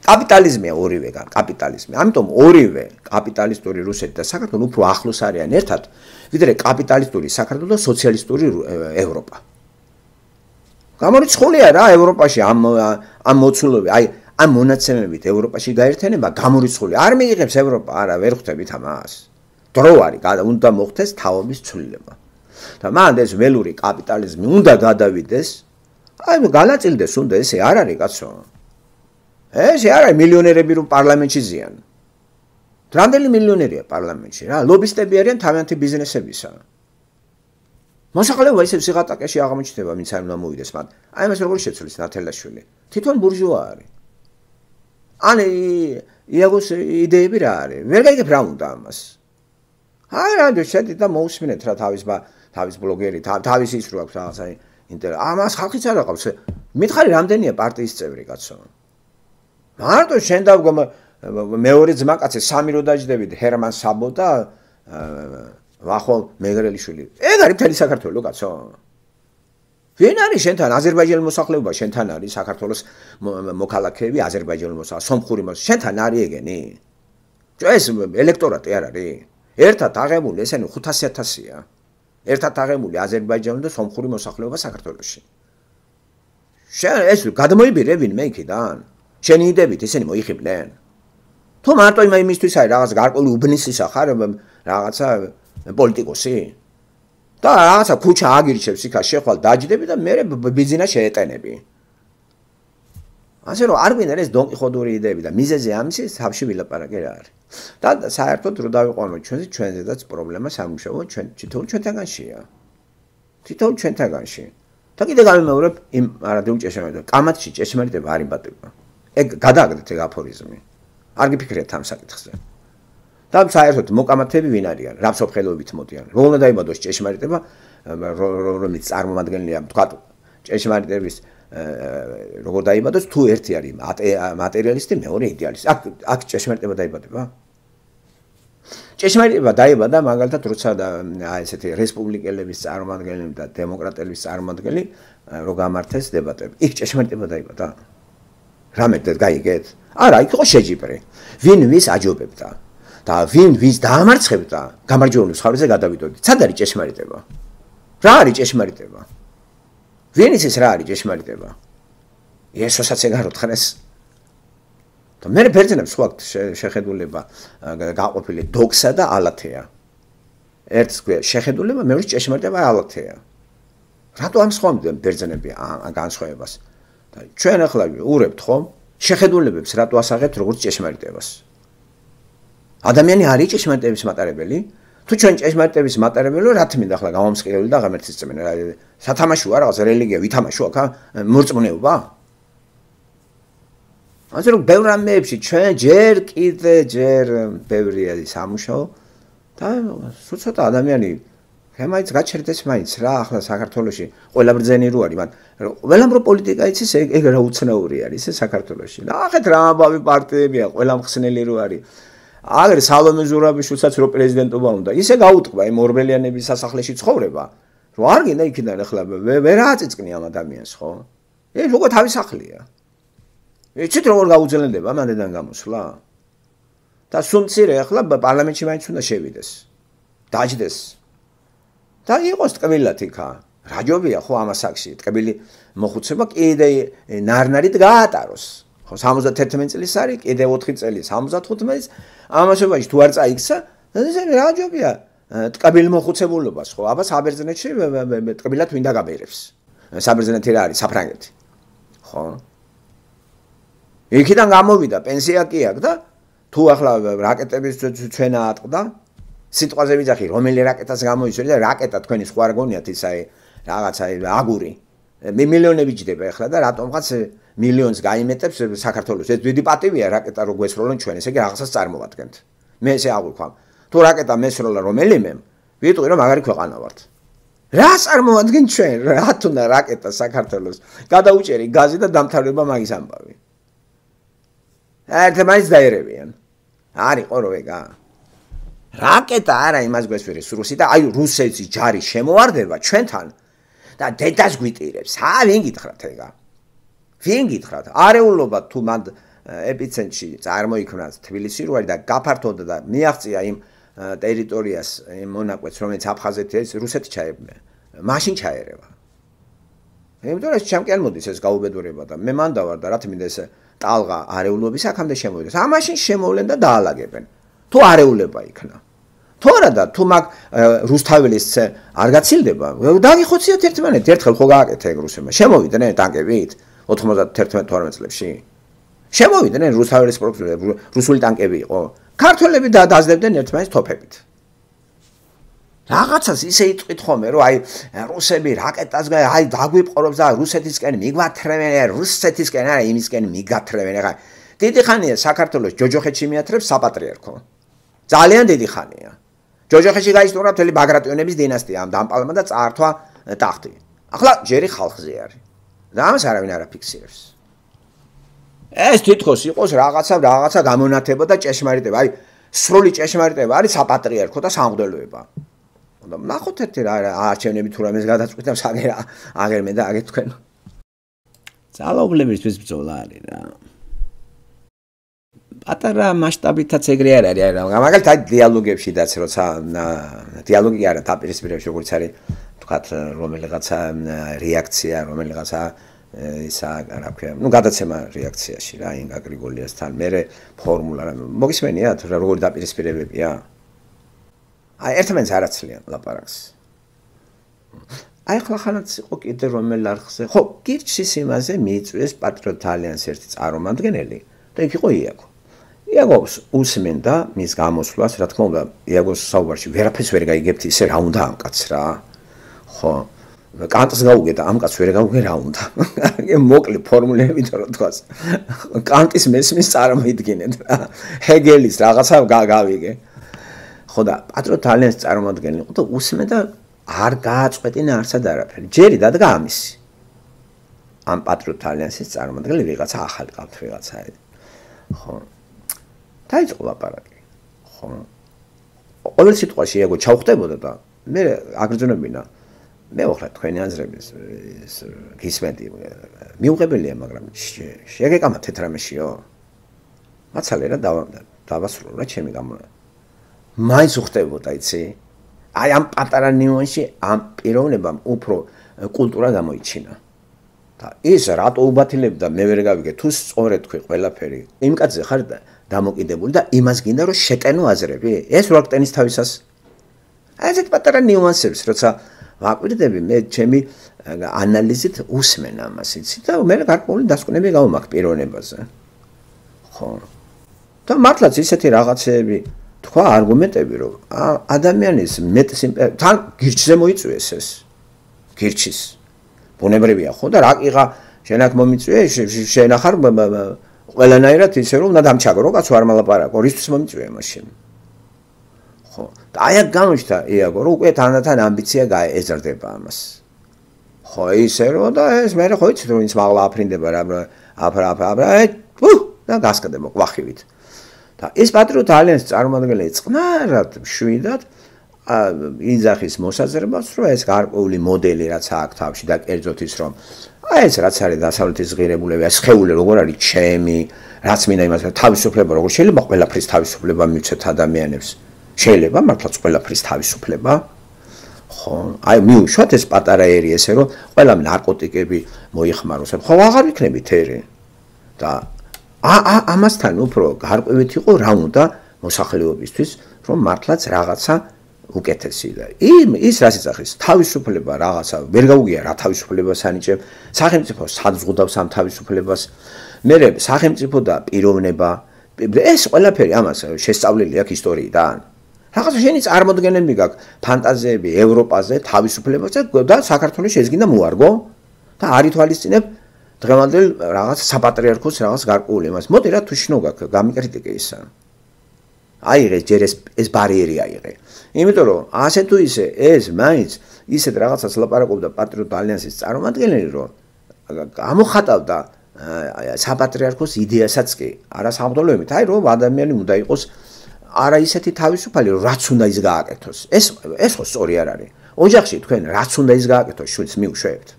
კაპიტალიზმია ორივე კაპიტალიზმი ამიტომ ორივე კაპიტალისტური რუსეთი და საქართველო უფრო ახლოს არიან ერთად ვიდრე კაპიტალისტური საქართველო და სოციალისტური ევროპა გამორიცხულია რა ევროპაში ამ ამ მოცულობი აი ამ მონაცემებით ევროპაში გაერთიანება გამორიცხული არ მიიღებს ევროპა არა ვერ ხვდებით ამას დრო არის უნდა მოხდეს თაობის ცვლილება და მან ეს ველური კაპიტალიზმი უნდა გადავიდეს აი განაწილდეს უნდა ესე არ არის კაცო ეს არ არის მილიონერები რომ პარლამენტში ზიან რამდენი მილიონერია პარლამენტში რა ლობისტები არიან თავიანთი ბიზნესებისა მოსახლეობა ისე სიღატაკეში აღმოჩნდება ვინც არ უნდა მოვიდეს მათ აი მას როგორ შეცვლის ნათელაშვილი თვითონ ბურჟუა არის ანი იაგოს იდეები რა არის ვერ გაიგებ რა უნდა ამას აი რა შედი და მოусმინეთ რა თავის თავის ბლოგერი თავის ის რო აქვს რაღაცა ინტერ ამას ხალხიც არ აყავს მითხარი რამდენია პარტიის წევრი კაცო მარტო შენ და მეორე ძმაკაცი სამი რო დაждდებით ჰერმან საბო და ვახო მეგრელიშვილი ეგ არის მთელი საქართველო კაცო ვინ არის შენთან აზერბაიჯანის მოსახლეობა შენთან არის საქართველოს მოქალაქეები აზერბაიჯანის მოსახლეობა სომხური მოსახლეობა შენთან არის ეგენი ეს ელექტორატი არ არის ერთად აღებული ესენი ხუთასი ათასია ერთად აღებული აზერბაიჯანის და სომხური მოსახლეობა საქართველოში შენ ეს გადმოიბირე ვინმე იქიდან შენი იდებით ისინი მოიხიბნენ თუ მარტო იმისთვის არის რაღაც გარკვეული უბნისისა ხარ რაღაცა პოლიტიკოსი და რაღაცა ქუჩა აგირჩევს იქა შეხვალ დაждდები და მე ბიზნეს შეეტენები ასე რომ არ გვინდა ეს დონკიხოდური იდეები და მიზეზი ამისი თავში ვილაპარაკე რა არის და საერთოდ რო დავიყვანო ჩვენზე ჩვენზედაც პრობლემა სამუშაო ჩვენ თითოეულ ჩვენთაგანშია თითოეულ ჩვენთაგანში და კიდე გამიმეორებ იმ არადეულ ჭეშმარიტება კამათში ჭეშმარიტება არ იმბატება ეგ გადააგდეთ ეგ აფორიზმი არ გიფიქრეთ ამ საკითხზე და საერთოდ მოკამათები ვინ არიან რა მსოფლმხედველობით მოდიან რო უნდა დაიბადოს ჭეშმარიტება რომელიც წარმომადგენელია თქვა ჭეშმარიტების როგორ დაიბადოს თუ ერთი არის მატერიალისტი მეორე იდეალისტი აქ აქ ჭეშმარიტება დაიბადება ჭეშმარიტება დაიბადა მაგალითად როცა აი ესეთი რესპუბლიკელების წარმომადგენლები და დემოკრატების წარმომადგენლები რო გამართეს დებატები იქ ჭეშმარიტება დაიბადა რამე გაიგეთ არა იქ იყო შეჯიბრი ვინ ვის აჯობებდა და ვინ ვის დაამარცხებდა გამარჯვებული მხარეზე გადავიდოდით სად არის ჭეშმარიტება რა არის ჭეშმარიტება ვინ ის რა არის ჭეშმარიტება იესოსაც ეგ არ უთხრეს და მე ბერძნებს ხო აქვს შეხედულება გაყოფილი დოქსა და ალათეა ერთს შეხედულება მეორე ჭეშმარიტება ალათეა რატო ამსხვავებდნენ ბერძნები ამ განსხვავებას? და ჩვენ ახლა ურებთ ხომ? შეხედულებებს რატო ასაღებთ როგორც ჭეშმარიტებას? ადამიანი არის ჭეშმარიტების მატარებელი? თუ ჩვენ ჭეშმარიტების მატარებელი ვარ, რა თქმა ახლა გამომსყიდელი და ღმერთის წმენა. სათამაშოა რაღაც რელიგია, ვითამაშო აქ მორწმუნეობა? ასე რომ ბევრ რამეებში ჩვენ ჯერ კიდე ჯერ ბევრია სამუშაო და სულ ცოტა ადამიანი მაინც გაჩერდეს მაინც რა ახლა საქართველოში ყველა ბრძენი რო არის, მან ყველამ რო პოლიტიკა იცის ეგ რა უცნაური არის ეს საქართველოში. ნახეთ რა ამბავი პარტიებია, ყველა მხსნელი რო არის. აგერ სალომე ზურაბიშვილსაც რო პრეზიდენტობა უნდა, ისე გაუტყვა იმ ორბელიანების სასახლეში ცხოვრება, რომ არ გინდა იქიდან ახლა ვერ აწიწკნი ამ ადამიანს, ხო? ეს უკვე თავის სახლია. იცით როგორ გაუძლენდება მანდიდან გამოსვლა? და სუმცირე ახლა პარლამენტში მაინც უნდა შევიდეს. დაჯდეს. და იყოს ტკბილად იქა. რაჯობია ხო ამასაკში, ტკბილი მოხუცება კიდე ნარნარით გაატაროს. ხო სამოცდაერთი წლის არის, კიდე ოთხი წელი სამოცდათხუთმეტის ამასობაში თუ არ წაიქცა, ეს რაჯობია ტკბილი მოხუცებულობას, ხო? აბა საბერძნეთში ტკბილად ვინდა გაბერებს. საბერძნეთი რა არის? საფრანგეთი. ხო? იქიდან გამოვიდა პენსია კი აქვს და თუ ახლა რაკეტების ჩვენა ატყდა სიტყვაზე ვიძახი რომელი რაკეტას გამოისვრი და რაკეტა თქვენი სხვა არ გონიათ ის აი რაღაცა აგური მილიონები ჯდება ახლა და რატომღაც მილიონს გაიმეტებს საქართველოს ეს დიდი პატივია რაკეტა რო გვესროლონ ჩვენ ესე იგი რაღაცას წარმოვადგენთ მე ესე აღვიქვამ თუ რაკეტა მესროლა რომელიმე ვიტყვი რომ მაგარი ქვეყანა ვართ რა წარმოვადგენ ჩვენ რა თუნდა რაკეტა საქართველოს გადაუჭერი გაზი და დამთავრება მაგის ამბავი ერთმანეთს დაერევიან არის ყო რო ეგა რაკეტა არა იმას გვესვერის რუსი და აი რუსეთის ჯარი შემოვარდება ჩვენთან და დედას გვიტირებს ა ვინ გითხრათ ეგა ვინ გითხრათ არეულობა თუ მანდ ეპიცენტრში წარმოიქმნა თბილისი რო არის და გაფართოვდა და მიაღწია იმ ტერიტორიას იმ მონაკვეთს რომელიც აფხაზეთი ეს რუსეთი ჩაებმა მაშინ ჩაერევა იმიტომ რომ ჩემკენ მოდის ეს გაუბედურება და მე მანდა ვარ და რა თქმა უნდა ეს ტალღა არეულობის აქამდე შემოვიდეს ამაშინ შემოვლენ და დაალაგებენ თუ არეულება იქნა თუ არა და თუ მაგ რუსთაველის არ გაცილდება დაგიხოციათ ერთმანეთ ერთხელ ხო გააკეთა ეგ რუსებმა შემოვიდნენ ტანკებით ოთხმოცდაათი თორმეტ წლებში შემოვიდნენ რუსთაველის პროფესორები რუსული ტანკები იყო ქართველები დაძლებდნენ ერთმანეთს თოფებით რაღაცას ისე იტყვით ხოლმე რომ აი რუსები რაკეტას აი დაგვიპყრობს და რუსეთისკენ მიგვათრევენ რუსეთისკენ არა იმისკენ მიგათრევენ ახლა დიდი ხანია საქართველოს ჯოჯოხეთში მიათრებს საპატრიარქო ძალიან დიდი ხანია ჯოჯოხეთში გაისტურა მთელი ბაგრატიონების დინასტია ამ დამპალმა და წაართვა ტახტი ახლა ჯერი ხალხზე არის და ამას არავინ არ აფიქსირებს ეს თითქოს იყოს რაღაცა რაღაცა გამონათება და ჭეშმარიტება აი სრული ჭეშმარიტება არის საპატრიარქო და სამღვდელოება და ნახოთ ერთი რა არჩევნები თუ რამეს გადაწყვიტავს აგერ აგერ მე და აგერ თქვენ ძალაუფლებისთვის ბრძოლა არის რა პატარა მასშტაბითაც ეგრე არ არის რა მაგალითად დიალოგებშიდაც როცა დიალოგი არა დაპირისპირებაში როგორც არის თქვათ რომელიღაცა რეაქცია რომელიღაცა ისა რა ქვია ნუ გადაცემა რეაქციაში რა ინგა გრიგოლიასთან მე ფორმულა რა მოგისმენიათ რა როგორი დაპირისპირებებია აი ერთმანეთს არ აცლიან ლაპარაკს აი ახლა ხანაც იყო კიდე რომელ არხზე ხო გირჩის იმაზე მიიწვიეს პატრიოტ ალიანსის ერთი წარმომადგენელი და იქ იყო იაგო იაგოს უსმენდა მის გამოსვლას რა თქმა უნდა იაგოს საუბარში ვერაფერს ვერ გაიგებთ ისე რა უნდა ამ კაცს რა ხო კანტს გაუგედა ამ კაცს ვერ გაუგე რა უნდა მოკლე ფორმულებით რო თქვას კანტის მესმის წარმოიდგინეთ რა ჰეგელის რაღაცა გავიგე ხო და პატრიოტ ალიანსის წარმომადგენელი იყო და უსმენდა არ გააწყვეტინა არსად არაფერი ჯერი დადგა ამისი ამ პატრიოტ ალიანსის წარმომადგენელი ვიღაცა ახალი ყავთ ვიღაცა ხო დაიწყო ლაპარაკი ხო ყოველ სიტყვაში იაგო ჩავხვდებოდა და მე აგრძნობინა მე ვახლა თქვენი აზრების გისმენდი მიუღებელია მაგრამ შეგეკამა თეთრამეშიო მაცალე რა დავასრულო რა ჩემი გამო მაინც უხდებოდა იცი აი ამ პატარა ნიუანსში ამ პიროვნებამ უფრო კულტურა გამოიჩინა და ის რატო უბათილებდა მე ვერ გავიგე თუ სწორედ თქვი ყველაფერი იმ კაცზე ხარ დამოკიდებული და იმას გინდა რომ შეტენო აზრები ეს რო აქტენის თავისას აი ეს პატარა ნიუანსებს როცა ვაკვირდები მე ჩემი ანალიზით უსმენ ამას იცი და მე გარკვეული დასკვნები გავმაქ პიროვნებაზე. ხო. და მართლაც ისეთი რაღაცეები თქვა არგუმენტები რომ ადამიანის მეტს თან გირჩზე მოიწვიეს ეს. გირჩის. ბუნებრივია ხო და რა ყიღა შენ აქ მომიწვიე შენ ახარ ყველანაირად ისე რომ უნდა დამჩაგრო კაცო არ მალაპარაკო რისთვის მომიწვია მაშინ. ხო და აი აქ გამოჩნდა იაგო რომ უკვე თანდათან ამბიცია გაეზრდება ამას. ხო ისე რომ და ეს მე ხო იცი რომ ის მაღლა აფრინდება რა აფრა აფრა უ და გასკდება ყვახივით. და ეს პატრიოტთა ალიანსის წარმომადგენელი წყნარად მშვიდად იძახის მოსაზრებას რომ ეს გარკვეული მოდელი რაც აქვს თავში და კერძოდ ის რომ აი ეს რაც არის დასავლეთის ღირებულება ეს ხეული როგორ არის ჩემი რაც მინდა იმას თავისუფლება როგორ შეიძლება ყველაფრის თავისუფლება მივცეთ ადამიანებს შეიძლება მართლაც ყველაფრის თავისუფლება ხო აი მიუშვათ ეს პატარა ერი ესე რომ ყველა ნარკოტიკები მოიხმაროს ხო აღარ იქნებით ერი და ა ამასთან უფრო გარკვევით იყო რა უნდა მოსახლეობისთვის რომ მართლაც რაღაცა უკეთესი და იმ ის რაც იცახის თავისუფლება რაღაცა ვერ გაუგია რა თავისუფლებას ანიჭებ სახელმწიფო საძღუდავს ამ თავისუფლებას მე სახელმწიფო და პიროვნება ეს ყველაფერი ამას შესწავლილი აქვს ისტორიიდან რაღაცა შენი წარმოდგენები გაქვს ფანტაზიები ევროპაზე თავისუფლებაზე და საქართველოს შეზგინდა მოარგო და არ ითვალისწინებ დღევანდელ რაღაც საპატრიარქოს რაღაც გარკვეული იმას მოდი რა თუ შნო გაქვს გამიკრიტიკე ისა აიღე ჯერ ეს ეს ბარიერი აიღე იმიტომ რომ ასე თუ ისე ეს მაინც ისეთ რაღაცას ლაპარაკობდა პატრიოტთა ალიანსის წარმომადგენელი რომ გამოხატავდა საპატრიარქოს იდეასაც კი არა საბრძოლოებით აი რომ ადამიანი უნდა იყოს არა ისეთი თავისუფალი რაც უნდა ის გააკეთოს ეს ეს ხო სწორი არ არის ოჯახში თქვენ რაც უნდა ის გააკეთოს შვილს მიუშვებთ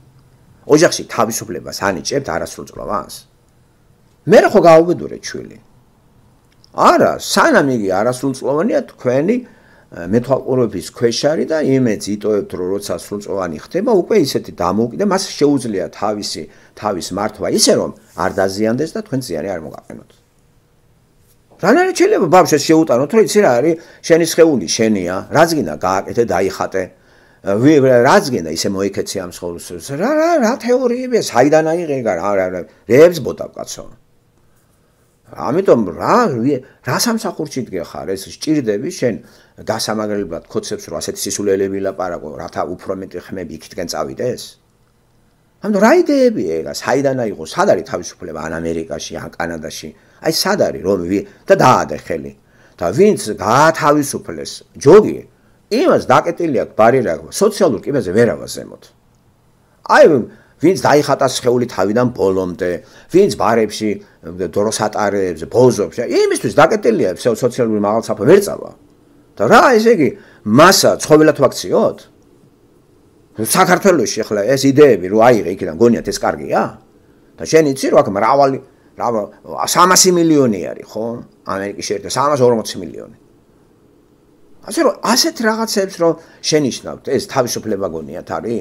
ოჯახში თავისუფლებას ანიჭებთ არასრულწლოვანს მე რა ხო გაუბედურეთ შვილი არა სანამ იგი არასრულწლოვანია თქვენი მეთვალყურების ქვეშ არის და იმედს იტოვებთ რომ როცა სრულწლოვანი ხდება უკვე ისეთი დამოუკიდე მას შეუძლია თავისი თავის მართვა ისე რომ არ დაზიანდეს და თქვენ ზიანი არ მოგაყენოთ რანაირად შეიძლება ბავშვს შეუტანოთ რომ იცი რა არის შენი სხეული შენია რაც გინდა გააკეთე დაიხატე რაც გინდა ისე მოიქეცი ამ სხეულს რა რა რა თეორიებია საიდან აიღე რა რა რებს ბოდავ კაცო ამიტომ რა რა სამსახურში დგეხარ ეს სჭირდები შენ გასამაგრებლად ქოცებს რომ ასეთი სისულელები ლაპარაკო რათა უფრო მეტი ხმები იქითკენ წავიდეს ამიტომ რა იდეებია ეგა საიდან აიღო სად არის თავისუფლება ან ამერიკაში ან კანადაში აი სად არის რომ და დაადე ხელი და ვინც გაათავისუფლეს ჯოგი იმას დაკეტილი აქვს ბარიერა სოციალურ კიბეზე ვერავა ზემოთ აი ვინც დაიხატა სხეული თავიდან ბოლომდე ვინც ბარებში დროს ატარებს ბოზობს იმისთვის დაკეტილია სოციალური მაღალცაფა ვერ წავა და რა ესე იგი მასა ცხოველად ვაქციოთ საქართველოში ახლა ეს იდეები რო აიღე იქიდან გონიათ ეს კარგია და შენ იცი რომ აქ მრავალი სამასი მილიონი არის ხო ამერიკის შეერთებულ სამას ორმოცი მილიონი ასე რომ ასეთ რაღაცებს რომ შენიშნავთ ეს თავისუფლება გონიათ არის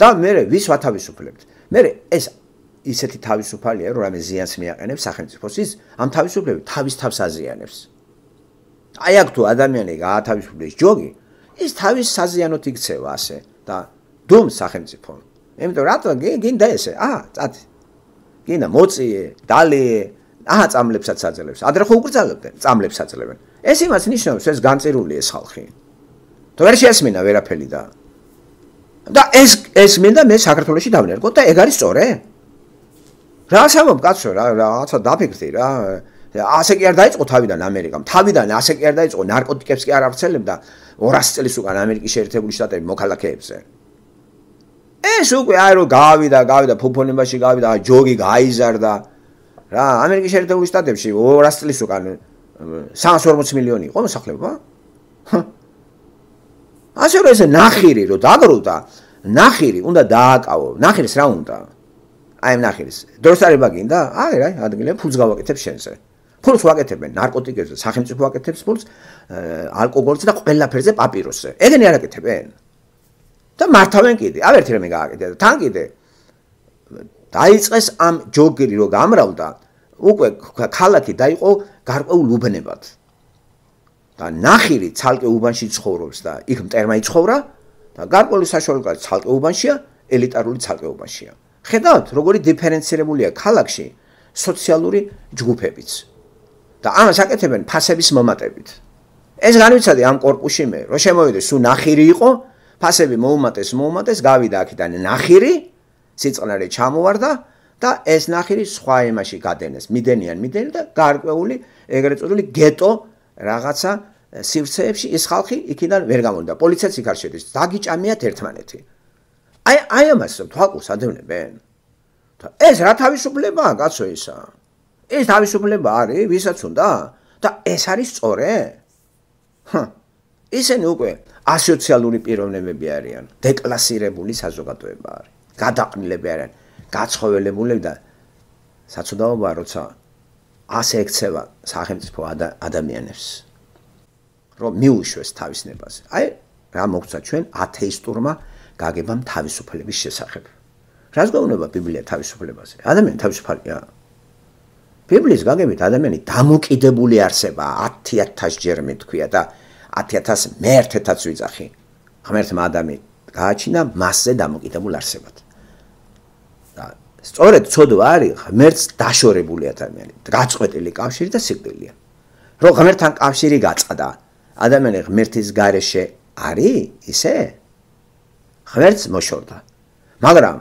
და მე ვის ვათავისუფლებთ მე ეს ისეთი თავისუფალია რომ რამე ზიანს მიაყენებს სახელმწიფოს ის ამ თავისუფლებით თავის თავს აზიანებს აი აქ თუ ადამიანი გაათავისუფლებს ჯოგი ის თავის საზიანოთ იქცევა ასე და დუმ სახელმწიფო იმიტომ რატომ გინდა ესე აა წათი გინდა მოწიე დალიე აა წამლებსაც აძლევს ადრე ხო უკრძალებდნენ წამლებს აძლევენ ეს იმას ნიშნავს ეს განწირული ეს ხალხი თუ ვერ შეესმინა ვერაფერი და და ეს ეს მინდა მე საქართველოში დავნერგო და ეგ არის სწორე რა სამობ კაცო რა რაღაცა დაფიქრდი რა ასე კი არ დაიწყო თავიდან ამერიკამ თავიდან ასე კი არ დაიწყო ნარკოტიკებს კი არ ავრცელებდა ორასი წლის უკან ამერიკის შეერთებული შტატები მოქალაქეებზე ეს უკვე აი რომ გავიდა გავიდა ფუფონებაში გავიდა ჯოგი გაიზარდა რა ამერიკის შეერთებული შტატებში ორასი წლის უკან სამას ორმოცი მილიონი იყო მოსახლეობა ასე რომ ეს ნახირი რომ დაგროვდა ნახირი უნდა დააკავო ნახირის რა უნდა აი ნახირის დროსარება გინდა აი რა ადგილები ფულს გავაკეთებ შენზე ფულს ვაკეთებენ ნარკოტიკებზე სახელმწიფო ვაკეთებს ფულს ალკოგოლზე და ყველაფერზე პაპიროსზე ეგენი არ აკეთებენ და მართავენ კიდე ავერთი რამე გააკეთე და თან კიდე დაიწყეს ამ ჯოგირი რო გამრავდა უკვე ქალაქი დაიყო გარკვეულ უბნებად და ნახირი ცალკე უბანში ცხოვრობს და იქ მტერმა იცხოვრა და გარკვეული საშუალო კლასის ცალკეობაშია, ელიტარული ცალკეობაშია. ხედავთ, როგორი დიფერენცირებულია ქალაქში სოციალური ჯგუფებიც. და ამას აკეთებენ ფასების მომატებით. ეს განვიცადი ამ კორპუსში მე, რომ შემოვიდეს სულ ნახირი იყო, ფასები მოუმატეს, მოუმატეს, გავიდა აქედან ნახირი, სიწყნარე ჩამოვარდა და ეს ნახირი სხვა იმაში გადენეს, მიდენიან, მიდენი და გარკვეული ეგრეთ წოდებული გეტო რაღაცა სივრცეებში ის ხალხი იქიდან ვერ გამოვიდა. პოლიციაც იქ არ შედის, დაგიჭამიათ ერთმანეთი. აი აი ამას თვალყურს ადევნებენ. ეს რა თავისუფლებაა, კაცო ისა? ეს თავისუფლება არის, ვისაც უნდა? და ეს არის სწორე? ჰა. ისინი უკვე ასოციალური პიროვნებები არიან, დეკლასირებული საზოგადოება არის. გადაყნილები არიან, გაცხოველებული და საცოდაობაა, როცა ასე ექცევა სახელმწიფო ადამიანებს, რომ მიუშვეს თავის ნებაზე. აი, რა მოგცა ჩვენ ათეისტურმა გაგებამ თავისუფლების შესახებ. რას გვეუბნება ბიბლია თავისუფლებაზე? ადამიანი თავისუფალია. ბიბლიის გაგებით ადამიანი დამოკიდებული არსებაა, ათი ათას ჯერ მეთქვია და ათი ათას მეერთეთაც ვიძახი. ღმერთმა ადამი გააჩინა მასზე დამოკიდებულ არსებად. და სწორედ ცოდვა არის ღმერთს დაშორებული ადამიანი, გაწყვეტილი კავშირი და სიკვდილია. რომ ღმერთთან კავშირი გაწყდა, ადამიანი ღმერთის გარეშე არის ისე? ღმერთს მოშორდა. მაგრამ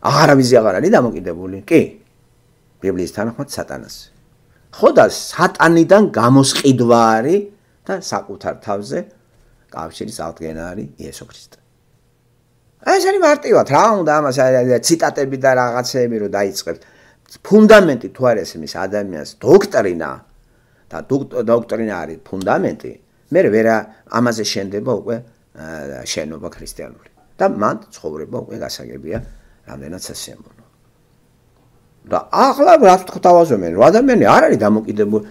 აღარავის აღარ არის დამოკიდებული? კი. ბიბლიის თანახმად სატანას. ხო და სატანიდან გამოსყიდვა არის და საკუთარ თავზე კავშირის აღდგენა არის იესო ქრისტე. ეს არის მარტივად, რა უნდა ამას ციტატები და რაღაცეები რომ დაიწყებთ. ფუნდამენტი თუ არის იმის ადამიანს დოქტრინა და დოქტრინა არის ფუნდამენტი, მე ვერა ამაზე შენდება უკვე შენობა ქრისტიანული. და მან ცხოვრება უკვე გასაგებია რამდენად სასიამოვნო. და ახლა რა თქვავაზობენ, რომ ადამიანი არ არის დამოკიდებული,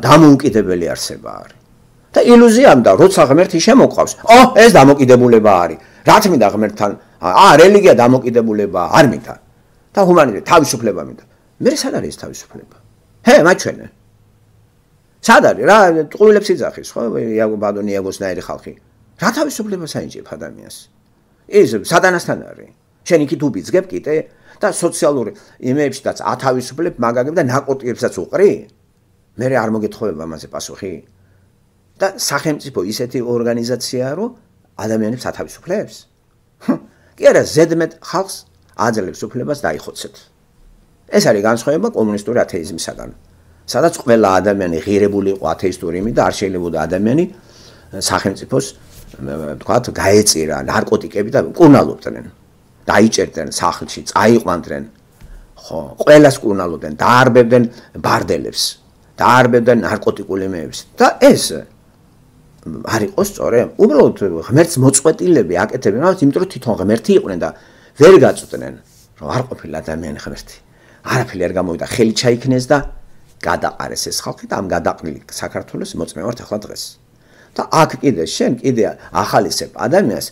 დამოუკიდებელი არსება არის. და ილუზიამ და როცა ღმერთი შემოყავს, ო, ეს დამოკიდებულება არის. რა თქმა ღმერთთან, აა, რელიგია დამოკიდებულება არ მინდა. და ჰუმანიზმი თავისუფლება მინდა. მე სად არის ეს თავისუფლება? ჰე, მაჩვენე. სად არის? რა ტყუილებს იძახის, ხო? იაგო ბადონი იაგოსნაირი ხალხი. რა თავისუფლება საინჭებ ადამიანს? ის სატანასთან არის. შენ იქით უბიძგებ კიდე და სოციალური იმეებშიც ათავისუფლებ მაგაგებ და ნარკოტიკებსაც უყრი? მე არ მოგეთხოვება ამაზე პასუხი? და სახელმწიფო ისეთი ორგანიზაციაა, რომ ადამიანებს ათავისუფლებს? კი არა, ზედმეტ ხალხს აძლევს უფლებას დაიხოცეთ. ეს არის განსხვავება კომუნისტური ათეიზმისაგან, სადაც ყველა ადამიანი ღირებული იყო ათეისტური იმით და არ შეიძლება ადამიანი სახელმწიფოს თქვათ გაეწირა ნარკოტიკები და კურნალობდნენ. დაიჭერდნენ სახლში, წაიყვანდნენ. ხო, ყველას კურნალობდნენ, დაარბებდნენ ბარდელებს, დაარბებდნენ ნარკოტიკულ იმეებს. და ეს არ იყო სწორი. უბრალოდ ღმერთს მოწყვეტილები აკეთებენ, რაღაც იმიტომ რომ თვითონ ღმერთი იყვნენ და ვერ გაწყვეტდნენ, რომ არ ყოფილა ადამიანი ღმერთი. არაფერი არ გამოვიდა, ხელი ჩაიქნეს და გადაყარეს ეს ხალხი და ამ გადაყრილი საქართველოს მოწმევართ ახლა დღეს. და აქ კიდე შენ კიდე ახალისებ ადამიანს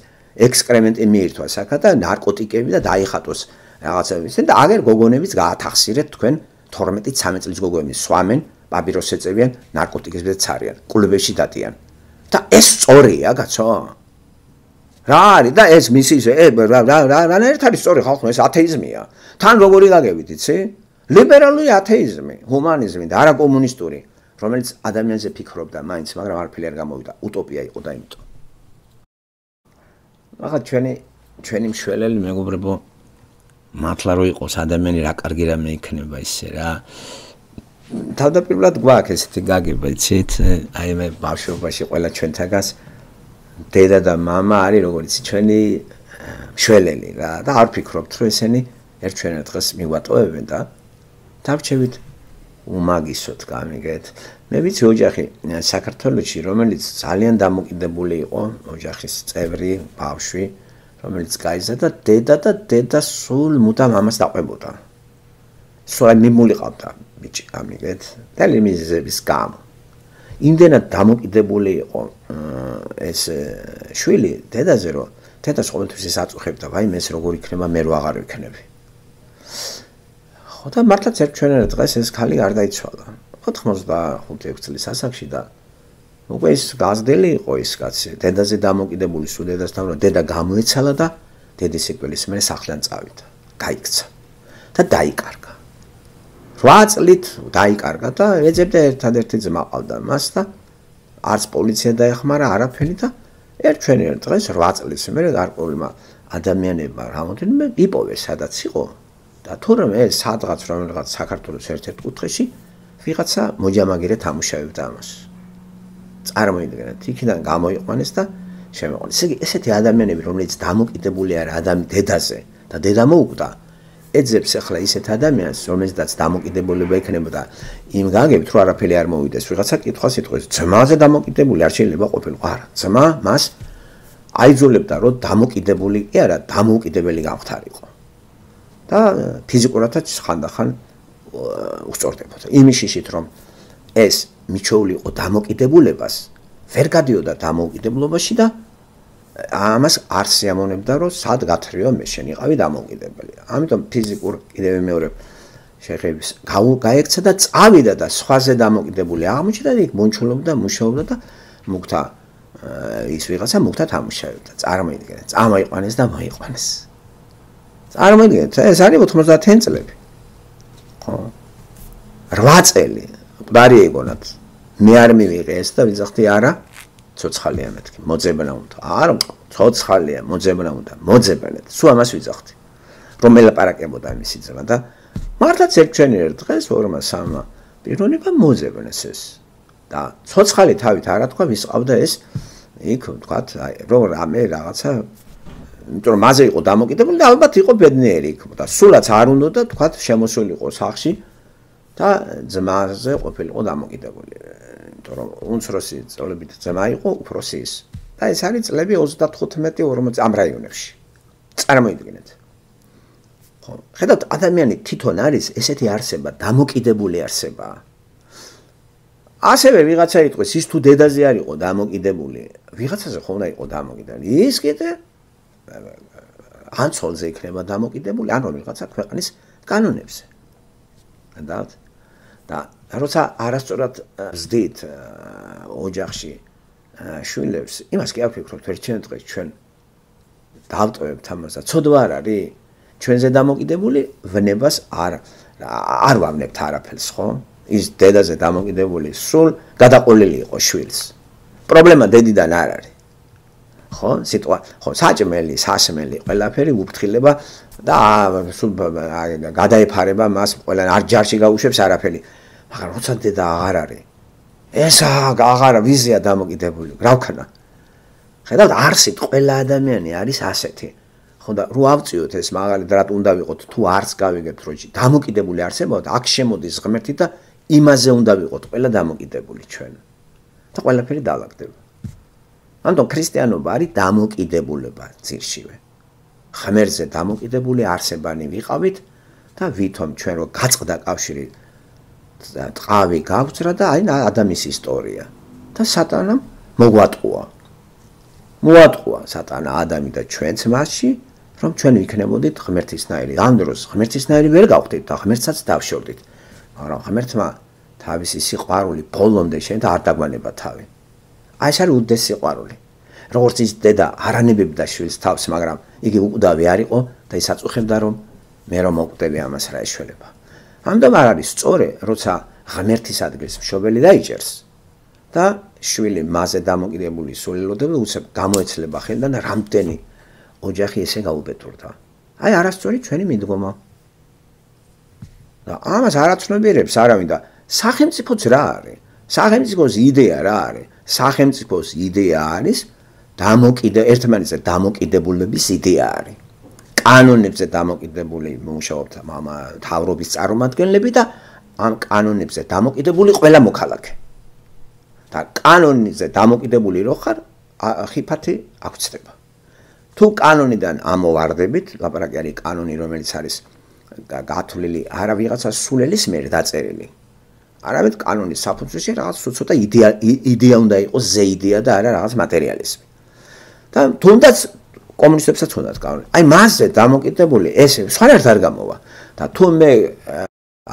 ექსკრემენტი მიირთვა საქა და ნარკოტიკები და დაიხატოს რაღაცები და აგერ გოგონებიც გაათახსირეთ თქვენ თორმეტი ცამეტი წლის გოგონები სვამენ, პაპიროს ეწევიან, ნარკოტიკებს ცარიან, კლუბებში დადიან. და ეს სწორია, კაცო? რა არის და ეს მისი რა რა რანაირად არის სწორი ხალხო, ეს ათეიზმია. თან როგორი გაგებით, იცი? ლიბერალური ათეიზმი, ჰუმანიზმი და არა კომუნისტური, რომელიც ადამიანზე ფიქრობდა მაინც, მაგრამ არაფერი არ გამოვიდა, утоპია იყო და იმიტომ. ახლა ჩვენი ჩვენი მშველელი მეგობრებო, მართლა რო იყოს ადამიანი რა კარგი რამე იქნება ისე რა. თავდაპირველად გვაქვს ესეთი გაგება, იცით? აი მე ბავშვობაში ყველა ჩვენთაგას დედა და მამა არის როგორც ჩვენი მშველელი რა და არ ფიქრობთ რომ ესენი ერთჩვენად დღეს მიგვატოვებენ და დავჩევით უმაგისოდ გამიგეთ. მე ვიცი ოჯახი საქართველოში, რომელიც ძალიან დამოკიდებული იყო, ოჯახის წევრი, ბავშვი, რომელიც გაიზარდა, დედა და დედა სულ მუდამ ამას დაყვებოდა. სულ მიმულიყავდა ბიჭი, გამიგეთ, და ლიმიზების გამო. იმდენად დამოკიდებული იყო ეს შვილი დედაზე, რომ დედას ყოველთვის ის აწუხებდა, ვაიმე ეს როგორ იქნება, მე რო აღარ ვიქნები. ხო და მართლაც ერთჩვენად დღეს ეს ქალი არ დაიცვალა. ოთხმოცდახუთი წლის ასაკში და უკვე ის გაზრდელი იყო ის კაცი, დედაზე დამოკიდებული, სულ დედასთან, რომ დედა გამოეცალა და დედის სიკვდილის მერე სახლიდან წავიდა, გაიქცა და დაიკარგა. რვა წლით დაიკარგა და ეძებდა ერთადერთი ძმა ყავდა მას და არც პოლიცია დაეხმარა არაფერი და ერთ ჩვენიერ დღეს რვა წლის მერე გარკვეულმა ადამიანებმა რამოდენიმე იპოვეს სადაც იყო და თურმე ეს სადღაც რომელიღაც საქართველოს ერთ-ერთ კუთხეში ვიღაცა მოჯამაგირე თამუშავებდა ამას. წარმოიდგინეთ, იქიდან გამოიყვანეს და შემოყვანეს. ესე იგი, ესეთი ადამიანები, რომლებიც დამოკიდებული არა ადამი დედაზე და დედა მოუკვდა, ეძებს ახლა ისეთ ადამიანს, რომელზედაც დამოკიდებულება ექნებოდა იმ გაგებით, რომ არაფერი არ მოვიდეს. ვიღაცა კითხვას იტყვის, ძმაზე დამოკიდებული არ შეიძლება ყოფილიყო. არა, ძმა მას აიძულებდა, რომ დამოკიდებული კი არა, დამოუკიდებელი გამხდარიყო. და ფიზიკურადაც ხანდახან უსწორდებოდა. იმის შიშით, რომ ეს მიჩეული იყო დამოკიდებულებას, ვერ გადიოდა დამოუკიდებლობაში და ამას არ სიამოვნებდა, რომ სად გათრიო მე შენ იყავი დამოუკიდებელი. ამიტომ ფიზიკურ კიდევ მეორე შეხების გაექცა და წავიდა და სხვაზე დამოკიდებული აღმოჩნდა და იქ მონჩულობდა, მუშაობდა და მუქთა ის ვიღაცა მუქთა თამუშავდა. წარმოიდგინეთ, წამოიყვანეს და მოიყვანეს. წარმოიდგინეთ, ეს არის ოთხმოცდაათი წლები. ხო? რვა წელი მკვდარი ეგონათ. მე არ მივიღე ეს და ვიძახდი არა, ცოცხალია მეთქი, მოძებნა უნდა. არა, ცოცხალია, მოძებნა უნდა, მოძებნეთ. სულ ამას ვიძახდი. რომ ელაპარაკებოდა მისი ძმა და მართლაც ერთ ჩვენიერ დღეს ორმა სამმა პიროვნებამ მოძებნეს ეს. და ცოცხალი თავით არა თქვა, ვის ყავდა ეს იქ ვთქვათ, აი, რომ რამე რაღაცა, იმიტომ რომ მასე იყო დამოკიდებული და ალბათ იყო ბედნიერი იქ და სულაც არ უნდა და თქვათ შემოსულიყო სახში და ძმაზე ყოფილიყო დამოკიდებული. იმიტომ რომ უმცროსი წლებით ძმა იყო უფროსი ის. და ეს არის წლები ოცდათხუთმეტი ორმოცი ამ რაიონებში. წარმოიდგინეთ. ხო, ხედავთ, ადამიანი თვითონ არის ესეთი არსება, დამოკიდებული არსება. ასევე ვიღაცა იტყვის, ის თუ დედაზე არ იყო დამოკიდებული, ვიღაცაზე ხომ უნდა იყო დამოკიდებული. ის კიდე ან ცოლზე იქნება დამოკიდებული, ან რომელიღაცა ქვეყნის კანონებზე. ხედავთ? და როცა არასწორად ზდით ოჯახში შვილებს, იმას კი არ ვფიქრობთ, ერთ ჩვენ დღეს ჩვენ დავტოვებთ ამას და ცოდვა არ არის, ჩვენზე დამოკიდებული ვნებას არ არ ვავნებთ არაფერს, ხო? ის დედაზე დამოკიდებული სულ გადაყოლილი იყო შვილს. პრობლემა დედიდან არ არის. ხო, სიტყვა, ხო, საჭმელი, სასმელი, ყველაფერი უფრთხილება და სულ გადაეფარება მას ყველა არ ჯარში გაუშვებს არაფერი. მაგრამ როცა დედა აღარ არის, ეს აღარა ვიზია დამოკიდებული. რა ვქნა? ხედავთ, არსით ყველა ადამიანი არის ასეთი. ხო და რო ავწიოთ ეს მაგალითად რატ უნდა ვიყოთ თუ არც გავიგებთ რომ დამოკიდებული არსებობთ, აქ შემოდის ღმერთი და იმაზე უნდა ვიყოთ ყველა დამოკიდებული ჩვენ. და ყველაფერი დაალაგდება. ამიტომ ქრისტიანობა არის დამოკიდებულება ძირშივე. ღმერთზე დამოკიდებული არსებანი ვიყავით და ვითომ ჩვენ რო გაწყდა კავშირი და ტყავი გავწრა და აი ადამიანის ისტორია და სატანამ მოგვატყუა. მოატყუა სატანა ადამი და ჩვენც მასში, რომ ჩვენ ვიქნებოდით ღმერთისნაირი. ამ დროს ღმერთისნაირი ვერ გავხდით და ღმერთსაც დავშორდით. მაგრამ ღმერთმა თავისი სიყვარული ბოლომდე შენ და არ დაგვანება თავი. აი ეს არის უდიდესი სიყვარული. როგორც ის დედა არანებებდა შვილს თავს, მაგრამ იგი უკვდავი არ იყო და ის აწუხებდა რომ მე რომ მოკვდები ამას რა ეშველება. ამიტომ არ არის სწორი, როცა ღმერთის ადგილს მშობელი დაიჭერს და შვილი მასზე დამოკიდებული სულელოდება უცებ გამოეცლება ხელიდან და რამდენი ოჯახი ესე გაუბედურდა. აი არასწორი ჩვენი მიდგომა. და ამას არაცნობიერებს არავინ და სახელმწიფოც რა არის? სახელმწიფოს იდეა რა არის? სახელმწიფოს იდეა არის დამოკიდე ერთმანეთზე დამოკიდებულების იდეა არის. კანონებზე დამოკიდებული მუშაობთ მთავრობის წარმომადგენლები და ამ კანონებზე დამოკიდებული ყველა მოქალაქე. და კანონზე დამოკიდებული რო ხარ, ხიფათი აღწდება. თუ კანონიდან ამოვარდებით, ლაპარაკი არის კანონი, რომელიც არის გათვლილი არა ვიღაცა სულელის მიერ დაწერილი. არამედ კანონის საფუძველში რაღაც ცოტა იდეა იდეა უნდა იყოს, ზე იდეა და არა რაღაც მატერიალიზმი. და თუნდაც კომუნისტებსაც უნდათ კანონი. აი მასზე დამოკიდებული ესე სხვანაირად არ გამოვა. და თუ მე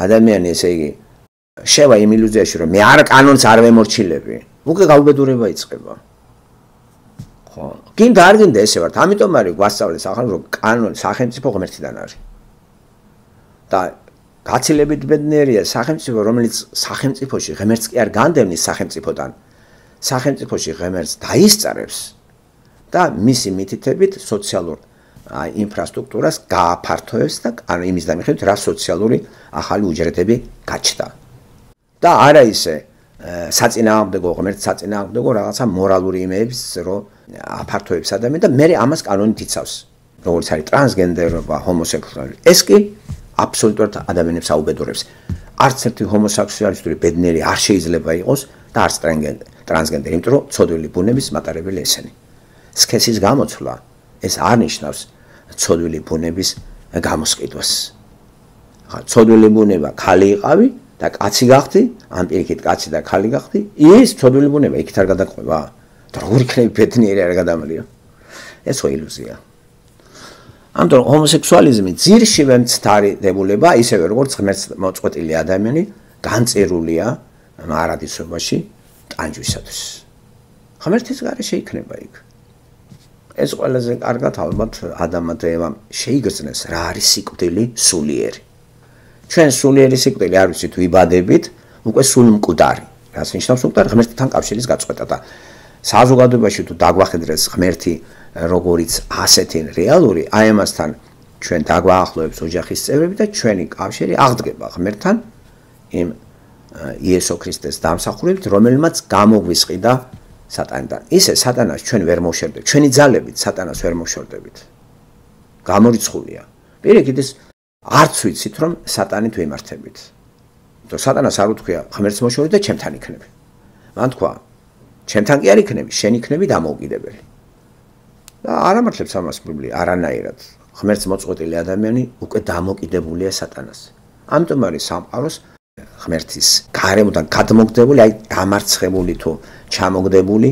ადამიანი ესე იგი შევა იმ ილუზიაში რომ მე არ კანონს არ ვემორჩილები, უკვე გაუბედურება იწყება. ხო, გინდა არ გინდა ესე ვართ, ამიტომ არის გვასწავლეს ახლა რომ კანონი სახელმწიფო ღმერთიდან არის. და გაცილებით ბედნიერია სახელმწიფო, რომელიც სახელმწიფოში ღმერთს კი არ განდევნის სახელმწიფოდან. სახელმწიფოში ღმერთს დაისწრებს და მისი მითითებით სოციალურ ინფრასტრუქტურას გააფართოებს და ანუ იმის დამიხებით რა სოციალური ახალი უჯრედები გაჩნდა. და არა ისე საწინააღმდეგო ღმერთს საწინააღმდეგო რაღაცა მორალური იმეებს რომ აფართოებს ადამიანი და მე ამას კანონით იცავს. როგორც არის ტრანსგენდერობა, ჰომოსექსუალი. ეს კი აბსოლუტურად ადამიანებს აუბედურებს. არც ერთი ჰომოსექსუალისტური ბედნიერი არ შეიძლება იყოს და არც ტრანსგენდერი, იმიტომ რომ ცოდვილი ბუნების მატარებელი ესენი. სქესის გამოცვლა ეს არ ნიშნავს ცოდვილი ბუნების გამოსყიდვას. ხა ცოდვილი ბუნება ხალი იყავი და კაცი გახდი, ან პირიქით კაცი და ხალი გახდი, ის ცოდვილი ბუნება იქით არ გადაყვება. და როგორ იქნება ბედნიერი არ გადამალია? ეს ხო ილუზია. ამიტომ ჰომოსექსუალიზმი ძირშივე მცდარი დებულება, ისევე როგორც ღმერთს მოწყვეტილი ადამიანი განწერულია მარადისობაში ტანჯვისათვის. ღმერთის გარეშე იქნება იქ. ეს ყველაზე კარგად ალბათ ადამმა და ევამ შეიგრძნეს რა არის სიკვდილი სულიერი. ჩვენ სულიერი სიკვდილი არ ვიცით ვიბადებით, უკვე სულ მკვდარი. რას ნიშნავს მკვდარი? ღმერთთან კავშირის გაწყვეტა და საზოგადოებაში თუ დაგვახედრეს ღმერთი როგორიც ასეთი რეალური, აი ამასთან ჩვენ დაგვაახლოებს ოჯახის წევრები და ჩვენი კავშირი აღდგება ღმერთთან იმ იესო ქრისტეს დამსახურებით, რომელმაც გამოგვისყიდა სატანიდან. ისე სატანას ჩვენ ვერ მოშორდებით, ჩვენი ძალებით სატანას ვერ მოშორდებით. გამორიცხულია. პირიქით ის არც ვიცით რომ სატანით ვემართებით. თუ სატანას არ უთქვია ღმერთს მოშორდი და ჩემთან იქნები. მან თქვა ჩემთან კი არ იქნები, შენ იქნები დამოუკიდებელი. და არ ამართლებს ამას ბიბლია არანაირად. ღმერთს მოწყვეტილი ადამიანი უკვე დამოკიდებულია სატანას. ამიტომ არის სამყაროს ღმერთის გარემოდან გადმოგდებული, აი დამარცხებული თუ ჩამოგდებული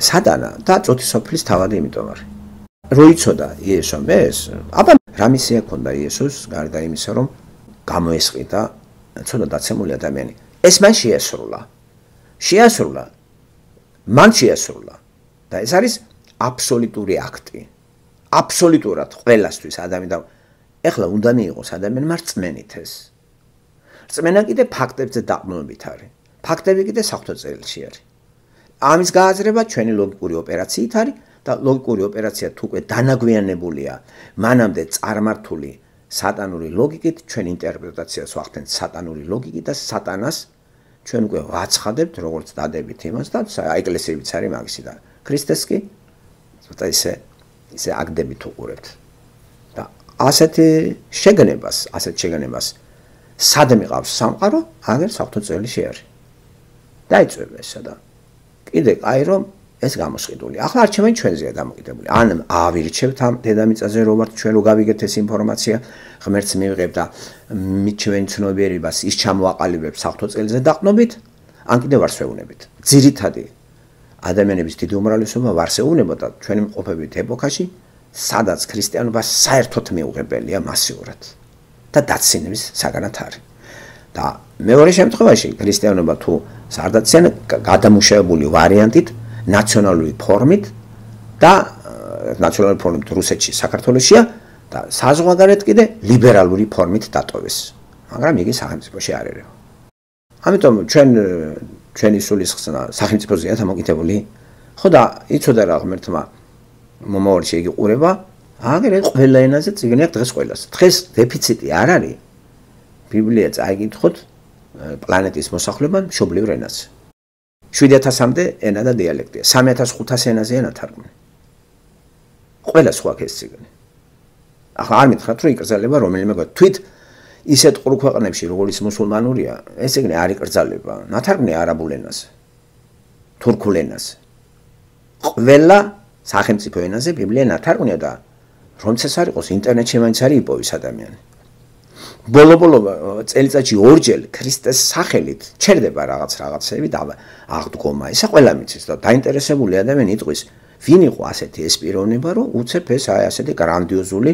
სატანა და წოთისოფლის თავადი იმიტომ არის. რო იცოდა იესომ ეს, აბა რა მისია ჰქონდა იესოს გარდა იმისა, რომ გამოესყიდა ცოტა დაცემული ადამიანი. ეს მან შეასრულა. შეასრულა. მან შეასრულა. და ეს არის აბსოლუტური აქტი. აბსოლუტურად ყველასთვის ადამიანი. ეხლა უნდა მიიღოს ადამიანმა რწმენით ეს. რწმენა კიდე ფაქტებზე დაყრდნობით არის. ფაქტები კიდე საღვთო წერილში არის. ამის გააზრება ჩვენი ლოგიკური ოპერაციით არის და ლოგიკური ოპერაცია თუ უკვე დანაგვიანებულია, მანამდე წარმართული სატანური ლოგიკით ჩვენ ინტერპრეტაციას ვახდენთ სატანური ლოგიკით და სატანას ჩვენ უკვე ვაცხადებთ როგორც დადებით იმას და ეკლესიებიც არის მაგისი და ქრისტეს კი ცოტა ისე ისე აგდებით უყურებთ. და ასეთი შეგნებას, ასეთ შეგნებას სად მიყავს სამყარო, აგერ საღვთო წერილში არის. დაიწვება ესა და კიდე აი რომ ეს გამოსყიდული. ახლა არჩევანი ჩვენზეა დამოკიდებული. ან ავირჩევთ ამ დედამიწაზე რო ვართ ჩვენ რო გავიგეთ ეს ინფორმაცია, ღმერთს მივიღებ და მით ჩვენ ცნობიერებას ის ჩამოაყალიბებს საღვთო წერილზე დაყრდნობით, ან კიდე ვარსვეუნებით. ძირითადი ადამიანების დიდი უმრავლესობა ვარსეუნებოდა ჩვენი მყოფებით ეპოქაში, სადაც ქრისტიანობა საერთოდ მიუღებელია მასიურად და დაცინების საგანად არის. და მეორე შემთხვევაში ქრისტიანობა თუ სარდაციან გადამუშავებული ვარიანტით ნაციონალური ფორმით და ნაციონალური ფორმით რუსეთში, საქართველოსშია და საზღვარგარეთ კიდე ლიბერალური ფორმით დატოვეს. მაგრამ იგი სახელმწიფოში არ ერევა. ამიტომ ჩვენ ჩვენი სულისხსნა სახელმწიფოზეა დამოკიდებული. ხო და იცოდა რა ღმერთმა მომავალში იგი ყურება, აგერ ყველა ენაზე წიგნი აქვს დღეს ყველას. დღეს დეფიციტი არ არის. ბიბლია წაიგითხოთ პლანეტის მოსახლებამ მშობლიურ ენაზე. შვიდ ათასამდე ენა და დიალექტია. სამი ათას ხუთასი ენაზეა ნათარგმნი. ყველა სხვა ეს წიგნი. ახლა არ მითხრათ რომ იკრძალება რომელიმე თვით ისეთ ყრუ ქვეყნებში როგორც მუსულმანურია, ეს წიგნი არ იკრძალება. ნათარგმნი არაბულ ენაზე. თურქულ ენაზე. ყველა სახელმწიფო ენაზე ბიბლია ნათარგმნია და რომც ეს არ იყოს ინტერნეტში მაინც არის იპოვის ადამიანი. ბოლო-ბოლო წელიწადში ორჯერ ქრისტეს სახელით ჩერდება რაღაც რაღაცები და აღდგომა. ისა ყველა მიცის და დაინტერესებული ადამიანი იტყვის, ვინ იყო ასეთი ეს პიროვნება, რომ უცებ ეს აი ასეთი გრანდიოზული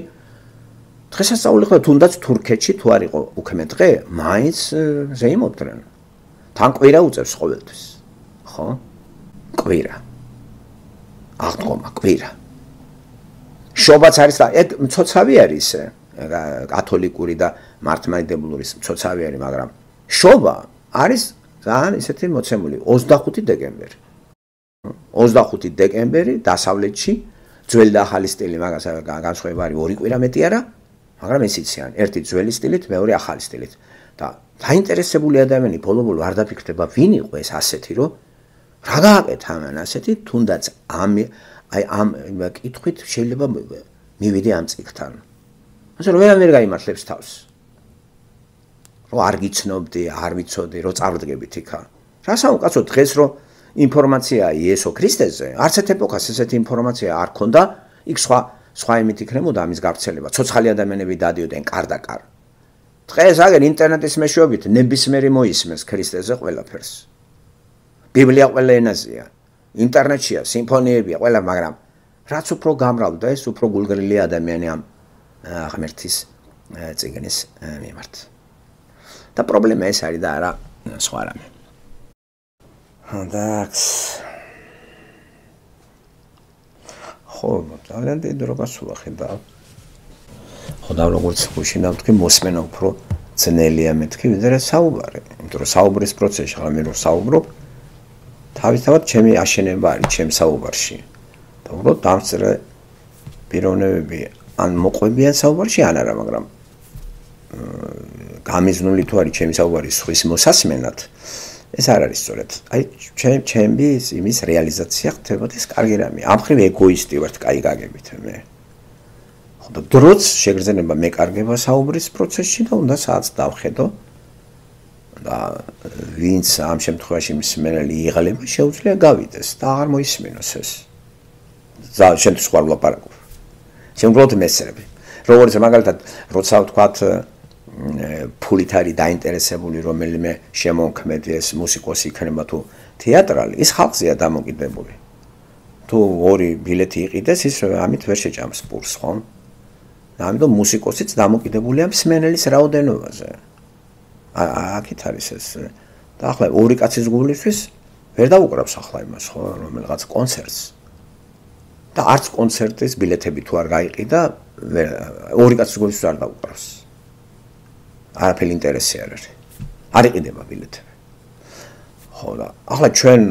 დღესასწაული ხო თუნდაც თურქეთში თუ არ იყო უქმე დღე, მაინც ზეიმობდნენ. თან კვირა უწევს ყოველთვის. ხო? კვირა. აღდგომა, კვირა. შობაც არის და ეგ მცოცავი არის კათოლიკური და მართლმადიდებლური მცოცავი არის, მაგრამ შობა არის ძალიან ისეთი მოცემული ოცდახუთი დეკემბერი. ოცდახუთი დეკემბერი დასავლეთში ძველი და ახალი სტილი მაგას განსხვავება არის ორი კვირა მეტი არა, მაგრამ ეს იციან, ერთი ძველი სტილით, მეორე ახალი სტილით. და დაინტერესებული ადამიანი ბოლო-ბოლო არ დაფიქრდება, ვინ იყო ეს ასეთი, რომ რა გააკეთა ამან ასეთი, თუნდაც ამ აი ამ კითხვით შეიძლება მივიდე ამ წიგნთან. ასე რომ ვერა ვერ გაიმართლებს თავს. რომ არ გიცნობდი, არ ვიცოდი, რომ წავდგებით იქა. რა საუკაცო დღეს რომ ინფორმაცია იესო ქრისტეზე, არც ერთ ეპოქას ესეთი ინფორმაცია არ ქონდა, იქ სხვა სხვა იმით იქნებოდა ამის გავრცელება. ცოცხალი ადამიანები დადიოდნენ კარ და კარ. დღეს აგერ ინტერნეტის მეშვეობით ნებისმიერი მოისმენს ქრისტეზე ყველაფერს. ბიბლია ყველა ენაზეა. ინტერნეტშია, სიმფონიებია, ყველა, მაგრამ რაც უფრო გამრავლდა ეს, უფრო გულგრილი ადამიანი ამ ღმერთის წიგნის მიმართ. და პრობლემა ეს არის და არა სხვა რამე. εντάξει. ხო, ძალიან დიდი დრო გასულა ხედავ. ხო და როგორც გუშინა ვთქვი, მოსმენა უფრო ძნელია მეთქი, ვიდრე საუბარი. იმიტომ რომ საუბრის პროცესში ხომ მე რო საუბრობ, თავისთავად ჩემი აშენება არის ჩემ საუბარში. და უბრალოდ დამწრე პიროვნებები ან მოყვებიან საუბარში, ან არა, მაგრამ გამიზნული თუ არის ჩემი საუბარი სხვის მოსასმენად, ეს არ არის სწორად. აი ჩემ ჩემი იმის რეალიზაცია ხდებოდა ეს კარგი რამე. ამ ხრივ ეგოისტი ვარ, კაი გაგებით მე. ხო და დროც შეგრძნება მეკარგება საუბრის პროცესში და უნდა საათს დავხედო. და ვინც ამ შემთხვევაში მსმენელი იღლება, შეუძლია გავიდეს და აღარ მოისმინოს ეს. ზა შემთხვევაში სხვა ვლაპარაკობ. შემდგომად მესწრები. როგორც მაგალითად, როცა ვთქვათ ფულით არის დაინტერესებული რომელიმე შემოქმედი ეს მუსიკოსი იქნება თუ თეატრალი, ის ხალხზეა დამოკიდებული. თუ ორი ბილეთი იყიდეს, ის ამით ვერ შეჭამს პურს, ხო? ამიტომ მუსიკოსიც დამოკიდებულია მსმენელის რაოდენობაზე. აქეთ არის ეს. და ახლა ორი კაცის გულისთვის ვერ დაუკრავს ახლა იმას, ხო, რომელიღაც კონცერტს. და არც კონცერტის ბილეთები თუ არ გაიყიდა, ორი კაცის გულისთვის არ დაუკრავს. არაფერი ინტერესი არ არის. არ იყიდება ბილეთები. ხო და ახლა ჩვენ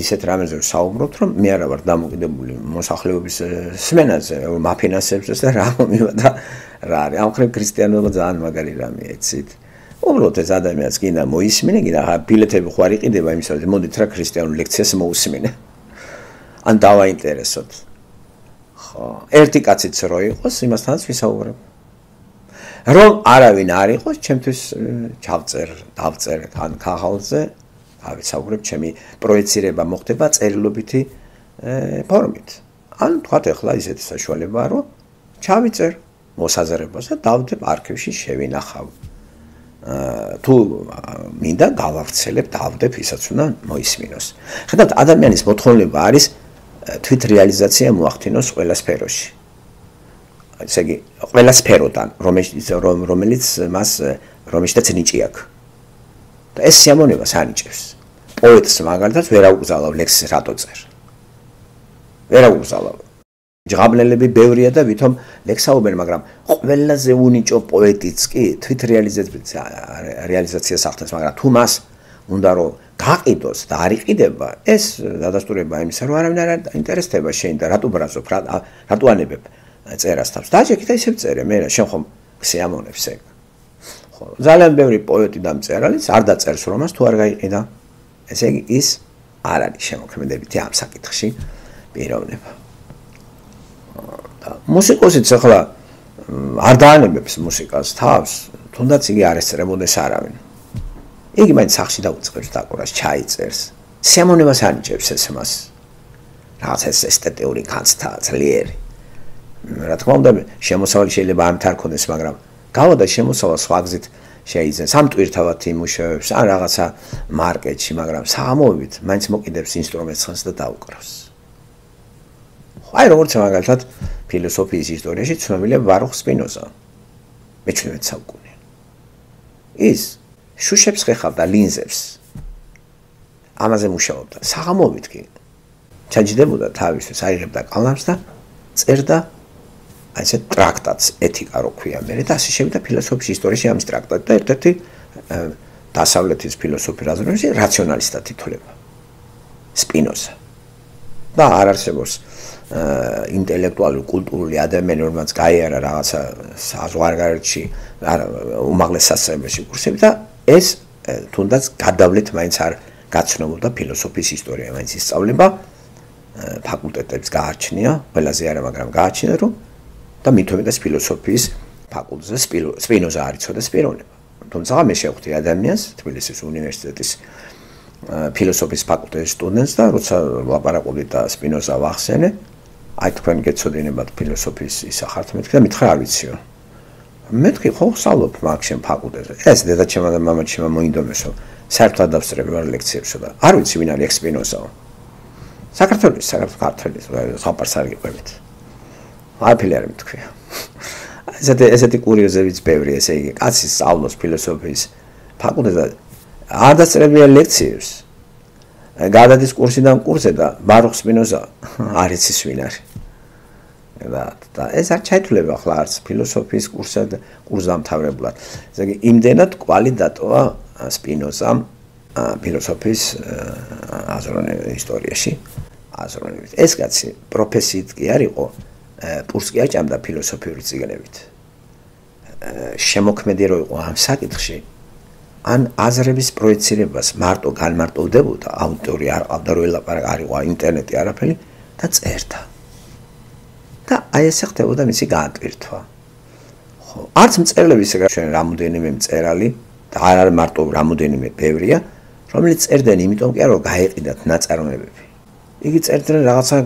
ისეთ რამეზე ვსაუბრობთ, რომ მე არა ვარ დამოკიდებული მოსახლეობის სმენაზე, მაფინანსებზეც და რა მომივიდა რა არის. ამ ხრივ ქრისტიანობა ძალიან მაგარი რამეა, იცით? უბრალოდ ეს ადამიანს კიდე მოისმინე, კიდე ბილეთები ხო არ იყიდება იმისათვის, მოდით რა ქრისტიანულ ლექციას მოусმინე. ან დავაინტერესოთ. ხო, ერთი კაციც რო იყოს, იმასთანაც ვისაუბრებ. რომ არავინ არ იყოს, ჩემთვის ჩავწერ, დავწერ ან ქაღალდზე, ავისაუბრებ, ჩემი პროექცირება მოხდება წერილობითი ფორმით. ან თქვათ ახლა ისეთი საშუალებაა, რომ ჩავიწერ მოსაზრებას და დავდებ არქივში შევინახავ. თუ მინდა გავავრცელებ, დავდებ, ისაც უნდა მოისმინოს. ხედავთ, ადამიანის მოთხოვნება არის თვით რეალიზაცია მოახდინოს ყველა სფეროში. ესე იგი, ყველა სფეროდან, რომელიც მას რომელშიც ნიჭი აქვს. და ეს სიამოვნებას ანიჭებს. პოეტს მაგალითად ვერ აუკრძალავ ლექსს რატო წერ. ვერ აუკრძალავ. ჯღაბლელები ბევრია და ვითომ ლექსაობენ, მაგრამ ყველაზე უნიჭო პოეტიც კი თვით რეალიზაციას ახდენს, მაგრამ თუ მას უნდა რომ გაყიდოს და არ იყიდება, ეს დადასტურება იმისა, რომ არავინ არ ინტერესდება შენ და რატო ბრაზობ, რატო ანებებ წერას თავს. დაჭექი და ისევ წერე, მე რა შენ ხომ სიამოვნებს ეგ. ხო, ძალიან ბევრი პოეტი და მწერალიც არ დაწერს რომას თუ არ გაიყიდა. ესე იგი ის არ არის შემოქმედებითი ამ საკითხში პიროვნება. მუსიკოსიც ახლა არ დაანებებს მუსიკას თავს, თუნდაც იგი არ ესწრებოდეს არავინ. იგი მაინც სახში დაუწყებს დაკვრას, ჩაიწერს. სიამოვნებას ანიჭებს ეს მას. რაღაც ეს ესთეტიური განცდა, ძლიერი. რა თქმა უნდა, შემოსავალი შეიძლება ამით არ ქონდეს, მაგრამ გავადა შემოსავალ სხვა გზით შეიძენს. ამ ტვირთავად იმუშავებს, ან რაღაცა მარკეტში, მაგრამ საღამოობით მაინც მოკიდებს ინსტრუმენტს ხანს და დაუკრავს. აი როგორც მაგალითად ფილოსოფიის ისტორიაში ცნობილია ბარუხ სპინოზა. მეჩვენებთ საუკუნე. ის შუშებს ხეხავდა ლინზებს. ამაზე მუშაობდა. საღამოობით კი ჩაჯდებოდა თავისთვის, აიღებდა კალამს და წერდა აი ეს ტრაქტატს, ეთიკა რო ქვია მე და ასე შევიდა ფილოსოფიის ისტორიაში ამის ტრაქტატი და ერთ-ერთი დასავლეთის ფილოსოფიის აზროვნების რაციონალისტად ითვლება. სპინოზა. და არ არსებობს ინტელექტუალური კულტურული ადამიანი, რომელმაც გაიარა რაღაცა საზღვარგარეთში, უმაღლეს სასწავლებელში კურსები და ეს თუნდაც გადავლეთ მაინც არ გაცნობოდა ფილოსოფიის ისტორია, მაინც ისწავლება ფაკულტეტებს გააჩნია, ყველაზე არა, მაგრამ გააჩნია რომ და მithomedas ფილოსოფიის ფაკულტეტზე სპინოზა არ იცოდა სპირონება. თუმცა მე შევხვდი ადამიანს თბილისის უნივერსიტეტის ფილოსოფიის ფაკულტეტის სტუდენტს და როცა ლაპარაკობდი და სპინოზა ვახსენე, აი თქვენ გეცოდინებათ ფილოსოფიის ისახართ მეთქი და მითხრა არ ვიციო. მეთქი ხო ვსწავლობ მაგ შენ ფაკულტეტზე. ეს დედაჩემმა და მამაჩემმა მოინდომესო საერთოდ დავსწრები ვარ ლექციებსო და არ ვიცი ვინ არის სპინოზაო. საქართველოს საქართველოს ქართლის ხაპარს არ გიყვებით. აი ფილე არ მეთქვია. ესეთი ესეთი კურიოზებიც ბევრი, ესე იგი, კაცი სწავლობს ფილოსოფიის ფაკულტეტზე არ დასწრებია ლექციებს. გადადის კურსიდან კურსზე და ბარუხ სპინოზა არ იცის ვინ არის. და და ეს არ ჩაითვლება ახლა არც ფილოსოფიის კურსად კურსდამთავრებლად. ესე იგი, იმდენად კვალი დატოვა სპინოზამ ფილოსოფიის აზროვნების ისტორიაში, აზროვნებით. ეს კაცი პროფესიით კი არ იყო, პურს კი აჭამდა ფილოსოფიური წიგნებით. შემოქმედი რო იყო ამ საკითხში, ან აზრების პროექცირებას მარტო განმარტოვდებოდა, ავტორი არ ყავდა რო ელაპარაკა, არ იყო ინტერნეტი არაფერი და წერდა. და აი ესე ხდებოდა მისი გაატვირთვა. ხო, არც მწერლების ეგ ჩვენ რამოდენიმე მწერალი და არ არის მარტო რამოდენიმე ბევრია, რომელიც წერდნენ იმიტომ კი არა რომ გაეყიდათ ნაწარმოებები. იგი წერდნენ რაღაცა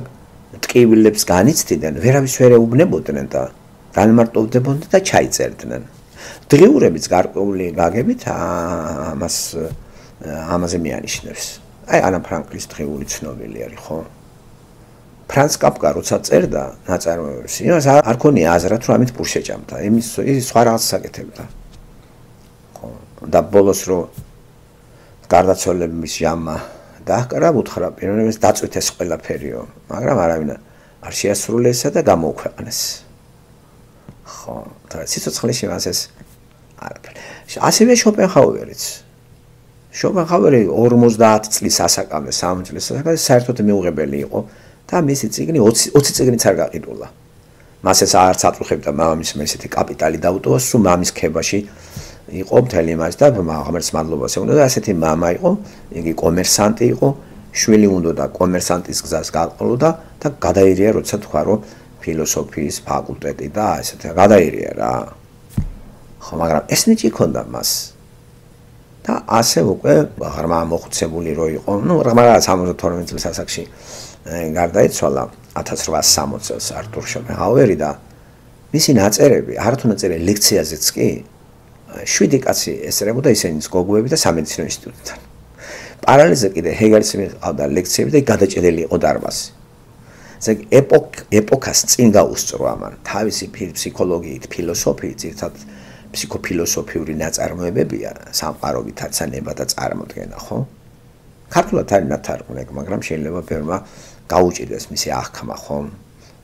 ტკივილებს განიცდიდნენ, ვერავის ვერ ეუბნებოდნენ და განმარტოვდებოდნენ და ჩაიწერდნენ. დღიურებიც გარკვეული გაგებით ამას ამაზე მეანიშნებს. აი ანა ფრანკლის დღიური ცნობილი არის, ხო? ფრანც კაფკა როცა წერდა ნაწარმოებებს, იმას არ ქონია აზრად რომ ამით პურს შეჭამდა. იმის ის სხვა რაღაცას აკეთებდა. ხო, და ბოლოს რო გარდაცვალების ჟამმა დააკრა, უთხრა პიროვნებას დაწვითეს ყველაფერიო, მაგრამ არავინ არ შეასრულესა და გამოუქვეყნეს. ხო, და სიცოცხლეში მას ეს არაფერი. ასევე შოპენჰაუერიც. შოპენჰაუერი ორმოცდაათ წლის ასაკამდე, სამოცი წლის ასაკამდე საერთოდ მიუღებელი იყო და მისი წიგნი ოცი წიგნიც არ გაყიდულა. მას ეს არც აწუხებდა მამამისმა ესეთი კაპიტალი დაუტოვა, სულ მამის ქებაში იყო მთელი მას და ღმერთს მადლობას ეუბნება და ასეთი მამა იყო, იგი კომერსანტი იყო, შვილი უნდა და კომერსანტის გზას გაყოლოდა და გადაირია როცა თქვა რომ ფილოსოფიის ფაკულტეტი და ესეთი გადაირია რა. ხო, მაგრამ ეს ნიჭი ქონდა მას. და ასე უკვე ღრმა მოხუცებული რო იყო, ნუ რაღაც სამოცდათორმეტ წლის ასაკში გარდაიცვალა ათას რვაას სამოცი წელს არტურ შოპენჰაუერი და მისი ნაწერები, არათუ ნაწერები ლექციაზეც კი შვიდი კაცი ესწრებოდა ისინიც გოგუები და სამედიცინო ინსტიტუტიდან. პარალელზე კიდე ჰეგელის მიყავდა ლექციები და გადაჭედილი იყო დარბაზი. ესე იგი ეპოქ ეპოქას წინ გაუსწრო ამან თავისი ფსიქოლოგიით, ფილოსოფიით, ერთად ფსიქოფილოსოფიური ნაწარმოებებია, სამყაროვითაც ანება და წარმოდგენა, ხო? ქართულად არის ნათარგმნი, მაგრამ შეიძლება ბევრმა გაუჭირდეს მისი აღქმა, ხო?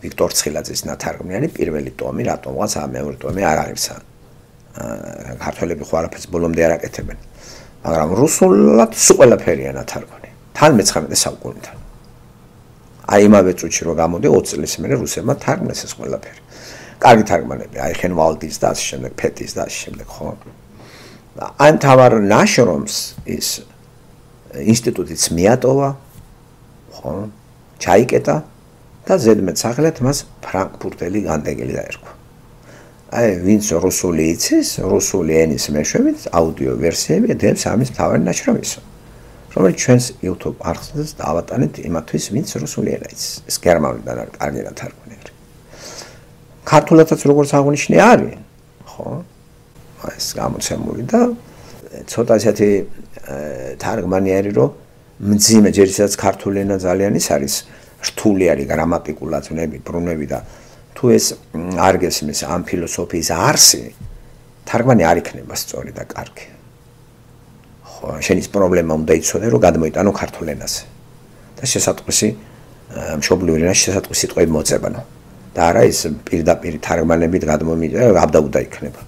ვიქტორ ცხილაძის ნათარგმნი არის პირველი ტომი, რატომღაც ამ მეორე ტომი არ აღირსა. ქართველები ხო არაფერს ბოლომდე არ აკეთებენ. მაგრამ რუსულად სულ ყველაფერია ნათარგმნი. თან მეცხრამეტე საუკუნიდან. აი იმავე წუთში რო გამოდი ოცი წლის მერე რუსებმა თარგმნეს ეს ყველაფერი. კარგი თარგმანები, აი ხენვალდის და ასე შემდეგ, ფეთის და ასე შემდეგ, ხო? აი თავარ ნაშრომს ის ინსტიტუტიც მიატოვა, ხო? ჩაიკეტა და ზედმეტ სახელად მას ფრანკფურტელი განდეგელი დაერქვა. აი ვინც რუსული იცის, რუსული ენის მეშვეობით აუდიო ვერსიები დებს ამის თავარი ნაშრომისო. რომელიც ჩვენს YouTube არხზეც დავატანეთ იმათვის, ვინც რუსული ენა იცის. ეს გერმანულიდან არის კარგი ნათარგმნი არის. ქართულადაც როგორც აღნიშნე არის, ხო? ეს გამოცემული და ცოტა ესეთი თარგმანი არის, რომ მძიმე ჯერ ისაც ქართული ენა ძალიან ის არის, რთული არის გრამატიკულად ნები, ბრუნები და თუ ეს არ გესმის ამ ფილოსოფიის არსი, თარგმანი არ იქნება სწორი და კარგი. ხო, ხო, შენის პრობლემა უნდა იცოდე, რომ გადმოიტანო ქართულ ენაზე. და შესატყვისი მშობლიური ენა შესატყვისი სიტყვები მოწებანო. და არა ის პირდაპირ თარგმანებით გადმომიჭრა, აბდაუდა იქნება.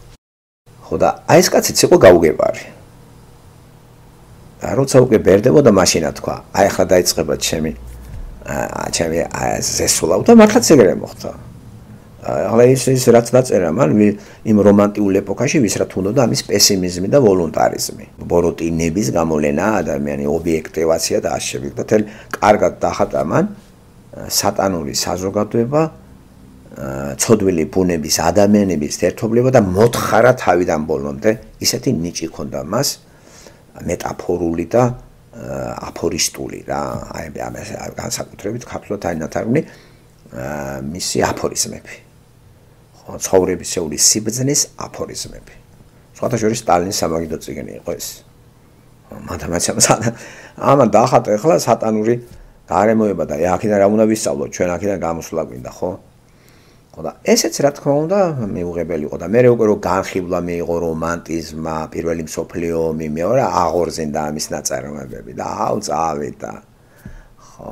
ხო და აი ეს კაციც იყო გაუგებარი. და როცა უკვე ბერდებოდა მაშინა თქვა, აი ახლა დაიწყება ჩემი აა ჩემი ზესულავ და მართლაც ეგრე მოხდა. ახლა ის ის რაც დაწერა მან იმ რომანტიულ ეპოქაში ვისრათ უნდოდა ამის პესიმიზმი და ვოლუნტარიზმი. ბოროტინების გამოვლენა, ადამიანი ობიექტივაცია და ასე და თელ კარგად დახატა მან სატანური საზოგადოება, ცოდვილი ბუნების ადამიანების ერთობლივება და მოთხარა თავიდან ბოლომდე, ისეთი ნიჭი ჰქონდა მას მეტაფორული და აფორისტული რა, აი ამას განსაკუთრებით ქართულად არის ნათარგმნი მისი აფორიზმები. ცხოვრებისეული სიბრძნის აფორიზმები. სხვათა შორის სტალინის სამაგიდო წიგნი იყო ეს. მათემატიკა ამან დაახატა ახლა სატანური გარემოება და აქედან რა უნდა ვისწავლოთ, ჩვენ აქედან გამოსვლა გვინდა, ხო? ხო და ესეც რა თქმა უნდა მიუღებელი იყო და მე უკვე რო განხილვა მიიღო რომანტიზმმა, პირველი მსოფლიო ომი, მეორე აღორძინდა ამის ნაწარმოებები და აუ წავიდა. ხო.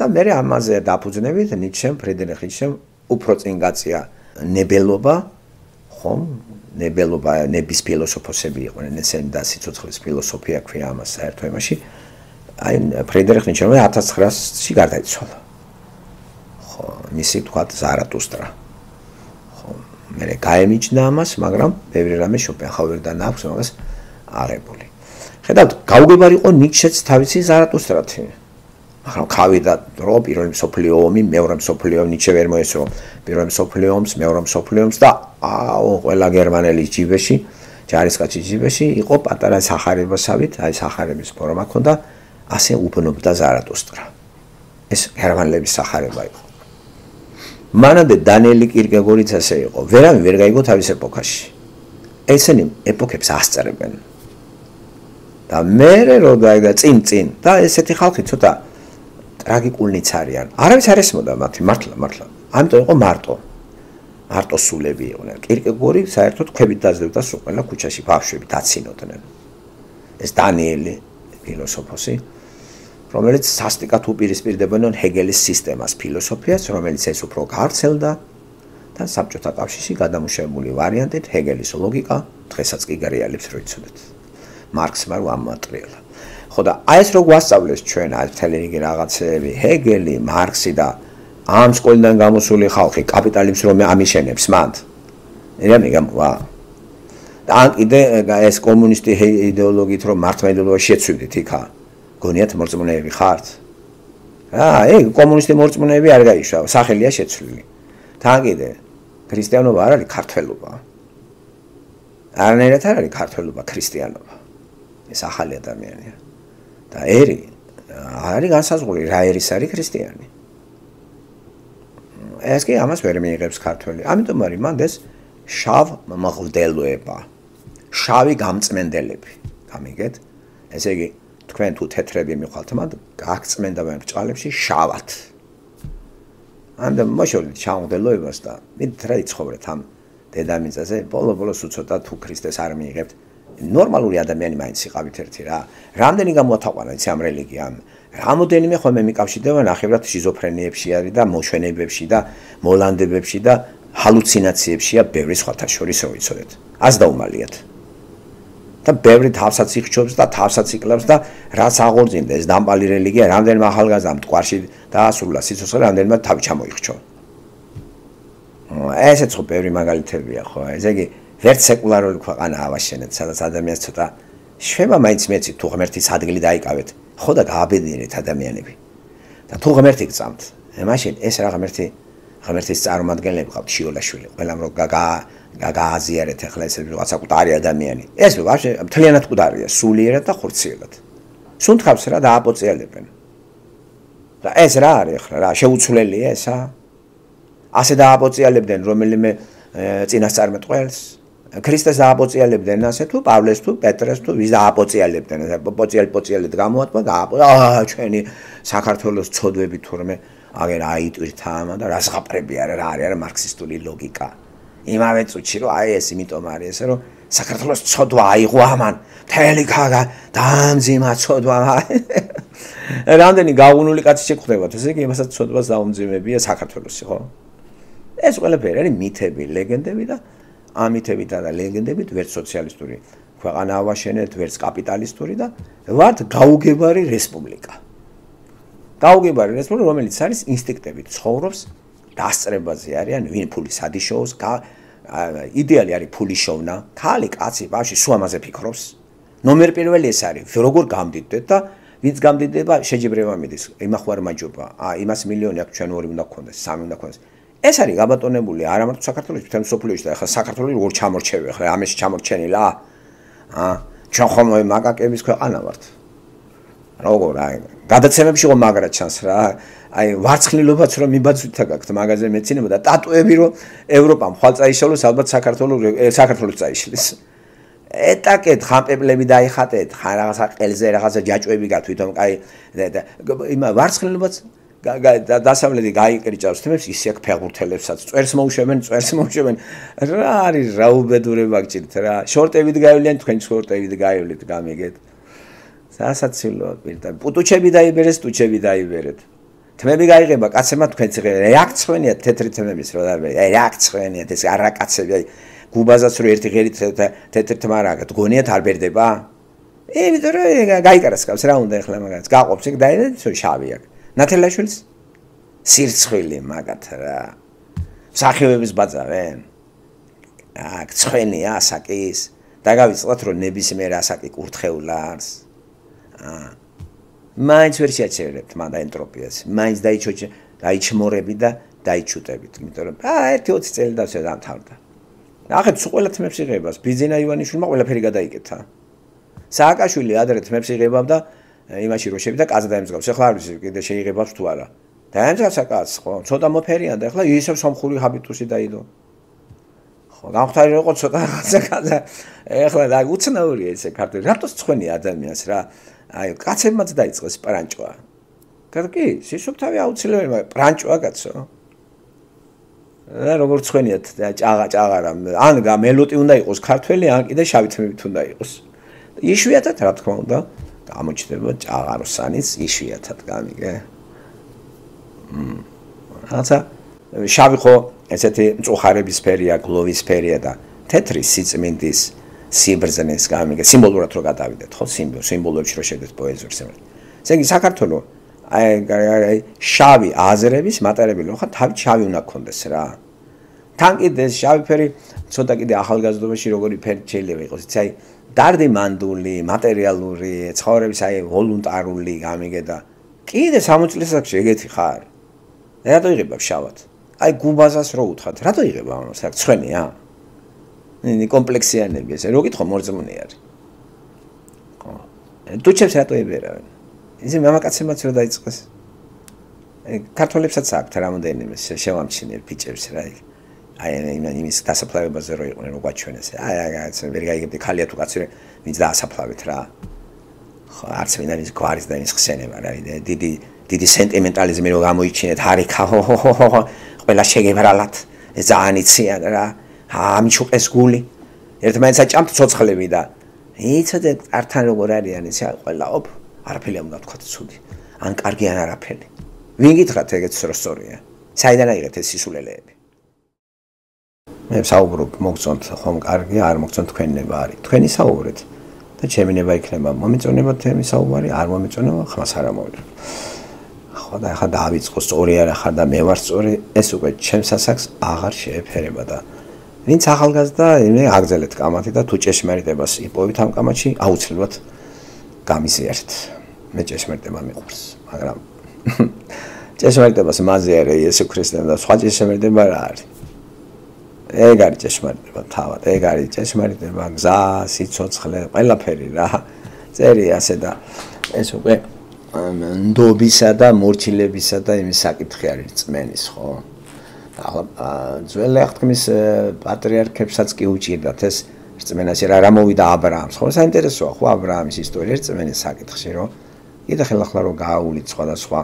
და მე ამაზე დაფუძნებით ნიჩემ, ფრიდრიხ ნიჩემ უფრო წინ გაწია ნებელობა, ხომ? ნებელობა, ნების ფილოსოფოსები იყვნენ, ესენი და სიცოცხლის ფილოსოფია ქვია ამას საერთო იმაში. აი ფრიდრიხ ნიჩემ ათას ცხრაასში გარდაიცვალა. ხო, მისი თქვათ ზარატუსტრა. ხო, მე გაემიჯნა ამას, მაგრამ ბევრი რამე შოპენჰაუერიდან აქვს მაგას აღებული. ხედავთ, გაუგებარი იყო ნიჩეც თავისი ზარატუსტრათი. მაგრამ გავიდა დრო პირველი მსოფლიო ომი, მეორე მსოფლიო ომი, ნიჩე ვერ მოესწრო პირველი მსოფლიო ომს, მეორე მსოფლიო ომს და აუ ყველა გერმანელის ჯიბეში, ჯარისკაცის ჯიბეში იყო პატარა სახარებასავით, აი სახარების ფორმა ჰქონდა, ასე უბნობდა ზარატუსტრა. ეს გერმანელების სახარება იყო. მანამდე დანიელი კირკეგორიც ასე იყო. ვერავინ ვერ გაიგო თავის ეპოქაში. ესენი ეპოქებს ასწრებენ. და მე რო დაიგა წინ წინ და ესეთი ხალხი ცოტა ტრაგიკულნიც არიან. არავის არ ესმოდა მათი, მართლა, მართლა. ამიტომ იყო მარტო. მარტო სულები იყვნენ. კირკეგორი საერთოდ ქვებით დაძლებდა სულ ყველა ქუჩაში ბავშვები დაცინოდნენ. ეს დანიელი ფილოსოფოსი, რომელიც სასტიკად უპირისპირდებოდნენ ჰეგელის სისტემას, ფილოსოფიას, რომელიც ეს უფრო გავრცელდა და საბჭოთა კავშირში გადამუშავებული ვარიანტით ჰეგელის ლოგიკა დღესაც კი გარეალებს რო იცოდეთ. მარქსმა რო ამოატრიალა. ხო და აი ეს რო გვასწავლეს ჩვენ აი მთელი რიგი რაღაცეები, ჰეგელი, მარქსი და ამ სკოლიდან გამოსული ხალხი კაპიტალიზმს რომ ამიშენებს მანდ. ეხლა მეგამვა. და ან კიდე ეს კომუნისტი იდეოლოგიით რომ მართმა იდეოლოგია შეცვიდით იქა. გონიათ მორწმუნეები ხართ? აა, ეგ კომუნისტი მორწმუნეები არ გაიშვა, სახელია შეცვლილი. თან კიდე ქრისტიანობა არ არის ქართველობა. არანაირად არ არის ქართველობა, ქრისტიანობა. ეს ახალი ადამიანია. და ერი არის განსაზღვრული, რა ერის არის ქრისტიანი. ეს კი ამას ვერ მიიღებს ქართველი. ამიტომ არის მანდ ეს შავ მღვდელოება, შავი გამწმენდელები. გამიგეთ? ესე იგი თქვენ თუ თეთრები მიხვალთ, მანდ გაგწმენდა მე ბრჭყალებში შავად. ამდე მოშორდით ჩამღდელოებას და მით რა იცხოვრეთ ამ დედამიწაზე, ბოლო-ბოლოს უცოტა თუ ქრისტეს არ მიიღებთ. ნორმალური ადამიანი მაინც იყავით ერთი რა. რამდენი გამოათაყვანა იცი ამ რელიგიამ. რამოდენიმე ხოლმე მიკავშირდება ნახევრად შიზოფრენიებში არის და მოშვენებებში და მოლანდებებში და ჰალუცინაციებშია ბევრი სხვათა შორის რო იცოდეთ. ას დაუმალიათ. და ბევრი თავსაც იხჩობს და თავსაც იკლავს და რაც აღორძინდა ეს დამპალი რელიგია რამდენმა ახალგაზრდამ მტკვარში დაასრულა სიცოცხლე, რამდენმა თავი ჩამოიხჩო. ესეც ხო ბევრი მაგალითებია ხო. ესე იგი ვერც სეკულარული ქვეყანა ავაშენეთ, სადაც ადამიანს ცოტა შვება მაინც მეცით თუ ღმერთის ადგილი დაიკავეთ, ხო და გააბედნიერეთ ადამიანები. და თუ ღმერთი გწამთ, მაშინ ეს რა ღმერთი ღმერთის წარმომადგენლები ყავთ შიოლაშვილი, ყველამ რო გაგა გაგააზიარეთ ახლა ეს რაღაცა კუტარი ადამიანი. ეს ვაფშე მთლიანად კუტარია, სულიერად და ხორციელად. სუნთქავს რა დააპოწიალებენ. და ეს რა არის ახლა რა შეუცვლელია ესა? ასე დააპოწიალებდნენ რომელიმე წინასწარმეტყველს? ქრისტეს დააპოწიალებდნენ ასე თუ პავლეს თუ პეტრეს თუ ვის დააპოწიალებდნენ? პოწიალ პოწიალად გამოატყვა აა ჩვენი საქართველოს ცოდვები თურმე აგერ აიტვირთა ამა და რას ხაპრები არა რა არის არა მარქსისტული ლოგიკა. იმავე წუთში რომ აი ეს იმიტომ არის ესე რომ საქართველოს ცოდვა აიღო ამან მთელი ქადა დაამძიმა ცოდვა რამდენი გაუგუნული კაცი შეგხვდებათ ესე იგი იმასაც ცოდვას დაუმძიმებია საქართველოსი ხო ეს ყველაფერი არის მითები ლეგენდები და ამ მითებითა და ლეგენდებით ვერც სოციალისტური ქვეყანა ავაშენეთ ვერც კაპიტალისტური და ვართ გაუგებარი რესპუბლიკა გაუგებარი რესპუბლიკა რომელიც არის ინსტინქტებით ცხოვრობს დასწრებაზე არიან ვინ ფულის ადიშოუს იდეალი არის ფული შოვნა ქალი კაცი ბავშვი სულ ამაზე ფიქრობს ნომერ პირველი ეს არის როგორ გამდიდდეთ და ვინც გამდიდდება შეჯიბრება მიდის იმახვარ მაჯობა ა იმას მილიონი აქვს ჩვენ ორი უნდა გქონდეს სამი უნდა გქონდეს ეს არის გაბატონებული არა მარტო საქართველოს მთელ მსოფლიოში და ახლა საქართველოს როგორ ჩამორჩევი ახლა ამაში ჩამორჩენილა ა ჩვენ ხომ მაკაკების ქვეყანა ვართ როგორ აი გადაცემებში რომ მაგრა ჩანს რა აი ვარცხნილობაც რომ მიბაძვითა გაქვთ მაგაზე მეცინება და ტატუები რომ ევროპამ ხვალ წაიშალოს ალბათ საქართველოს საქართველოს წაიშლის ეტაკეთ ხამპებლები დაიხატეთ ხან რაღაცა ყელზე რაღაცა ჯაჭვები გაქვთ თვითონ აი იმ ვარცხნილობაც დასავლეთი გაიკრიჭავს თემებს ისე აქ ფეხბურთელებსაც წვერს მოუშვებენ წვერს მოუშვებენ რა არის რა უბედურება გჭირთ რა შორტებით გაივლიან თქვენ შორტებით გაივლით გამიგეთ სასაცილოა პირდაპირ პუტუჩები დაიბერეს ტუჩები დაიბერეთ თმები გაიღება კაცებმა თქვენც რეაქციონია თეთრი თმების რა და რეაქციონია ეს არაკაცები აი გუბაზაც რო ერთი ღერით თეთრი თმა რა გონიათ არ ბერდება იმიტომ რომ გაიკარასკავს რა უნდა ეხლა მაგაც გაყოფს იქ დაიდეთ შავი აქ ნათელაშვილის სირცხვილი მაგათ რა სახევების ბაძავენ აქ ცხენია ასაკის და გავიწყოთ რომ ნებისმიერ ასაკი კურთხეულს აა მაინც ვერ შეაჩერებთ მან და ენტროპიას მაინც დაიჩოჩე დაიჩმორები და დაიჩუტებით იმიტომ რომ აა ერთი ოცი წელი დავსვე დამთავრდა ახეთ სულ ყველა თმებს იღებას ბიძინა ივანიშვილმა ყველაფერი გადაიკეთა სააკაშვილი ადრე თმებს იღებდა იმაში რო შევიდა კაცს დაემსგავს ახლა არ ვიცი კიდე შეიღებს თუ არა დაემსგავს აკაც ხო ცოტა მოფერიან და ახლა ისევ სამხური ჰაბიტუსი დაიდო ხო გამختარი იყო ცოტა რაღაცა კაცი ახლა და უცნაურია ესე ქართული რატოს ცხენი ადამიანს რა აი კაცებმაც დაიწყეს პრანჭვა კარგი სისუფთავი აუცილებელი მაგრამ პრანჭვა კაცო რა როგორ ცხენიათ ჭაღა ჭაღარა ან მელოტი უნდა იყოს ქართველი ან კიდე შავი თმებით უნდა იყოს იშვიათად რა თქმა უნდა გამოჩნდება ჭაღაროსანის იშვიათად გამიგე მ რაცა შავი ხო ესეთი მწუხარების სფერია გლოვის სფერია და თეთრი სიწმინდის სიბრძნეს გამიგე სიმბოლურად რო გადავიდეთ ხო სიმბოლოებში რო შევდეთ პოეზიურ სიმბოლოებს ესე იგი საქართველოს აი შავი აზრების მატარებელი ხო თავი შავი უნდა გქონდეს რა თან კიდე შავი ფერი ცოტა კიდე ახალგაზრდობაში როგორი ფერი შეიძლება იყოს იცი აი დარდი მანდული მატერიალური ცხოვრების აი ვოლუნტარული გამიგე და კიდე სამოცი წლის ასაკში ეგეთი ხარ რატო იღება შავად აი გუბაზას რო უთხრათ რატო იღება ამას აქ ცხენია ნი კომპლექსიანები ესე რო გითხო მორწმუნე არის ხო დუჩებს რატო იბერავენ ისე მამაკაცებმაც რო დაიწყეს ქართველებსაც აქვთ რამოდენიმე შევამჩნიერ ბიჭებს რა აი აი იმის დასაფლავებაზე რო იყვნენ რო გაჩვენეს აი აი ვერ გაიგებდი ხალია თუ კაცი ვინც დაასაფლავეთ რა ხო არც ვინ არის გვარის და იმის ხსენება რა დიდი დიდი სენტიმენტალიზმი რო გამოიჩინეთ ჰარიქა ყველა შეგებრალათ ეს ძალიან იციან რა ამჩუყეს გული ერთმანეთს აჭამთ ცოცხლები და იცოდე ართან როგორ არიან ეს ყველა ოპ არაფერი არ უნდა თქვა ცუდი ან კარგი ან არაფერი ვინ გითხრათ ეგეც რო სწორია საიდან აიღეთ ეს სისულელეები მე საუბრობ მოგწონთ ხომ კარგი არ მოგწონთ თქვენნება არის თქვენი საუბრეთ და ჩემი ნება იქნება მომეწონება თემი საუბარი არ მომეწონება ხმას არ ამოვიდრე ხო და ახლა დაავიწყო სწორი არა ხარ და მე ვარ სწორი ეს უკვე ჩემს ასაკს აღარ შეეფერება და ვინც ახალგაზრდა მე აგზელეთ კამათი და თუ ჭეშმარიტებას იპოვით ამ კამათში აუცილებლად გამიზიარეთ მე ჭეშმარიტება მიყვარს მაგრამ ჭეშმარიტებას მაზიარე იესო ქრისტემ და სხვა ჭეშმარიტება რა არის ეგ არის ჭეშმარიტება თავად ეგ არის ჭეშმარიტება გზა სიცოცხლე ყველაფერი რა წერი ასე და ეს უკვე ნდობისა და მორჩილებისა და იმის საკითხი არის წმენის ხო ახლა ძველი აღთქმის პატრიარქებსაც კი უჭირდათ ეს რწმენაში რა რა მოვიდა ა ブラ ამს ხო საინტერესოა ხო ა ブラ ამის ისტორია რწმენის საკითხში რომ კიდე ხელახლა რომ გააულით სხვადასხვა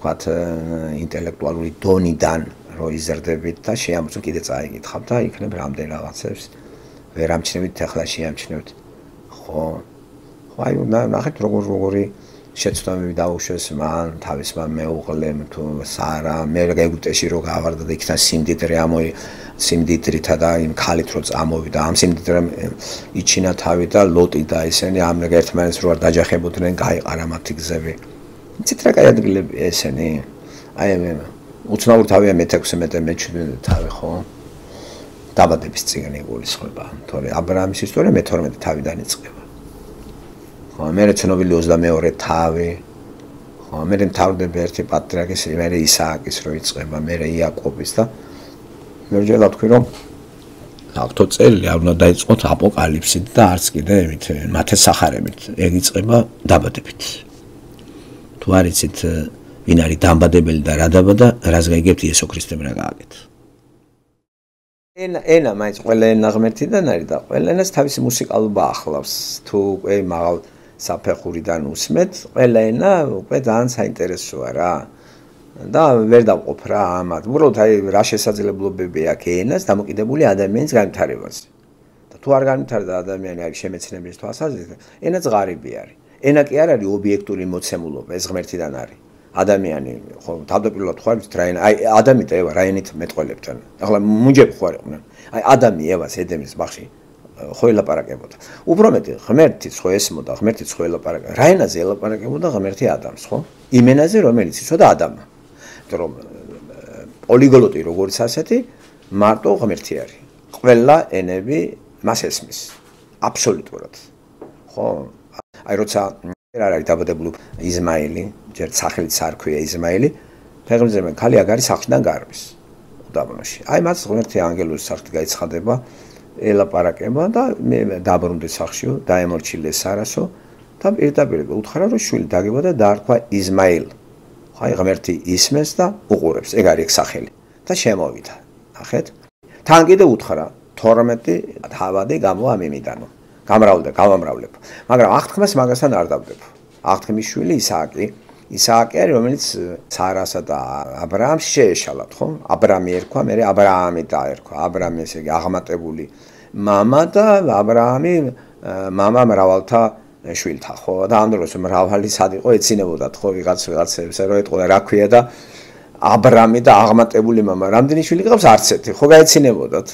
თქვათ ინტელექტუალური დონიდან რომ იზრდებით და შეამოწმო კიდე წაიგითხავთ და იქნებ რამდენ რაღაცებს ვერ ამჩნევით, ახლა შეამჩნევთ. ხო. ხო აი ნახეთ როგორ როგორი შეცდომები დაუშვეს მან, თავისმა მეუღლემ თუ სარა, მე ეგვიპტეში რო გავარდა და იქიდან სიმდიდრე ამოი სიმდიდრითა და იმ ქალით რო წამოვიდა, ამ სიმდიდრემ იჩინა თავი და ლოტი და ესენი ამ ერთმანეთს რო არ დაჯახებოდნენ, გაიყარა მათი გზები. იცით რა კაი ადგილები ესენი? აი მე უცნაურ თავია მეთექვსე მეტე მეჩვიდმეტე თავი ხო? დაბადების წიგნი გულისხმობა, თორე აბრაამის ისტორია მეთორმეტე თავიდან იწყება. ხო, მე ცნობილი ოცდამეორე თავი. ხო, მე მთავრდება ერთი პატრიარქის, მე ისააკის რო იწყება, მე იაკობის და მე ვჯერა თქვი რომ ავტო წელი არ უნდა დაიწყოთ აპოკალიფსით და არც კიდე ემით მათეს სახარებით, ეგ იწყება დაბადებით. თუ არ იცით ვინ არის დამბადებელი და რა დაბადა, რას გაიგებთ იესო ქრისტემ რა გააკეთა. ენა ენა მაინც ყველა ენა ღმერთიდან არის და ყველა ენას თავისი მუსიკალობა ახლავს. თუ უკვე მაღალ საფეხურიდან უსმეთ, ყველა ენა უკვე ძალიან საინტერესოა რა. და ვერ დავყოფ რა ამათ. უბრალოდ აი რა შესაძლებლობები აქვს ენას დამოკიდებული ადამიანის განვითარებაზე. და თუ არ განვითარდა ადამიანი არის შემეცნების თვალსაზრისით, ენა ზღარიბი არის. ენა კი არ არის ობიექტური მოცემულობა, ეს ღმერთიდან არის. ადამიანი ხო თავდაპირველად ხო არის რა აი ადამი და ევა რაენით მეტყოლებთან. ახლა მუნჯები ხო არიყვნენ. აი ადამი ევას ედემის ბაღში ხო ელაპარაკებოდა. უფრო მეტი ღმერთიც ხო ესმოდა, ღმერთიც ხო ელაპარაკებოდა. რაენაზე ელაპარაკებოდა ღმერთი ადამიანს ხო? იმ ენაზე რომელიც იცოდა ადამა. რომ პოლიგლოტი როგორც ასეთი მარტო ღმერთი არის. ყველა ენები მას ესმის. აბსოლუტურად. ხო? აი როცა არ არის დაბადებული იზმაილი, ჯერ სახელით სარქვია იზმაილი, ფეხმძიმე ქალი აგარი სახლიდან გარბის უდაბნოში. აი მას ღმერთი ანგელოზის სახით გაიცხადება, ელაპარაკება და მე დაბრუნდი სახლშიო, დაემორჩილე სარასო და პირდაპირ უთხრა რომ შვილი დაგება და დაარქვა იზმაილ. აი ღმერთი ისმეს და უყურებს, ეგ არის სახელი და შემოვიდა. ნახეთ? თან კიდე უთხრა თორმეტი თავადი გამოვა მიმიდანო. გამრავლდა, გავამრავლებ. მაგრამ აღთქმას მაგასთან არ დავდებ. აღთქმის შვილი ისააკი, ისააკი არის რომელიც სარასა და აბრაამს შეეშალათ, ხო? აბრამი ერქვა, მე აბრაამი დაერქვა. აბრამი ესე იგი აღმატებული მამა და აბრაამი მამა მრავალთა შვილთა, ხო? და ამ დროს მრავალი სად იყო ეცინებოდათ, ხო? ვიღაც ვიღაცებს რომ ეტყოდა რა ქვია და აბრამი და აღმატებული მამა, რამდენი შვილი ყავს არც ერთი, ხო გაეცინებოდათ.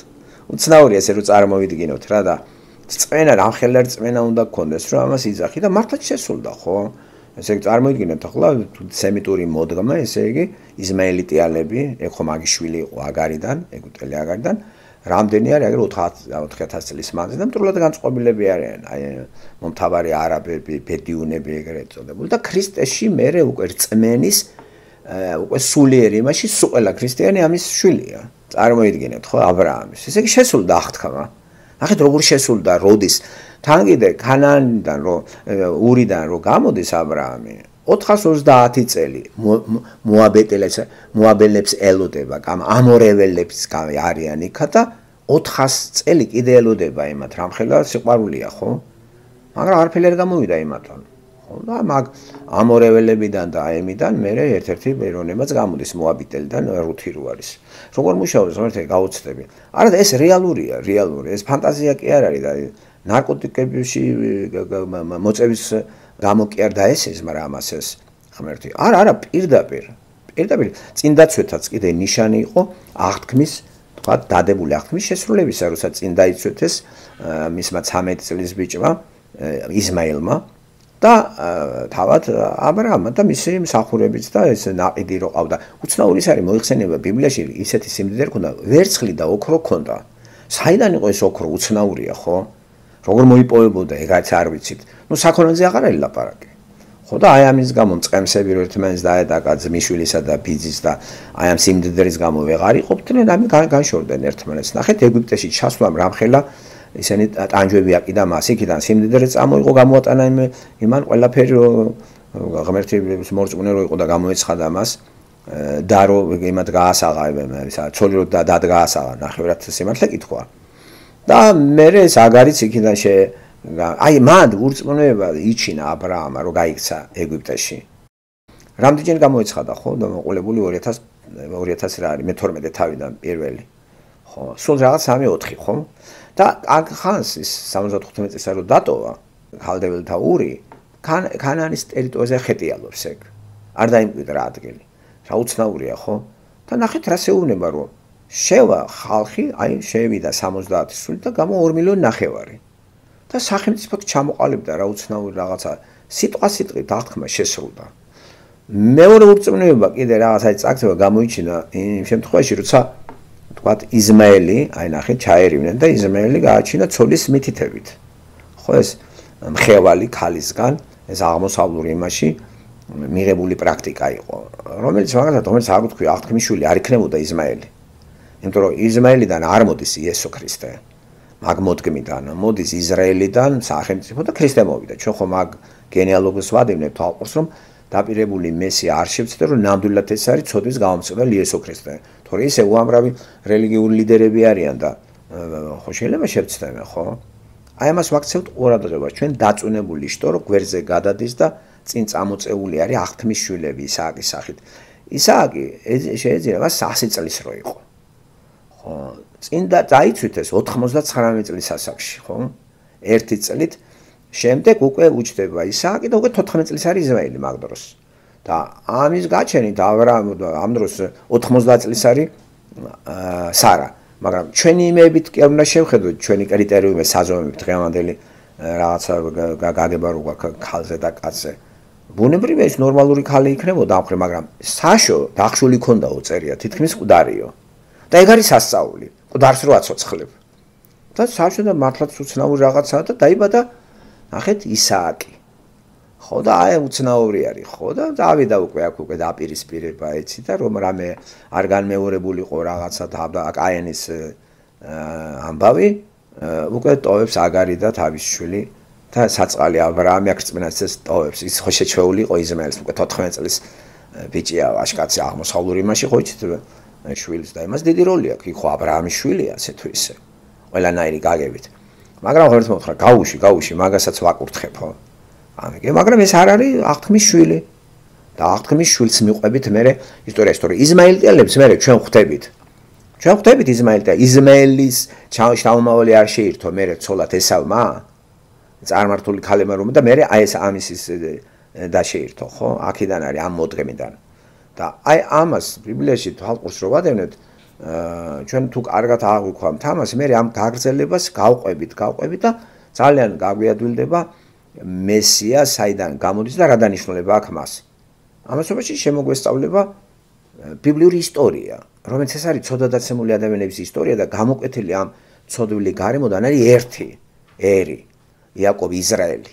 უცნაურია ესე რომ წარმოვიდგინოთ რა და წმენა რამხელარ წმენა უნდა გქონდეს რომ ამას იძახი და მართლაც შესულდა ხო ესე იგი წარმოიდგინეთ ახლა სემიტური მოდგმა ესე იგი იზმაელიტიალები ეხო მაგიშვილი იყო აგარიდან ეგვიპტელი აგარიდან რამდენი არის აგერ ოთხ ათას წლის მანძილზე და მტრულად განწყობილები არიან აი მომთაბარე არაბები ბედიუნები ეგრეთ წოდებული და ქრისტეში მერე უკვე წმენის უკვე სულიერი იმაში სულ ყველა ქრისტიანი ამის შვილია წარმოიდგინეთ ხო აბრაამის ესე იგი შესულდა აღთქმა ნახეთ როგორ შესულდა როდის თან კიდე ქანაანიდან რო ურიდან რო გამოდის აბრაამი ოთხას ოცდაათი წელი მოაბეტელებს მოაბელებს ელოდება კამ ამორეველებს არიან იქა და ოთხას წელი კიდე ელოდება იმათ რამხელა სიყვარულია ხო მაგრამ არაფერი არ გამოვიდა იმათთან ხო და მაგ ამორეველებიდან და აემიდან მე ერთ-ერთი ეროვნებაც გამოდის მოაბიტელიდან რუთი რო არის როგორ მუშაობს ღმერთი გაუცდები არა ეს რეალურია რეალური ეს ფანტაზია კი არ არის და ნარკოტიკებში მოწევის გამო კი არ დაესეს მაგრამ ამას ეს ღმერთი არა არა პირდაპირ პირდაპირ წინდაცვეთაც კიდე ნიშანი იყო აღთქმის თქვა დადებული აღთქმის შესრულებისა როცა წინ დაიცვეთეს მისმა ცამეტი წლის ბიჭმა იზმაილმა და თავად აბრაამმა და მისი მსახურებიც და ეს ნაყიდი რო ყავდა უცნაური ის არის მოიხსენება ბიბლიაში ისეთი სიმდიდრე ქონდა ვერცხლი და ოქრო ქონდა საიდან იყო ეს ოქრო უცნაურია ხო როგორ მოიპოვებოდა ეგაც არ ვიცით ნუ საქონელზე აღარ არის ლაპარაკი ხო და აი ამის გამო მწყემსები რო ერთმანეთს დაედაკა ძმისშვილისა და ბიძის და აი ამ სიმდიდრის გამო ვეღარ იყოფდნენ ამი განშორდნენ ერთმანეთს ნახეთ ეგვიპტეში ჩასვლამ რამხელა ისინი ტანჯვები აკიდა მას იქიდან სიმდიდრე წამოიღო გამოატანა იმან ყველაფერი ღმერთი მორწმუნე რო იყო და გამოეცხადა მას და რო იმათ გაასაღა ისა ცოლი რო დადგაასაღა ნახევრად სიმართლე კითხვა და მე ეს აგარიც იქიდან შე აი მან ურწმუნოება იჩინა აბრაამა რო გაიქცა ეგვიპტეში რამდენჯერ გამოეცხადა ხო და მოყოლებული ორი ათას ორი ათას რა არის მეთორმეტე თავიდან პირველი ხო, სულ რაღაც სამი ოთხი, ხო? და აქ ხანს ის სამოცდათხუთმეტი წელს რო დატოვა ქალდეველთა ური, ქანაანის ტერიტორიაზე ხეტიალობს ეგ. არ დაიმკვიდრა ადგილი. რა უცნაურია, ხო? და ნახეთ რა შეუნება რომ შევა ხალხი, აი შევიდა სამოცდაათი სული და გამო ორი მილიონი ნახევარი. და სახელმწიფო ჩამოყალიბდა რა უცნაური რაღაცა სიტყვა სიტყვით აღთქმა შესრულდა. მეორე ურწმუნოება კიდე რაღაცა წაქცევა გამოიჩინა იმ შემთხვევაში, როცა თქვათ იზმაელი, აი ნახეთ, ჩაერივნენ და იზმაელი გააჩინა ცოლის მითითებით. ხო ეს მხევალი ქალისგან, ეს აღმოსავლურ იმაში მიღებული პრაქტიკა იყო, რომელიც მაგალითად, რომელიც არ ვთქვი, აღთქმის შვილი არ იქნებოდა იზმაელი. იმიტომ რომ იზმაელიდან არ მოდის იესო ქრისტე. მაგ მოდგმიდან მოდის ისრაელიდან სახელმწიფო და ქრისტე მოვიდა. ჩვენ ხომ მაგ გენეალოგიას ვადევნებთ ალყურს, რომ დაპირებული მესია არ შევცდე, რომ ნამდვილად ეს არის ცოდვის გამომწვევი იესო ქრისტე. თორე ისე უამრავი რელიგიური ლიდერები არიან და ხო შეიძლება შევცდები, ხო? აი ამას ვაქცევთ ყურადღებას. ჩვენ დაწუნებული შტო, რომ გვერდზე გადადის და წინ წამოწეული არის აღთქმის შვილები ისააკის სახით. ისააკი შეიძლება სასი წლის რო იყო. ხო, წინ და დაიცვით ეს ოთხმოცდაცხრამეტი წლის ასაკში, ხო? ერთი წლით შემდეგ უკვე უჩდება ისააკი და უკვე თოთხმეტი წლის არის იზმაელი მაგ დროს. და ამის გაჩენით ავრამი ამ დროს ოთხმოცდაათი წლის არის სარა. მაგრამ ჩვენი იმებით კი არ უნდა შევხედოთ ჩვენი კრიტერიუმები საზომებით დღევანდელი რაღაცა გაგება რო გვაქვს ქალზე და კაცზე. ბუნებრივია ის ნორმალური ქალი იქნებოდა ამ ხრი, მაგრამ საშო დახშული ქონდაო წერია, თითქმის მკვდარიო. და ეგ არის სასწაული, მკვდარს რო აცოცხლებ. და საშო და მართლაც უცნაური რაღაცაა და დაიბადა ნახეთ ისააკი. ხო და აი უცნაური არის, ხო და დავიდა უკვე აქ უკვე დაპირისპირება ეცი და რომ რამე არ განმეორებულიყო რაღაცა და კაენის ამბავი, უკვე ტოვებს აგარი და თავის შვილი და საწყალი აბრაამი აქ რწმენას ეს ტოვებს. ის ხო შეჩვეული იყო იზმაელს, უკვე თოთხმეტი წლის ბიჭია, აშკაცი აღმოსავლურ იმაში ხო იცით შვილს და იმას დიდი როლი აქვს. იქ ხო აბრაამის შვილია, ასე თუ ისე. ყველანაირი გაგებით. მაგრამ ხო ერთ მოთხრა, გაუში, გაუში, მაგასაც ვაკურთხებ, ხო? ამიგე, მაგრამ ეს არ არის აღთქმის შვილი. და აღთქმის შვილს მიყვებით მე ისტორიაში, თორე იზმაელიტელებს მე ჩვენ ხვდებით. ჩვენ ხვდებით იზმაელიტელს, იზმაელის ჩამომავალი არ შეირთო მე ცოლად ესავმა. წარმართული ქალებმა რომ და მე აი ეს ამის ის დაშეირთო, ხო? აქედან არის ამ მოდგმიდან. და აი ამას ბიბლიაში თვალყურს რო ვადევნებთ, ჩვენ თუ კარგად აღვიქვამთ ამას, მე ამ გაგრძელებას გავყვებით, გავყვებით და ძალიან გაგვიადვილდება მესია საიდან გამოდის და რა დანიშნულება აქვს მას. ამასობაში შემოგვესწავლება ბიბლიური ისტორია, რომელიც ეს არის ცოდვადაცემული ადამიანების ისტორია და გამოკვეთილი ამ ცოდვილი გარემოდან არის ერთი ერი, იაკობი, ისრაელი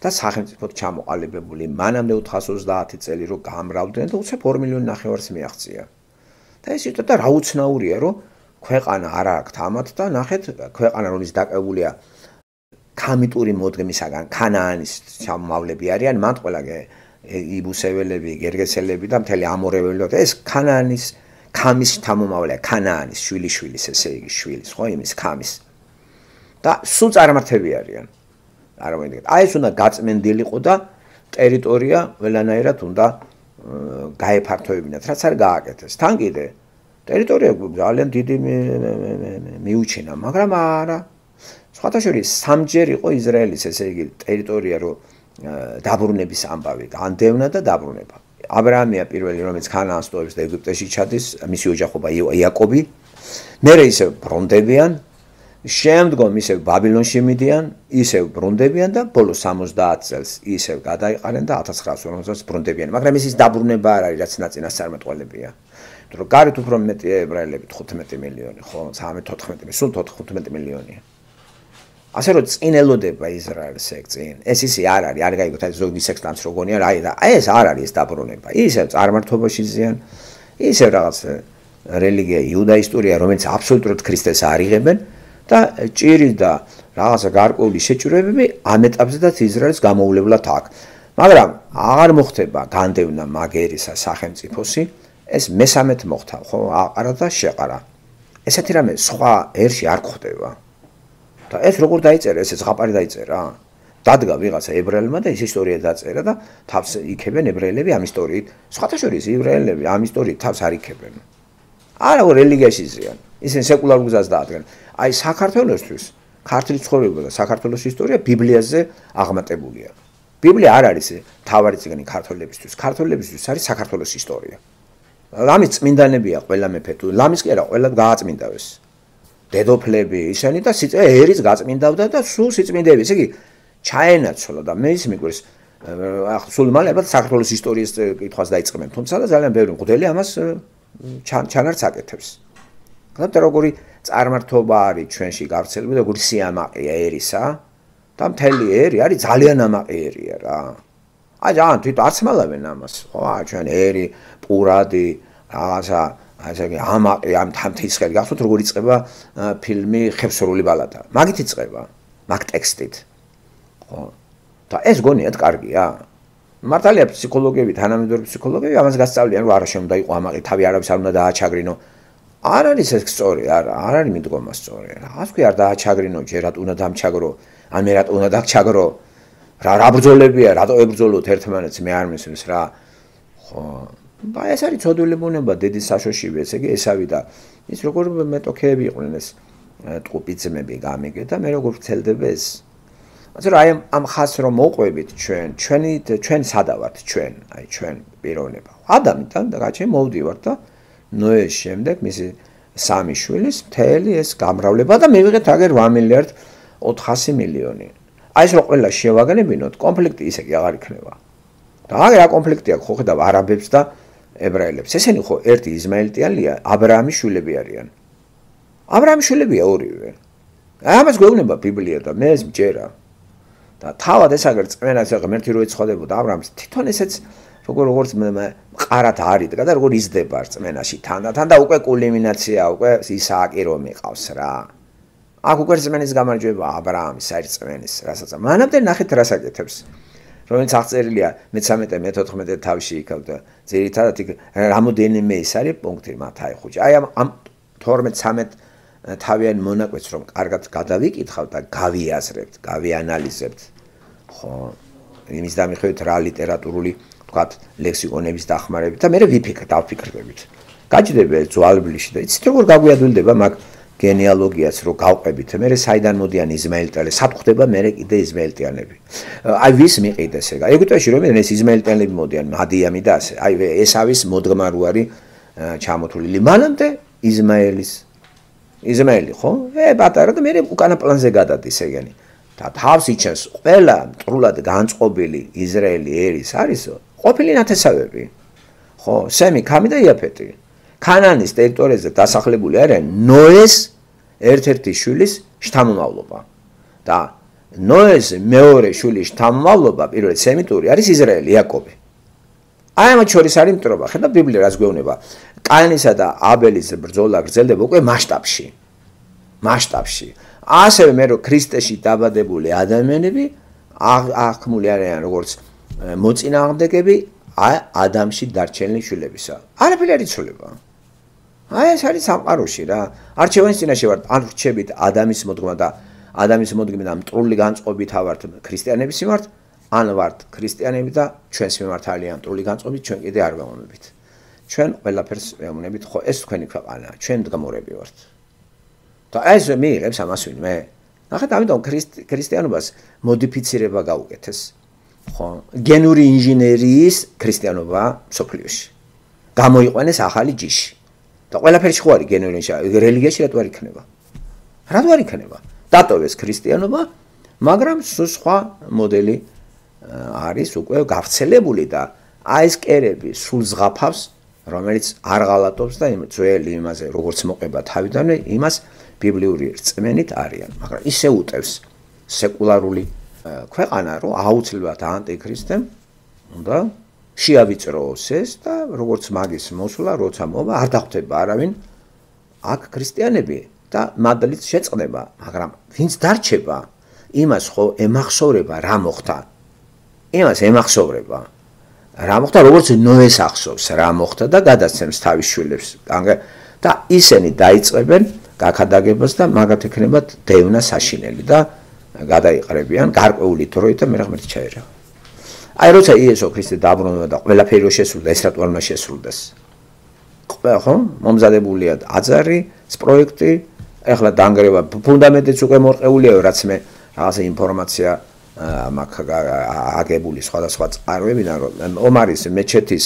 და სახელმწიფოდ ჩამოყალიბებული მანამდე ოთხას ოცდაათი წელი რო გამრავლდნენ და უცებ ორი მილიონი ნახევარს მიაღწია. და ეს ისე და რა უცნაურია, რომ ქვეყანა არ აქვს ამათ და ნახეთ ქვეყანა რომელიც დაკავებულია ქამიტური მოდგმისაგან, ქანაანის ჩამომავლები არიან, მათ ყველა იბუსეველები, გერგესელები და მთელი ამორეველი და ეს ქანაანის ქამის ჩამომავლია, ქანაანის შვილიშვილის, ესე იგი შვილის, ხო, იმის ქამის. და სულ წარმართები არიან. არ მოიგეთ. აი ეს უნდა გაწმენდილიყო და ტერიტორია ყველანაირად უნდა გაეფართოებინათ, რაც არ გააკეთეს. თან კიდე ტერიტორია ძალიან დიდი მიუჩინა, მაგრამ არა. სხვათა შორის სამჯერ იყო ისრაელის ესე იგი ტერიტორია რო დაბრუნების ამბავი, განდევნა და დაბრუნება. აბრაამია პირველი, რომელიც ქანაანს ტოვებს და ეგვიპტეში ჩადის, მისი ოჯახობა იაკობი. მერე ისევ ბრუნდებიან, შემდგომ ისევ ბაბილონში მიდიან, ისევ ბრუნდებიან და ბოლოს სამოცდაათი წელს ისევ გადაიყარენ და ათას ცხრაას ორმოცდაათს ბრუნდებიან. მაგრამ ეს ის დაბრუნება არ არის, რაც ნაწინასწარმეტყველებია. იმიტომ რომ გარეთ უფრო მეტია ებრაელები, თხუთმეტი მილიონი, ხო, ცხრამეტი თოთხმეტი, სულ თხუთმეტი მილიონია. ასე რომ წინ ელოდება ისრაელს ეგ წინ. ეს ისე არ არის, არ გაიგოთ, აი ზოგი სექსტანს როგორია, აი და აი ეს არ არის ეს დაბრუნება. ისევ წარმართობაში ზიან, ისევ რაღაც რელიგია, იუდაისტურია, რომელიც აბსოლუტურად ქრისტეს არ იღებენ და ჭირი და რაღაცა გარკვეული შეჭრებები ამ ეტაპზედაც ისრაელს გამოუვლებლად აქვს. მაგრამ აღარ მოხდება განდევნა მაგერისა სახელმწიფოსი, ეს მესამედ მოხდა, ხო, აყარა და შეყარა. ესეთი რამე სხვა ერში არ გვხდება. და ეს როგორ დაიწერა, ესე ზღაპარი დაიწერა? დადგა ვიღაცა ებრაელმა და ის ისტორია დაწერა და თავს იქებენ ებრაელები ამ ისტორიით. სხვათა შორის ებრაელები ამ ისტორიით თავს არ იქებენ. არა, რელიგიაში ზიან. ისინი სეკულარ გზას დაადგენენ. აი საქართველოსთვის ქართული ცხოვრება და საქართველოს ისტორია ბიბლიაზე აღმატებულია. ბიბლია არ არის თავარი წიგნი ქართველებისთვის. ქართველებისთვის არის საქართველოს ისტორია. ლამის წმინდანებია ყველა მეფე თუ ლამის კი არა ყველა გააწმინდავეს. დედოფლები ისინი და სიწე ერის გაწმინდავდა და სულ სიწმინდეები. ესე იგი ჩაენაცვლა და მე ის მიგვირს ახლა სულ მალე ალბათ საქართველოს ისტორიის კითხვას დაიწყებენ. თუმცა და ძალიან ბევრი მღვდელი ამას ჩანარც აკეთებს. გქონდა როგორი წარმართობა არის ჩვენში გავრცელებული, როგორი სიამაყეა ერისა და მთელი ერი არის ძალიან ამაყი ერია რა. აი ძალიან თვითონ არც მალავენ ამას. ხო, ჩვენ ერი, პურადი, რაღაცა ასე იგი ამაყი ამ თამთისხელი გახსოვთ როგორ იწყება ფილმი ხევსურული ბალადა. მაგით იწყება, მაგ ტექსტით. ხო. და ეს გონიათ კარგია. მართალია ფსიქოლოგები, თანამედროვე ფსიქოლოგები ამას გასწავლიან, რომ არა შემოდა იყო ამაყი, თავი არავის არ უნდა დააჩაგრინო. არ არის ეს სწორი, არა, არ არის მიდგომა სწორი. რა თქვი არ დააჩაგრინო, ჯერად უნდა დამჩაგრო, ან მე რატო უნდა დაგჩაგრო? რა რა ბრძოლებია, რატო ებრძოლოთ ერთმანეთს, მე არ მისმის რა. ხო, და ეს არის ცოდვილი ბუნება, დედის საშოშივე, ესე იგი ესავი და ის როგორ მეტოქეები იყვნენ ეს ტყუპიძმები გამიგე და მე როგორ ვცელდება ეს. ასე რომ აი ამ ხაზს რომ მოყვებით ჩვენ, ჩვენი ჩვენ სადა ვართ ჩვენ, აი ჩვენ პიროვნება. ადამიანთან და გაჩენ მოვდივართ და ნოეს შემდეგ მისი სამი შვილის მთელი ეს გამრავლება და მივიღეთ აგერ რვა მილიარდ ოთხასი მილიონი. აი ეს რო ყველა შევაგნებინოთ, კონფლიქტი ისე კი აღარ იქნება. და აგერ რა კონფლიქტია ხო ხედავ არაბებს და ებრაელებს. ესენი ხო ერთი იზმაელიტიანია, აბრაამის შვილები არიან. აბრაამის შვილებია ორივე. ამას გვეუბნება ბიბლია და მე ეს მჯერა. და თავად ეს აგერ წმენას ღმერთი რო ეცხადებოდა აბრაამს, თვითონ ესეც როგორ როგორც მყარად არიდგა და როგორ იზრდება წმენაში თანდათან და უკვე კულმინაცია, უკვე ისააკი რომ მიყავს რა. აქ უკვე წმენის გამარჯვება აბრაამის არის წმენის, რასაც მანამდე ნახეთ რას აკეთებს. რომელიც აღწერილია მეთერთმეტე მეთოთხმეტე თავში იქ და ძირითადად იქ რამოდენიმე ის არის პუნქტი მათ აიხუჭა. აი ამ თორმეტ ცამეტ თავიან მონაკვეთს რომ კარგად გადავიკითხავთ და გავიაზრებთ, გავიანალიზებთ. ხო, იმის დამიხევით რა ლიტერატურული ვთქვათ ლექსიკონების დახმარებით და მე ვიფიქრ დავფიქრებით. გაჭდება ეს ძვალბლიში და იცით როგორ გაგვიადვილდება მაგ გენეალოგიას რო გავყვებით, მე საიდან მოდიან იზმაელიტელები, სად ხდება მე კიდე იზმაელიტიანები. აი ვის მიყიდეს ეგა? ეგვიპტეში რომ ეს იზმაელიტელები მოდიან, მადიამი და ასე. აი ესავის მოდგმა რო არის ჩამოთვლილი. მანამდე იზმაელის იზმაელი ხო? ე პატარა და მე უკანა პლანზე გადადის ეგენი. და თავს იჩენს ყველა მტრულად განწყობილი ისრაელი ერის არისო, ყოფილი ნათესავები. ხო, სემი, ქამი და იაფეტი. ქანანის ტერიტორიაზე დასახლებული არიან ნოეს ერთ-ერთი შვილის შთამომავლობა. და ნოეს მეორე შვილის შთამომავლობა, პირველი სემიტური არის ისრაელი, იაკობი. აი ამ შორის არის მტრობა. ხედავ ბიბლია რას გვეუბნება. კაინისა და აბელის ბრძოლა გრძელდება უკვე მასშტაბში. მასშტაბში. ასევე მე რო ქრისტეში დაბადებული ადამიანები აღქმული არიან როგორც მოწინააღმდეგები ადამიანში დარჩენილი შვილებისა. არაფერი არ იცვლება. აი ეს არის სამყაროში რა. არჩევანის წინაშე ვართ, ან ვრჩებით ადამიანის მოდგმა და ადამიანის მოდგმით და მტრული განწყობით ავართ ქრისტიანების მიმართ, ან ვართ ქრისტიანები და ჩვენს მიმართ ალიან მტრული განწყობით, ჩვენ კიდე არ ვეუბნებით. ჩვენ ყველაფერს ვეუბნებით, ხო ეს თქვენი ქვეყანაა, ჩვენ მდგომარეები ვართ. და ეს მიიღებს ამას ვინმე. ნახეთ, ამიტომ ქრისტიანობას მოდიფიცირება გაუკეთეს. ხო, გენური ინჟინერიის ქრისტიანობა სოფლიოში. გამოიყვანეს ახალი ჯიში. და ყველაფერში ხო არის გენური ინჟინერია, რელიგიაში რატო არ იქნება? რატო არ იქნება? დატოვეს ქრისტიანობა, მაგრამ სხვა მოდელი არის უკვე გავრცელებული და აი ეს კერები სულ ზღაფავს, რომელიც არ ღალატობს და იმ ძველი იმაზე როგორც მოყვება თავიდანვე იმას ბიბლიური რწმენით არიან, მაგრამ ისე უტევს სეკულარული ქვეყანა, რომ აუცილებლად ანტიქრისტემ უნდა შეავიწროოს ეს და როგორც მაგის მოსვლა, როცა მოვა, არ დახვდება არავინ აქ ქრისტიანები და მადლით შეწყდება, მაგრამ ვინც დარჩება, იმას ხო ემახსოვრება რა მოხდა. იმას ემახსოვრება რა მოხდა, როგორც ნოეს ახსოვს რა მოხდა და გადასცემს თავის შვილებს. და ისინი დაიწყებენ გაქადაგებას და მაგათ ექნებათ დევნა საშინელი და გადაიყრებიან გარკვეული დროით და მე ღმერთი ჩაერევა. აი როცა იესო ქრისტე დაბრუნდა და ყველაფერი რო შესრულდა, ეს რატო არ უნდა შესრულდეს? ხო, მომზადებულია აძარი, პროექტი, ეხლა დაანგრევა ფუნდამენტიც უკვე მორყეულია, რაც მე რაღაცა ინფორმაცია მაქვს აგებული სხვადასხვა წყაროებიდან, რომ ომარის მეჩეთის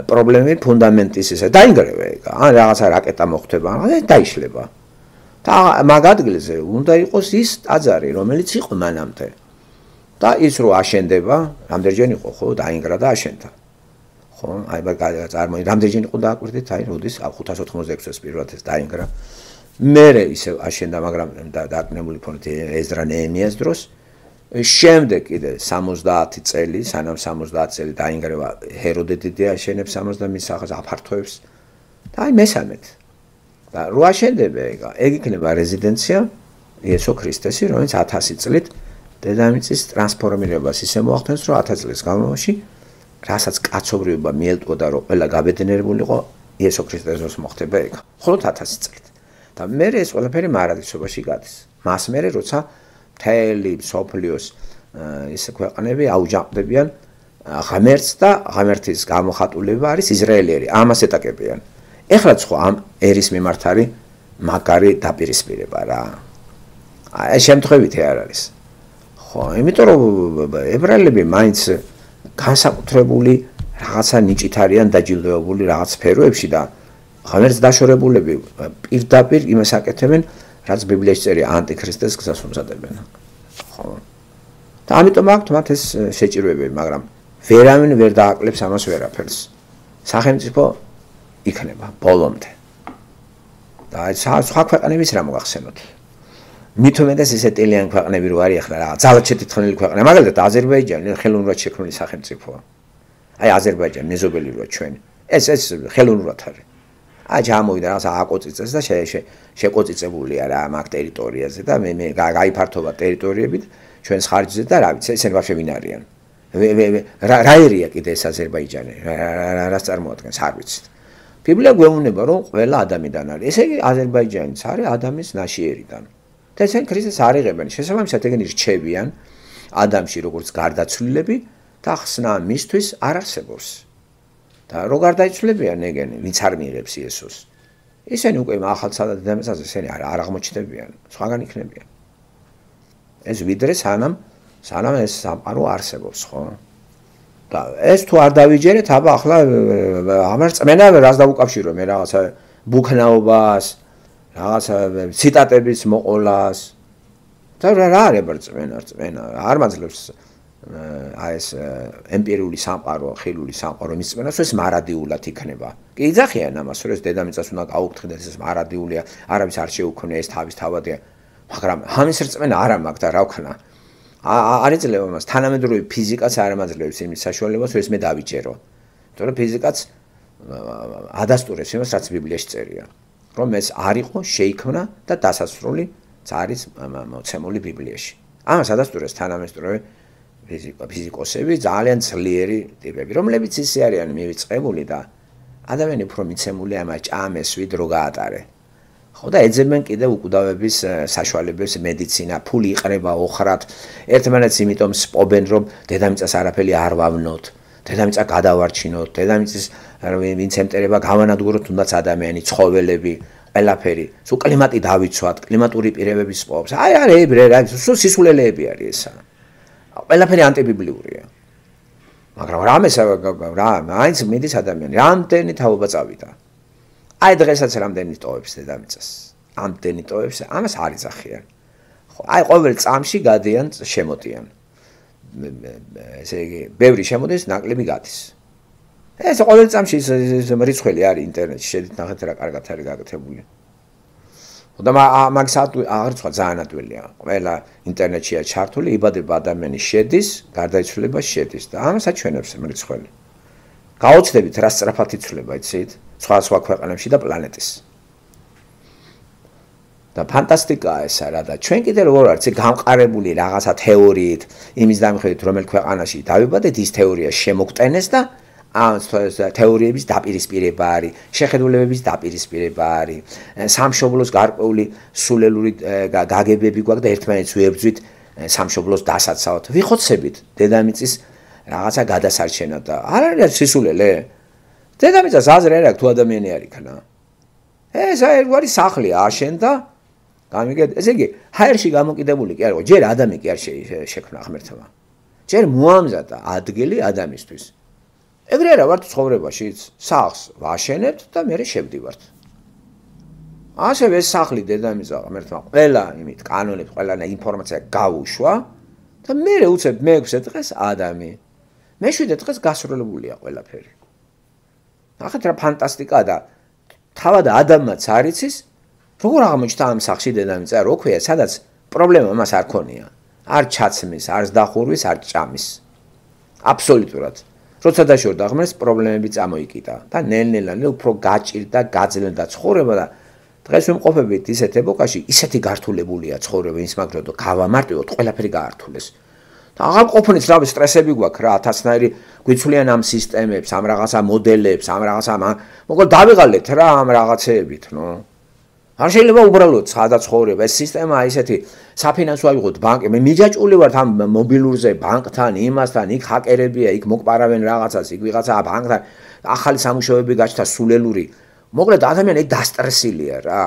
პრობლემი ფუნდამენტის ისე დაინგრევა, ან რაღაცა რაკეტა მოხდება, ან დაიშლება. და მაგ ადგილზე უნდა იყოს ის ტაძარი, რომელიც იყო მანამდე. და ის რო აშენდება, რამდენჯერ იყო ხო, დაინგრა და აშენდა. ხო, აი მაგ წარმოი, რამდენჯერ იყო დააკვირდით, აი როდის ხუთას ოთხმოცდაექვსი წელს პირველად ეს დაინგრა. მერე ისე აშენდა, მაგრამ დაკნებული ფონდ ეზრა ნეემიას დროს. შემდეგ კიდე სამოცდაათი წელი, სანამ სამოცდაათი წელი დაინგრევა ჰეროდე დიდი აშენებს სამოცდამის სახეს აფართოებს. და აი მესამედ. და რო აშენდება ეგ, ეგ იქნება რეზიდენცია იესო ქრისტესი, რომელიც ათასი წლით დედამიწის ტრანსფორმირებას ისე მოახდენს, რომ ათას წლის განმავლობაში, რასაც კაცობრიობა მიელტყოდა, რომ ყველა გაბედნიერებულიყო, იესო ქრისტესოს მოხდება ეგ. მხოლოდ ათასი წლით. და მერე ეს ყველაფერი მარადისობაში გადის. მას მერე როცა მთელი სოფლიოს ისე ქვეყნები აუჯანყდებიან ღმერთს და ღმერთის გამოხატულება არის ისრაელიერი. ამას ეტაკებიან. ეხლა ხო ამ ერის მიმართ არის მაგარი დაპირისპირება რა. აი შემთხვევითი არ არის. ხო, იმიტომ რომ ებრაელები მაინც განსაკუთრებული რაღაცა ნიჭით არიან დაჯილდოებული რაღაც სფეროებში და ღმერთს დაშორებულები პირდაპირ იმას აკეთებენ, რაც ბიბლიაში წერია ანტიქრისტეს გზას უმზადებენ. ხო. და ამიტომ აქვთ მათ ეს შეჭირვებები, მაგრამ ვერავინ ვერ დააკლებს ამას ვერაფერს. სახელმწიფო იქნება ბოლომდე. და სხვა ქვეყნების რა მოგახსენოთ? მით უმეტეს ესე ტელიან ქვეყნები რო არის ახლა რა, ძალად შეთითხმული ქვეყნა, მაგალითად აზერბაიჯანი ხელოვნურად შექმნილი სახელმწიფოა. აი აზერბაიჯანი მეზობელი როა ჩვენ. ეს ეს ხელოვნურად არის. აი ჩამოვიდა რაღაცა აკოწიწეს და შეკოწიწებულია რა მაგ ტერიტორიაზე და მე მე გაიფართოვა ტერიტორიებით ჩვენს ხარჯზე და რა ვიცი ესენი ვაფშე ვინ არიან. რა ერია კიდე ეს აზერბაიჯანი, რას წარმოადგენს არ ვიცით. ბიბლია გვეუბნება რომ ყველა ადამიანიდან არის. ესე იგი აზერბაიჯანიც არის ადამიანის ნაშიერიდან. და ესენ ქრისტეს არ იღებენ. შესაბამისად ეგენი რჩებიან ადამიანში როგორც გარდაცვლილები და ხსნა მისთვის არ არსებობს. და რო გარდაიცვლებიან ეგენი, ვინც არ მიიღებს იესოს. ისინი უკვე ახალცადა დედამიწაზე ესენი არ აღმოჩნდებიან, სხვაგან იქნებიან. ეს ვიდრე სანამ სანამ ეს სამყარო არსებობს, ხო? და ეს თუ არ დავიჯერეთ, აბა ახლა ამას წმენა რას დავუკავშირო მე რაღაცა ბუქნაობას, რაღაცა ციტატების მოყოლას. და რა არის წმენა, წმენა არ მაძლევს აი ეს ემპირიული სამყარო, ხილული სამყარო მისწმენას, ეს მარადიულად იქნება. კი იძახიან ამას, რომ ეს დედამიწას უნდა გაუქმდეს, ეს მარადიულია, არავის არ შეუქმნია, ეს თავის თავადია. მაგრამ ამის რწმენა არ მაქვს და რა ვქნა. არ იძლევა მას თანამედროვე ფიზიკაც არ ამაძლევს იმის საშუალებას, რომ ეს მე დავიჯერო. იმიტომ რომ ფიზიკაც ადასტურებს იმას, რაც ბიბლიაში წერია. რომ ეს არ იყო, შეიქმნა და დასასრული არის მოცემული ბიბლიაში. ამას ადასტურებს თანამედროვე ფიზიკოსები, ძალიან ძლიერი ტიპები, რომლებიც ისე არიან მივიწყებული და ადამიანი უფრო მიცემული ამას ჭამესვით რო გაატარე. ხო და ეძებენ კიდევ უკვდავების საშუალებებს, მედიცინა, ფული იყრება ოხრად, ერთმანეთს იმიტომ სპობენ, რომ დედამიწას არაფერი არ ვავნოთ, დედამიწა გადავარჩინოთ, დედამიწის ვინც ემტერება გავანადგუროთ, თუნდაც ადამიანი, ცხოველები, ყველაფერი, სულ კლიმატი დავიცვათ, კლიმატური პირებების სპობს. აი არ ებრე, რა, სულ სისულელეები არის ესა. ყველაფერი ანტიბიბლიურია. მაგრამ რამეს რა, მაინც მიდის ადამიანი, რამდენი თაობა წავიდა. აი დღესაც რამდენი ტოვებს დედამიწას. ამდენი ტოვებს, ამას არ იძახიან. ხო, აი ყოველ წამში გადიან შემოდიან. ესე იგი, ბევრი შემოდის, ნაკლები გადის. ეს ყოველ წამში ის რიცხველი არის ინტერნეტში, შედით ნახეთ რა კარგად არის გაკეთებული. და მაგის აღრიცხვა ძალიან ადვილია. ყველა ინტერნეტშია ჩართული, იბადება ადამიანი შედის, გარდაიცვლება შედის და ამას აჩვენებს რიცხველი. გაოცდებით რა სწრაფად იცვლება, იცით? სხვა სხვა ქვეყნებში და პლანეტის. და ფანტასტიკაა ესა რა და ჩვენ კიდე როგორ არის გამყარებული რაღაცა თეორიით, იმის დამხედრებით რომელ ქვეყანაში დავიბადეთ, ის თეორია შემოგტენეს და ამ თეორიების დაპირისპირება არის, შეხედულებების დაპირისპირება არის, სამშობლოს გარკვეული სულელური გაგებები გვაქვს და ერთმანეთს ვიებრძვით სამშობლოს დასაცავად. ვიხოცებით დედამიწის რაღაცა გადასარჩენად და არ არის სისულელე. დედამიწას აზრი არ აქვს თუ ადამიანი არ იქნა. ეს არის სახლი აშენდა, გამიგეთ, ესე იგი, ჰაერში გამოკიდებული კი არ იყო, ჯერ ადამი კი არ შექმნა ღმერთმა. ჯერ მოამზადა ადგილი ადამიანისთვის. ეგრე არა ვართ ცხოვრებაშიც, სახლს ვაშენებთ და მერე შევდივართ. ასევე ეს სახლი დედამიწა ღმერთმა ყველა იმით კანონებს, ყველა ინფორმაცია გაუშვა და მერე უცებ მეექვსე დღეს ადამი. მეშვიდე დღეს გასროლებულია ყველაფერი. ნახეთ რა ფანტასტიკაა და თავად ადამმაც არ იცის, როგორ აღმოჩნდა ამ სახლში დედამიწა, რო ქვია, სადაც პრობლემა მას არ ქონია. არ ჩაცმის, არ დახურვის, არ ჭამის. აბსოლუტურად. როცა დაშორდა ღმერთს, პრობლემები წამოიკიდა და ნელ-ნელა უფრო გაჭირდა, გაძლევდა ცხოვრება და დღეს ვიმყოფებით ისეთ ეპოქაში, ისეთი გართულებულია ცხოვრება ის მაგრამ რომ გავამარტივოთ, ყველაფერი გაართულეს. და აღარ ყოფნით რა სტრესები გვაქვს რა, ათასნაირი გვიცვლიან ამ სისტემებს, ამ რაღაცა მოდელებს, ამ რაღაცა, მოკლედ დავიღალეთ რა ამ რაღაცეებით, ნო. არ შეიძლება უბრალოდ სადაცხოვრება ეს სისტემა ისეთი საფინანსო ავიღოთ ბანკი მე მიჯაჭული ვარ ამ მობილურზე ბანკთან იმასთან იქ ჰაკერებია იქ მოკპარავენ რაღაცას იქ ვიღაცა ბანკთან ახალი სამუშაოები გაჩნდა სულელური მოკლედ ადამიანი დასტრესილია რა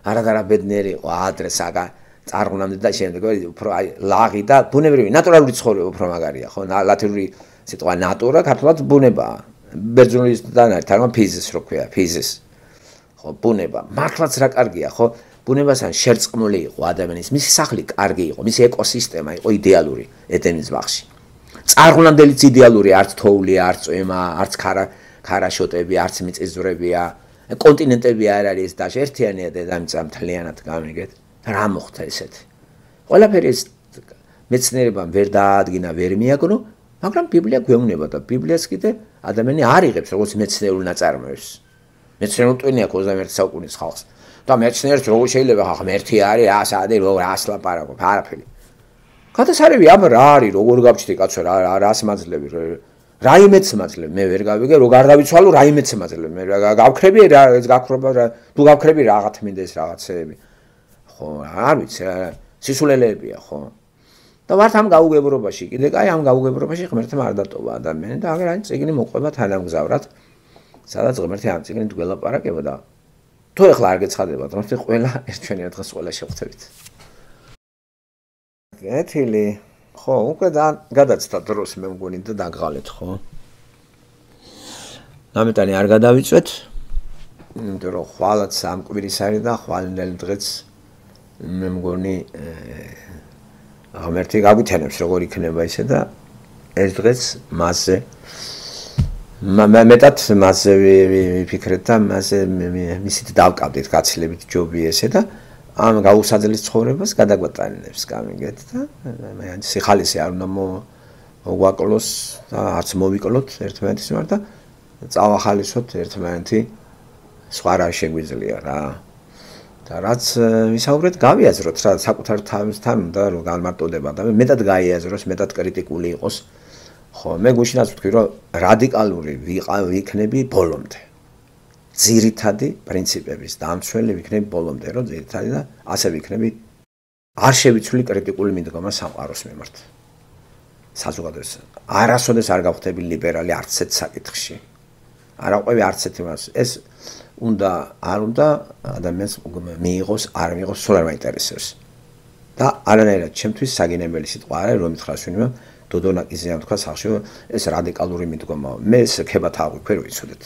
არადარა ბედნიერი იყო ადრესაგა წარღვნამდე და შემდეგ უფრო აი ლაღი და ბუნებრივი ნატურალური ცხოვრება უფრო მაგარია ხო ლათინური სიტყვა ნატურა ქართულად ბუნებაა ბერძნულისგან არის თარგმნა ფიზის რო ქვია ფიზის ხო ბუნება მართლაც რა კარგია ხო ბუნებასთან შერწყმული იყო ადამიანის მისი სახლი კარგი იყო მისი ეკოსისტემა იყო იდეალური ედენის ბაღში წარღვნამდელიც იდეალური არც თოვლია არც წვიმა არც ქარა ქარაშოტები არც მიწისძვრებია კონტინენტები არ არის და ერთიანია დედამიწა მთლიანად გამიგეთ რა მოხდა ესეთი ყველაფერი მეცნიერებამ ვერ დაადგინა ვერ მიაგნო მაგრამ ბიბლია გვეუბნება და ბიბლიას კიდე ადამიანი არ იღებს როგორც მეცნიერულ ნაწარმოებს მეცნიერულ ტვინი აქვს ოცდამეერთე საუკუნის ხალხს და მეცნიერს როგორ შეიძლება ხა ღმერთი არის ასადი როგორ ასლაპარაკობ არაფერი გადასარევი აბა რა არის როგორ გავჩნდი კაცო რა რას მაძლევი რაიმეც მაძლევ მე ვერ გავიგე რო გარდავიცვალო რაიმეც მაძლევ მე გავქრები რა ეს გაქრობა რა თუ გავქრები რაღაც მინდეს რაღაცეები ხო არ ვიცი სისულელეებია ხო და ვართ ამ გაუგებრობაში კიდე კაი ამ გაუგებრობაში ღმერთმა არ დატოვა ადამიანი და აგერ აი წიგნი მოყვება თანამგზავრად სადაც ღმერთი ამ წიგნით გველაპარაკება და თუ ეხლა არ გეცხადებათ ღმერთი ყველა ერთვენია დღეს ყველა შევხვდებით გეთილი ხო უკვე და გადაცდა დროს მე მგონი და დაგღალეთ ხო ამიტანი არ გადავიწვეთ იმიტომ რომ ხვალაც ამ კვირის არის და ხვალინდელი დღეც მე მგონი ღმერთი გაგვითანებს როგორ იქნება ისე და ეს დღეც მასზე მეტად მასზე ვიფიქრეთ და მასზე მისით დავკავდით გაცილებით ჯობი ესე და ამ გაუსაძლის ცხოვრებას გადაგვატანებს გამიგეთ და მე სიხალისი არ უნდა მოგვაკლოს და არც მოვიკლოთ ერთმანეთის მიმართ და წავახალისოთ ერთმანეთი სხვა რა შეგვიძლია რა და რაც ვისაუბრეთ გავიაზროთ რა საკუთარ თავისთან უნდა რომ განმარტოდება და მეტად გაიაზროს მეტად კრიტიკული იყოს ხო მე გუშინაც ვთქვი რომ რადიკალური ვიქნები ბოლომდე ძირითადი პრინციპების დამცველი ვიქნები ბოლომდე რომ ძირითადი და ასე ვიქნები არ შევიცვლი კრიტიკული მიდგომა სამყაროს მიმართ საზოგადოებას არასოდეს არ გავხდები ლიბერალი არც ერთ საკითხში არ აყვევი არც ერთ იმას ეს უნდა არ უნდა ადამიანს მიიღოს არ მიიღოს სულ არ მაინტერესებს და არანაირად ჩემთვის საგინებელი სიტყვა არის რომ მითხრას ვინმე დოდონაკიზეამ თქვა სახში ეს რადიკალური მიდგომაა მე ეს ქებათ აღვიქვე რომ იცოდეთ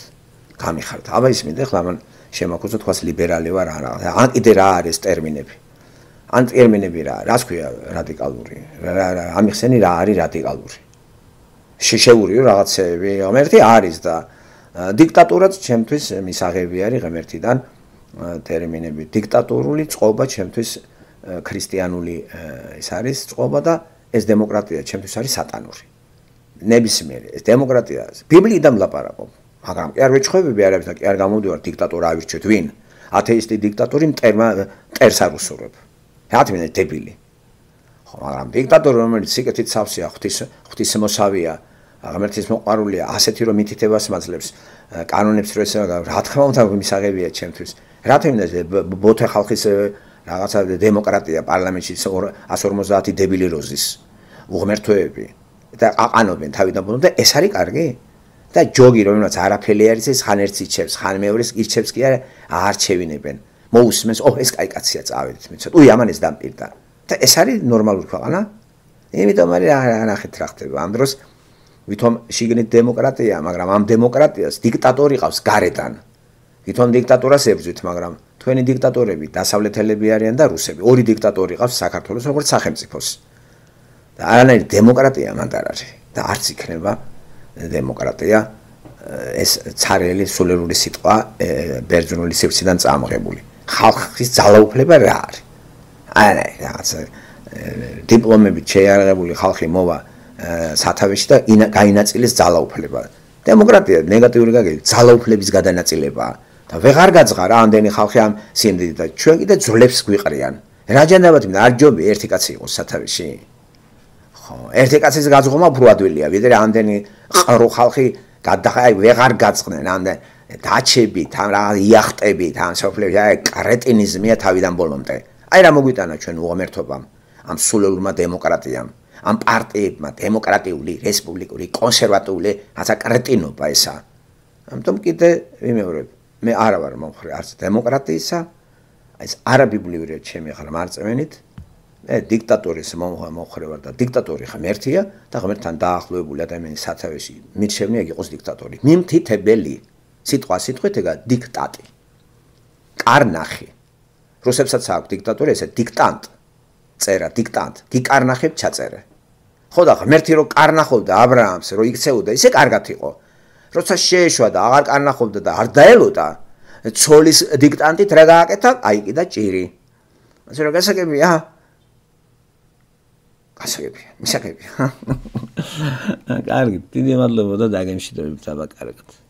გამიხართ აბა ის მინდა ხლა მან შემაქუზო თქვას ლიბერალი ვარ არა ან კიდე რა არის ტერმინები ან ტერმინები რა რას ქვია რადიკალური ამიხსენი რა არის რადიკალური შეშეურიო რაღაცეები ღმერთი არის და დიქტატურაც ჩემთვის მისაღები არის ღმერთიდან ტერმინები დიქტატორული წყობა ჩემთვის ქრისტიანული ის არის წყობა და ეს დემოკრატია ჩემთვის არის სატანური ნებისმიერი ეს დემოკრატია ბიბლიიდან ვლაპარაკობ მაგრამ კი არ ვეჩხებები არაფერს და კი არ გამოვდივარ დიქტატორ ავირჩიოთ ვინ ათეისტი დიქტატორი მტერმა მტერს არ უსურვებ რა თქმა უნდა დებილი ხო მაგრამ დიქტატორი რომელიც სიკეთით სავსეა ღვთის ღვთისმოსავია ღმერთის მოყვარულია ასეთი რომ მითითებას მაძლევს კანონებს რო ეს რა თქმა უნდა მისაღებია ჩემთვის რა თქმა უნდა ბოთე ხალხის რაღაცა დემოკრატია პარლამენტში εκατს ორმოცდაათი დებილი როზის უღმერთოები და აყანობენ თავიდან ბოლომდე ეს არის კარგი და ჯოგი რომელსაც არაფერი არის ეს ხან ერთს იჩევს, ხან მეორეს იჩევს კი არა არჩევინებენ. მოусმენს, ო ეს კაი კაცია წავედით მეცოთ. უი ამან ეს დამპირდა. და ეს არის ნორმალური ქვეყანა. იმიტომ არის არახეთ რა ხდება. ამ დროს ვითომ შიგნით დემოკრატია, მაგრამ ამ დემოკრატიას დიქტატორი ყავს გარედან. ვითომ დიქტატურას ებრძვით, მაგრამ თქვენი დიქტატორები დასავლეთელები არიან და რუსები. ორი დიქტატორი ყავს საქართველოს როგორც სახელმწიფოს. და არანაირი დემოკრატია მანდ არ არის და არც იქნება დემოკრატია ეს ცარიელი სულელური სიტყვა ბერძნული სივრციდან წამოღებული. ხალხის ძალაუფლება რა არის? არა, რაღაც დიპლომებით შეიარაღებული ხალხი მოვა სათავეში და გაინაწილეს ძალაუფლება. დემოკრატია ნეგატიური გაგებით ძალაუფლების გადანაწილებაა და ვეღარ გაძღარა ამდენი ხალხი ამ სიმდიდრით და ჩვენ კიდე ძვლებს გვიყრიან. რა ჯანდაბათ მინდა არ ჯობი ერთი კაცი იყოს სათავეში. ხო, ერთი კაცის გაძღობა უფრო ადვილია, ვიდრე ამდენი ყრო ხალხი გადახაი ვეღარ გაწყდნენ ამდენ დაჩებით, ამ რა იახტებით, ამ სოფლებში, აი კრეტინიზმია თავიდან ბოლომდე. აი რა მოგვიტანა ჩვენ უღმერთობამ, ამ სულელურმა დემოკრატიამ, ამ პარტიებმა, დემოკრატიული, რესპუბლიკური, კონსერვატიული, რაცა კრეტინობა ესა. ამიტომ კიდე ვიმეორებ, მე არა ვარ მომხრე არც დემოკრატიისა, ეს არაბიბლიური ჩემი ახლა მარწმენით, მე დიქტატორის მომხრე ვარ და დიქტატორი ხომ ერთია და ღმერთთან დაახლოებული ადამიანის სათავეში მირჩევნია იქ იყოს დიქტატორი. მიმთითებელი სიტყვა სიტყვით ეგა დიქტატი. კარნახი. რუსებსაც აქვს დიქტატორი, ესე დიქტანტ. წერა დიქტანტ. გიკარნახებ ჩაწერე. ხო და ღმერთი რო კარნახობდა ა ブラ ამს, რო იქცეოდა, ისე კარგად იყო. როცა შეეშვა და აღარ კარნახობდა და არ დაელოდა, ცოლის დიქტანტით რა გააკეთა? აი კიდე ჭირი. ასე რომ გასაგებია. გასაგებია, მისაგებია. კარგი, დიდი მადლობა და დაგემშვიდობებით აბა კარგად.